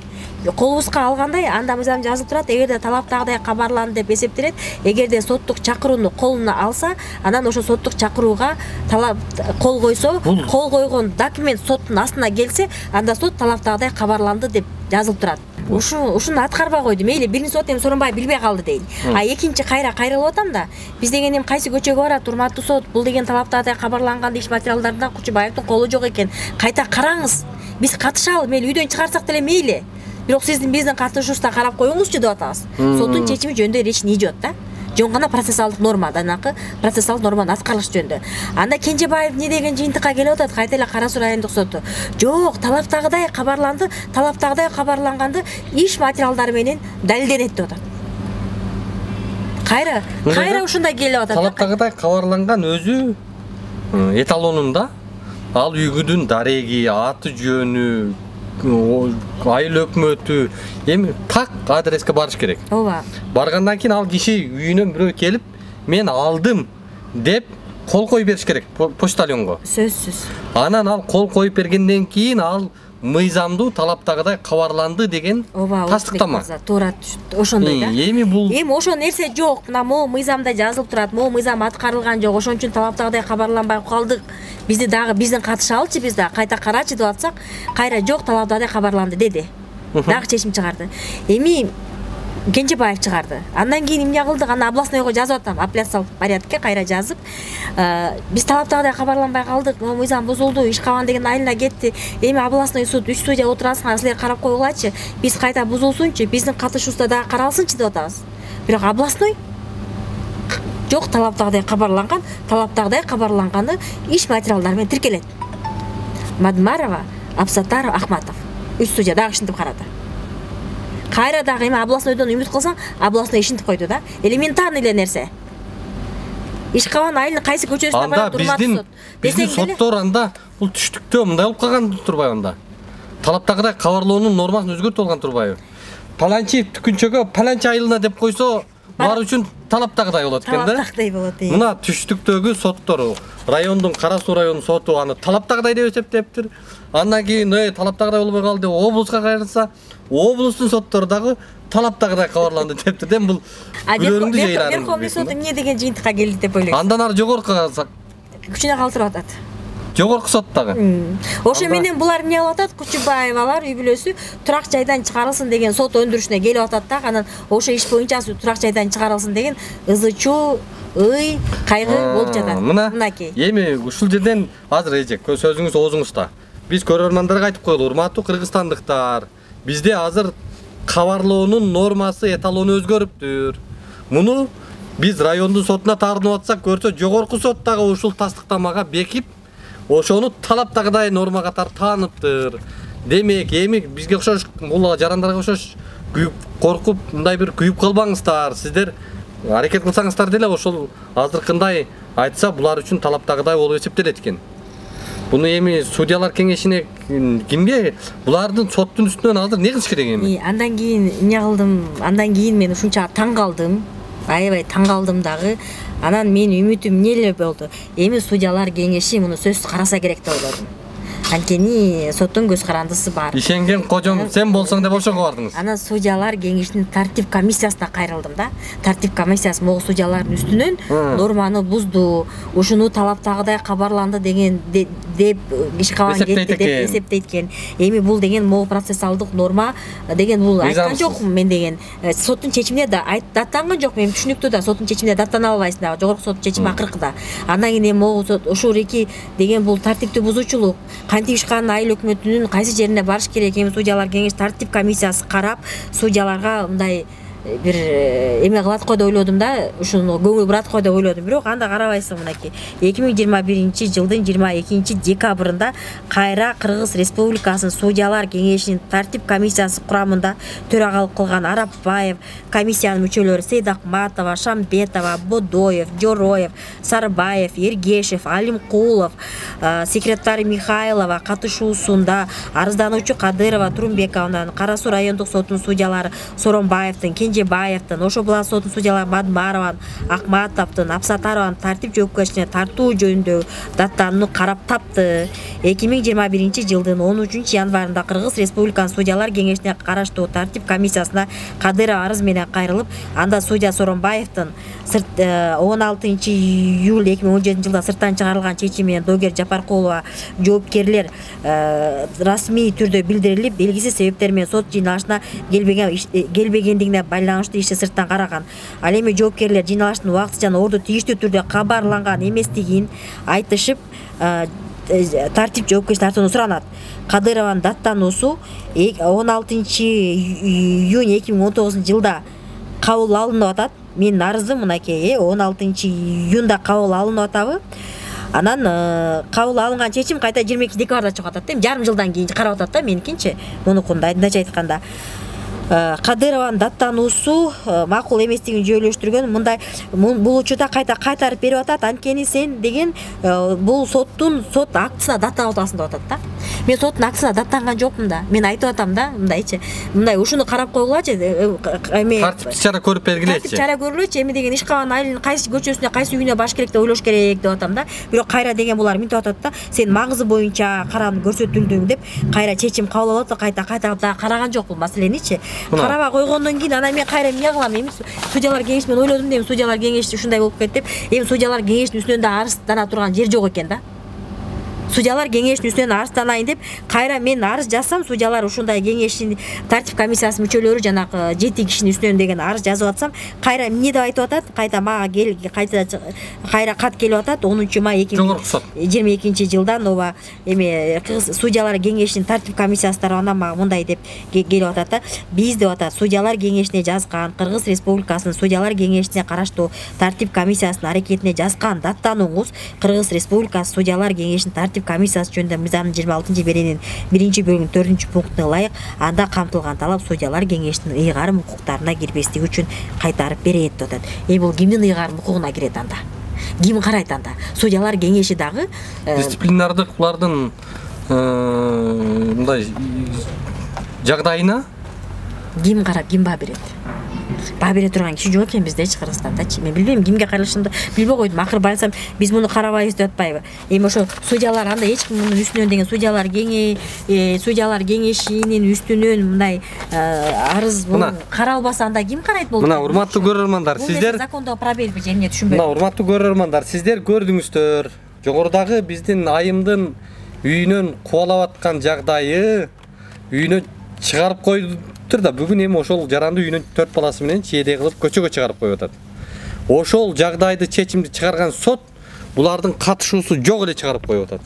Speaker 7: Колубузга алгандай анда мыйзам жазылып турат, эгерде талаптагыдай кабарланды деп эсептелет, эгерде соттук чакырууну колуна алса, анан ошо соттук чакырууга талап кол койсо, кол койгон документ соттун астына келсе, анда сот талаптагыдай кабарланды деп жазылып турат. Ушу ушуну аткарбай койду. Мейли биринчи сот эми Соронбай билбей калды дейин. А экинчи кайра кайрылып атам да. Биз деген эми кайсы көчөгө барат, урматтуу сот, бул деген талаптагыдай кабарланган иш материалдарында Кучубаевдин колу жок экен. Кайта караңыз. Биз катышалы, мейли үйдөн чыгарсак деле мейли. Бирок сиздин биздин катышуубузда карап коюңузчу деп атабыз. Соттун чечими жөнүндө речь не идет да. Жөн гана процессуалдык норма, данакы процессуалдык норманы аткарыш жөнүндө. Анда Кенжебаев не деген жыйынтыкка келип атат, кайта эле Кара суу райондук соту. Жок, талаптагыдай кабарланды, талаптагыдай кабарланганды иш материалдары менен далилденет деп атат. Кайра, кайра ушундай келип атат.
Speaker 3: Талаптагыдай кабарланган өзү эталонунда ал үйгүдүн дареги, аты жөнү, айыл өкмөтү эми так адреске барыш керек.
Speaker 7: Ооба.
Speaker 3: Баргандан кийин ал киши үйүнөн бирөө келип, мен алдым деп кол коюп бериш керек почтальонго.
Speaker 7: Сөзсүз.
Speaker 3: Анан ал кол коюп бергенден кийин ал мыйзамдуу талаптагыдай кабарланды деген тастыктама.
Speaker 7: Туура ошондой да.
Speaker 3: Эми бул
Speaker 7: эми ошо нерсе жок. Мына могу мыйзамда жазылып турат, могу мыйзам аткарылган жок. Ошон үчүн талаптагыдай кабарланбай калдык. Бизди дагы биздин катышалычы, биз дагы кайта карачы деп атсак, кайра жок, талаптагыдай кабарланды деди. Дагы чечим чыгарды. Эми Кенжебаев чыгарды. Андан кийин эмне кылдык? Аны областнойго жазып атам, апелляциялык порядкке кайра жазып, биз талаптагыдай кабарланбай калдык, могу мыйзам бузулду, Ишкабан деген айылына кетти. Эми областной суд үч судья отурасыңар, силер карап койгулачы, биз кайта бузулсунчу, биздин катышуубузда дагы каралсынчы деп атабыз. Бирок областной жок, талаптагыдай кабарланган, талаптагыдай кабарланганы иш материалдары менен тиркелет. Мадмарова, Абсатаров, Ахматов. Үч судья дагы ишинтип карады. Кайра дагы эми областнойдон үмүт кылсаң, областной ишинтип койду да. Элементарный эле нерсе. Ишкабан айылынын кайсы көчөсүнө барат, урматтуу сот.
Speaker 3: Биздин соттор анда бул түштүктө мындай болуп калган турбайбы анда? Талаптагыдай кабарлоонун нормасын өзгөртүп алган турбайбы? Паланчи түкүнчөгө паланчи айылына деп койсо, булар үчүн талаптагыдай болот экен да.
Speaker 7: Талаптагыдай болот.
Speaker 3: Мына түштүктөгү соттор, райондун Кара суу районунун соту аны талаптагыдай деп эсептептир. Андан кийин э талаптагыдай болбой калды деп облуска кайрылса, облустун соттору дагы талаптагыдай кабарланды дептир. Дем бул үйлөрүңдү жайларын.
Speaker 7: Верховный суд эмне деген жыйынтыкка келди деп ойлойсуз?
Speaker 3: Андан ары жогорку калсак
Speaker 7: күчүнө калтырып атат.
Speaker 3: Жогорку сот дагы.
Speaker 7: Ошо менен булар эмне кылып атат? Кучубаевалар үй бүлөсү турак жайдан чыгарылсын деген сот өндүрүшүнө келип атат да. Анан ошо иш боюнча турак жайдан чыгарылсын деген ызы-чуу, ый, кайгы болуп жатат.
Speaker 3: Мынакей. Эми ушул жерден азыр эжек сөзүңүз оозуңузда. Биз көрөрмандарга айтып коелу, урматтуу кыргызстандыктар. Бизде азыр кабарлоонун нормасы, эталону өзгөрүптүр. Муну биз райондун сотуна таарынып атсак, көрсө жогорку сот дагы ушул тастыктамага бекип, ошону талаптагыдай норма катары тааныптыр. демек эми бизге окшош бул жарандарга окшош күйүп коркуп мындай бир күйүп калбаңыздар. Сиздер аракет кылсаңыздар деле ошол азыркындай айтса булар үчүн талаптагыдай болуп эсептелет экен. Буну эми судьялар кеңешине кимге булардын соттун үстүнөн азыр не кылыш керек эми?
Speaker 19: Андан кийин эмне кылдым? Андан кийин мен ушунча таң калдым. Аябай таң калдым дагы. Анан менин үмүтүм эмне эле болду? Эми судьялар кеңеши муну сөзсүз караса керек деп ойлодум. Анткени соттун көз карандысы бар.
Speaker 3: Ишенген кожом сен болсоң деп ошого бардыңыз.
Speaker 19: Анан судьялар кеңешинин тартип комиссиясына кайрылдым да. Тартип комиссиясы могу судьялардын үстүнөн норманы бузду, ушуну талаптагыдай кабарланды деген деп иш кабан кетти деп эсептейт экен. Эми бул деген могу процессуалдык норма деген бул айткан жокмун мен деген. Соттун чечимине да даттанган жок. Мен түшүнүктүү да соттун чечимине даттана албайсың да. Жогорку соттун чечими акыркыда. Андан кийин могу ушул эки деген бул тартиптүү бузуучулук. Кантип ишканын айыл өкмөтүнүн кайсы жерине барыш керек? Эми судьялар кеңеш тартип комиссиясы карап, судьяларга мындай бир эме кылат го деп ойлодум да, ушуну көңүл бурат го деп ойлодум. Бирок анда карабайсың мынакей. эки миң жыйырма биринчи жылдын жыйырма экинчи декабрында кайра Кыргыз Республикасынын судьялар кеңешинин тартип комиссиясы курамында төрагалык кылган Арапбаев, комиссиянын мүчөлөрү Сейдакматова, Шамбетова, Бодоев, Жороев, Сарбаев, Ергешев, Алимкулов, секретарь Михайлова катышуусунда арыздануучу Кадырова, Турумбековнан, Кара Суу райондук сотунун судьялары Соромбаевдин, Кенжебаевдин, Ошо Булак сотунун судьялары Мадмарован, Акматовдун, Апсатарован тартип жоопкерчилигине тартуу жөнүндө даттанууну карап тапты. эки миң жыйырма биринчи жылдын он үчүнчү январында Кыргыз Республикасынын судьялар кеңешине караштуу тартип комиссиясына Кадырова арыз менен кайрылып, анда судья Соромбаевдин он алтынчы июль эки миң он жетинчи жылда сырттан чыгарылган чечими менен Догер Жапаркулова жоопкерлер расмий түрдө билдирилип, белгисиз себептер менен сот жыйналышына келбеген келбегендигине байланыштуу ишти сырттан караган. Ал эми жоопкерлер жыйналыштын убактыча жана орду тийиштүү түрдө кабарланган эместигин айтышып, тартип жоопкерчилик тартууну суранат. Кадырованын даттануусу он алтынчы июнь эки миң он тогузунчу жылда кабыл алынып атат. Менин арызым мынакей он алтынчы июнда кабыл алынып атабы. Анан кабыл алынган чечим кайта жыйырма экинчи декабрда чыгып атат. Эми жарым жылдан кийин карап атат да меникинчи. Мунукунда айдынча айтканда. Кадырованын даттануусу макул эместигин жүйөлөштүргөн. Мындай бул учурда кайта кайтарып берип атат. Анткени сен деген бул соттун сот актысына даттанып атасың деп атат да. Мен соттун актысына даттанган жокмун да. Мен айтып атам да, мындайчы. Мындай ушуну карап койгулачы. Эми
Speaker 3: тартиптик чара көрүп бергилечи.
Speaker 19: Тартип чара көрүлөчү. Эми деген Ишкабан айылынын кайсы көчөсүнө, кайсы үйүнө баш керек деп ойлош керек деп атам да. Бирок кайра деген булар мынтип атат да. Сен маңызы боюнча каранып көрсөтүлдүң деп кайра чечим кабыл алып атат, кайта кайтарып да караган жок бул маселеничи. Карабай койгондон кийин анан мен кайра эмне кылам? Эми судьялар кеңеши мен ойлодум да, эми судьялар кеңеши ушундай болуп кетти деп. Эми судьялар кеңешинин үстүнөн да арыздана турган жер жок экен да. Судьялар кеңешинин үстүнөн арызданайын деп кайра мен арыз жазсам, судьялар ушундай кеңештин тартип комиссиясынын мүчөлөрү жанагы жети кишинин үстүнөн деген арыз жазып атсам, кайра эмне деп айтып атат? Кайта мага кел кайта кайра кат келип атат онунчу май эки миң жыйырма экинчи жылдан ооба эми Кыргыз судьялар кеңешинин тартип комиссиясы тарабынан мага мындай деп келип атат да. Биз деп атат судьялар кеңешине жазган, Кыргыз Республикасынын судьялар кеңешине караштуу тартип комиссиясынын аракетине жазган даттанууңуз Кыргыз Республикасы судьялар кеңешинин тартип комиссиясы жөнүндө мыйзамдын жыйырма алтынчы беренин биринчи бөлүгүнүн төртүнчү пунктуна ылайык анда камтылган талап судьялар кеңешинин ыйгарым укуктарына кирбестиги үчүн кайтарып берет деп атат. Эми бул кимдин ыйгарым укугуна кирет анда? Ким карайт анда? Судьялар кеңеши дагы
Speaker 3: дисциплинардык булардын мындай жагдайына
Speaker 19: ким карап, ким баа берет? Баа бере турган киши жок экен биздечи Кыргызстандачы. Мен билбейм кимге кайрылышымды билбей койдум. Акыры байласам биз муну карабайбыз деп атпайбы? Эми ошо судьялар анда эч ким мунун үстүнөн деген судьялар кеңе судьялар кеңешинин үстүнөн мындай арыз каралбаса анда ким карайт болду?
Speaker 3: Мына урматтуу көрөрмандар, сиздер
Speaker 19: закондо пробел же эмне түшүнбөйм.
Speaker 3: Мына урматтуу көрөрмандар, сиздер көрдүңүздөр. Жогорудагы биздин айымдын үйүнөн кубалап аткан жагдайы үйүнө чыгарып койду да, бүгүн эми ошол жаранды үйүнөн төрт баласы менен чейде кылып көчөгө чыгарып коюп атат. Ошол жагдайды чечимди чыгарган сот булардын катышуусу жок эле чыгарып коюп атат.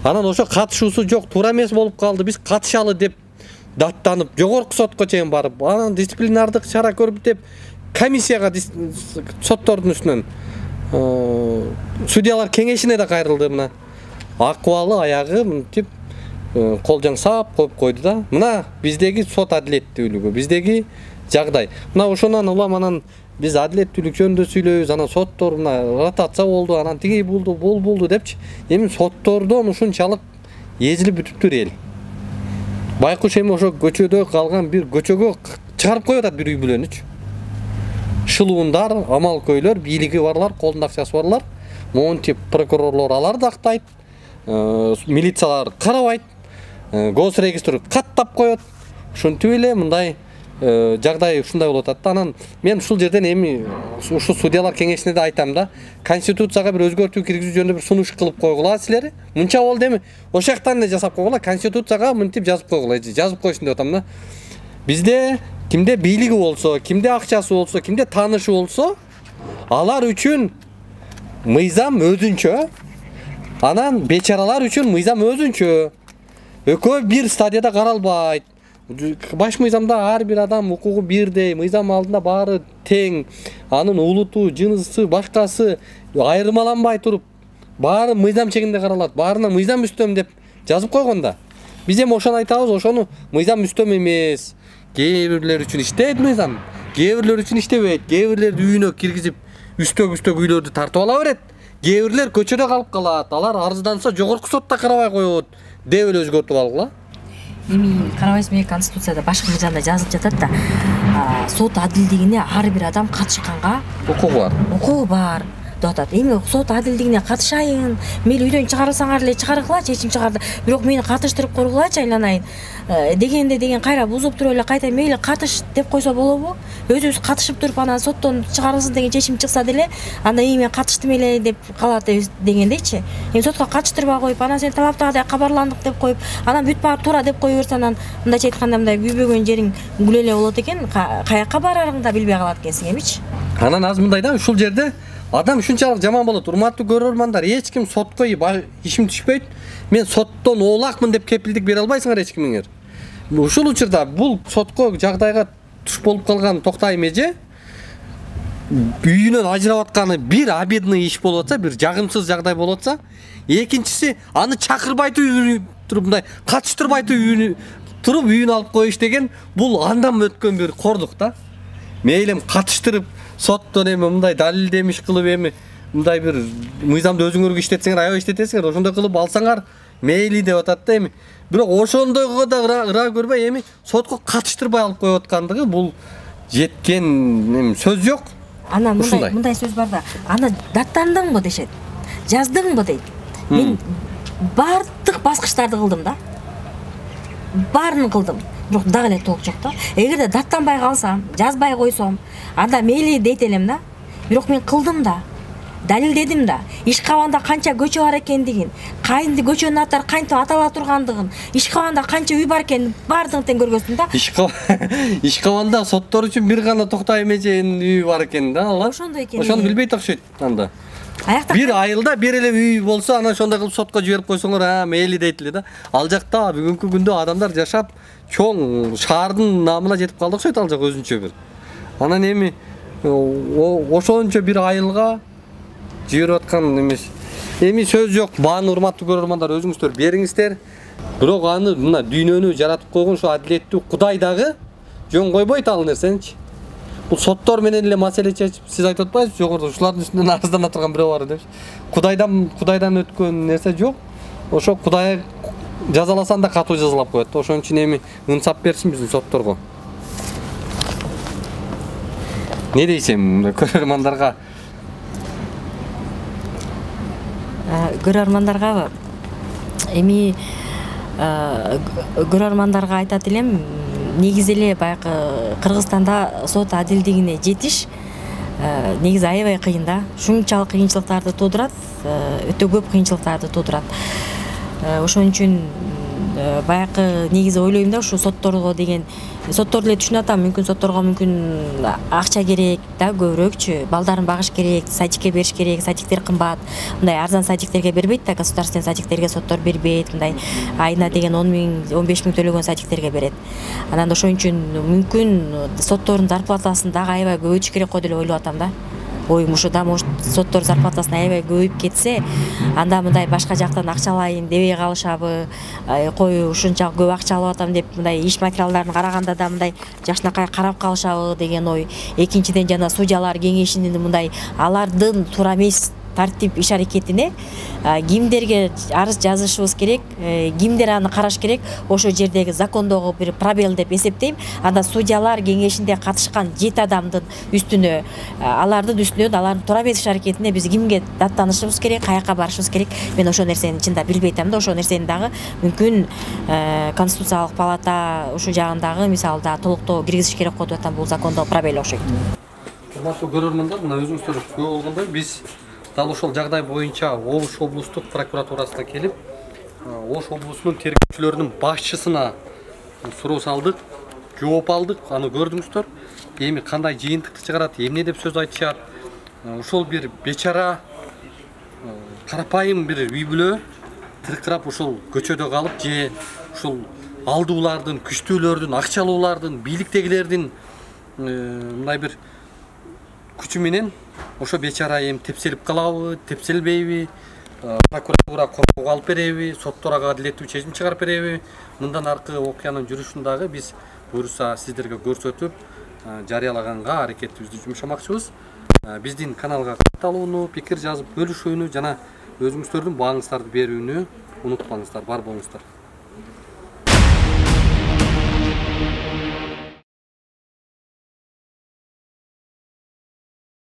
Speaker 3: Анан ошо катышуусу жок, туура эмес болуп калды, биз катышалы деп даттанып, жогорку сотко чейин барып, анан дисциплинардык чара көрүп деп комиссияга соттордун үстүнөн судьялар кеңешине да кайрылды. Мына акыбалы аягы мынтип кол жаңсап коюп койду да. Мына биздеги сот адилеттүүлүгү, биздеги жагдай. Мына ошонан улам анан биз адилеттүүлүк жөнүндө сүйлөйбүз, анан соттор мына ротация болду, анан тиги болду, бул болду депчи. Эми соттордон ушунчалык эзилип бүтүптүр эл. Байкуш эми ошо көчөдө калган бир көчөгө чыгарып коюп атат бир үй бүлөнүчү. Шылуундар, амал көйлөр, бийлиги барлар, колунда акчасы барлар, монтип прокурорлор аларды актайт, милициялар карабайт, госрегистр каттап коет. Ушинтип эле мындай жагдай ушундай болуп атат да. Анан мен ушул жерден эми ушу судьялар кеңешине да айтам да, конституцияга бир өзгөртүү киргизүү жөнүндө бир сунуш кылып койгула силер. Мынча болду эми ошол жактан эле жасап койгула, конституцияга мынтип жазып койгула, жазып коюшун деп атам да. Бизде кимде бийлиги болсо, кимде акчасы болсо, кимде таанышы болсо, алар үчүн мыйзам өзүнчө, анан бечаралар үчүн мыйзам өзүнчө. Экөө бир стадияда каралбайт. Баш мыйзамда ар бир адам укугу бирдей, мыйзам алдында баары тең, анын улуту, жынысы, башкасы айырмаланбай туруп, баары мыйзам чегинде каралат, баарына мыйзам үстөм деп жазып койгондо. Биз эми ошону айтабыз, ошону мыйзам үстөм эмес. Кээ бирлер үчүн иштейт мыйзам, кээ бирлер үчүн иштебейт, кээ бирлерди үйүнө киргизип, үстөк-үстөк үйлөрдү тартып ала берет. Кээ бирлер көчөдө калып калат, алар арызданса жогорку сотто карабай коет, деп эле өзгөртүп алгыла.
Speaker 7: Эми карабайсызбы, конституцияда башкы мыйзамда жазылып жатат да, сот адилдигине ар бир адам катышканга
Speaker 3: укугу бар.
Speaker 7: Укугу бар деп атат. Эми сот адилдигине катышайын, мейли үйдөн чыгарылсаңар эле чыгаргыла, чечим чыгарды, бирок мени катыштырып койгулачы айланайын дегенде деген кайра бузуп туруп эле кайта мейли катыш деп койсо болобу? Өзүбүз катышып туруп анан соттон чыгарылсын деген чечим чыкса деле, анда эми мен катыштым эле деп калат дегендейчи. Эми сотко катыштырбай коюп, анан сен талаптагыдай кабарландык деп коюп, анан бүт баары туура деп кое берсе, анан мындайча айтканда мындай күйбөгөн жериң күлө эле болот экен, каяка барарыңды да билбей калат экенсиң эмичи.
Speaker 3: Анан азыр мындай да, ушул жерде адам ушунчалык жаман болот. Урматтуу көрөрмандар, эч ким сотко ишим түшпөйт. Мен соттон оолакмын деп кепилдик бере албайсыңар эч кимиңер. Ушул учурда бул сотко жагдайга туш болуп калган Токтай эже үйүнөн ажырап атканы бир обидный иш болуп атса, бир жагымсыз жагдай болуп атса, экинчиси аны чакырбай туруп мындай катыштырбай туруп үйүнө алып коюш деген бул андан өткөн бир кордук да. Мейлим катыштырып соттон эми мындай далилдемиш кылып эми мындай бир мыйзамды өзүңөр иштетсеңер, аябай иштетесиңер, ошондой кылып алсаңар мейли деп атат да эми. Бирок ошондойго да ыра көрбөй эми сотко катыштырбай алып коюп аткандыгы бул жеткен эми сөз жок.
Speaker 7: Ана мындай мындай сөз бар да. Аны даттандыңбы дешет. Жаздыңбы дейт. Мен бардык баскычтарды кылдым да. Баарын кылдым. Бирок дагы эле толук жок да. Эгерде даттанбай калсам, жазбай койсом, анда мейли дейт элем да. Бирок мен кылдым да. Далилдедим да. Ишкабанда канча көчө бар экендигин, кайынды көчөнүн аттары кантип атала тургандыгын, Ишкабанда канча үй бар экенин баардыгын тең көргөздүм да.
Speaker 3: Ишкабанда соттор үчүн бир гана Токтай эженин үйү бар экен да, алар.
Speaker 7: Ошондой экен.
Speaker 3: Ошону билбейт окшойт анда. Бир айылда бир эле үй болсо, анан ошондой кылып сотко жиберип койсоңор, а, мейли дейт эле да. Ал жакта бүгүнкү күндө адамдар жашап, чоң шаардын намына жетип калды окшойт ал жак өзүнчө бир. Анан эми ошончо бир айылга жиберип аткан эмес. Эми сөз жок. Бааны урматтуу көрөрмандар, өзүңүздөр бериңиздер. Бирок аны мына дүйнөнү жаратып койгон ушу адилеттүү Кудай дагы жөн койбойт ал нерсеничи. Бул соттор менен эле маселе чечип, сиз айтып атпайсызбы, жогоруда ушулардын үстүнөн арыздана турган бирөө бар депчи. Кудайдан Кудайдан өткөн нерсе жок. Ошо Кудай жазаласан да катуу жазалап коет. Ошон үчүн эми ынсап берсин биздин сотторго. Не дейсем көрөрмандарга?
Speaker 7: Көрөрмандарга эми көрөрмандарга айтат элем, негизи эле баягы Кыргызстанда сот адилдигине жетиш негизи аябай кыйын да. Ушунчалык кыйынчылыктарды туудурат, өтө көп кыйынчылыктарды туудурат. Ошон үчүн баягы негизи ойлойм да, ушу сотторго деген, сотторду эле түшүнүп атам, мүмкүн сотторго мүмкүн акча керек да, көбүрөөкчү, балдарын багыш керек, садикке бериш керек, садиктер кымбат. Мындай арзан садиктерге бербейт да, государственный садиктерге соттор бербейт, мындай айына деген он миң, он беш миң төлөгөн садиктерге берет. Анан ошон үчүн мүмкүн соттордун зарплатасын дагы аябай көбөйтүш керек го деп ойлоп атам да. ой ушуда может соттор зарплатасына аябай көбөйүп кетсе, анда мындай башка жактан акча алайын дебей калышабы, кой ушунча көп акча алып атам деп мындай иш материалдарын караганда да мындай жакшынакай карап калышабы деген ой. Экинчиден жана судьялар кеңешинин мындай алардын туура эмес тартип иш аракетине кимдерге арыз жазышыбыз керек, кимдер аны караш керек, ошол жердеги закондогу бир пробел деп эсептейм. Анда судьялар кеңешинде катышкан жети адамдын үстүнө, алардын үстүнөн алардын туура эмес иш аракетине биз кимге даттанышыбыз керек, каяка барышыбыз керек, мен ошол нерсени чында билбей атам да, ошол нерсени дагы мүмкүн Конституциялык палата ушул жагындагы мисалы да толуктоо киргизиш керек го деп атам, бул закондогу пробел окшойт.
Speaker 3: Урматтуу көрөрмандар, мына өзүңүздөр көрүп болгондой биз дал ошол жагдай боюнча Ош облустук прокуратурасына келип, Ош облусунун тергөөчүлөрүнүн башчысына суроо салдык, жооп алдык, аны көрдүңүздөр. Эми кандай жыйынтыкты чыгарат, эмне деп сөз айтышат. Ошол бир бечара карапайым бир үй бүлө тыркырап ушул көчөдө калып, же ушул алдуулардын, күчтүүлөрдүн, акчалуулардын, бийликтегилердин мындай бир күчү менен ошо бечара эми тепселип калабы, тепселбейби, прокуратура коркууга алып береби, соттор ага адилеттүү чечим чыгарып береби, мындан аркы окуянын жүрүшүн дагы биз буюрса сиздерге көрсөтүп, жарыялаганга аракетибизди жумшамакчыбыз. Биздин каналга катталууну, пикир жазып бөлүшүүнү жана өзүңүздөрдүн бааңыздарды берүүнү унутпаңыздар, бар болуңуздар.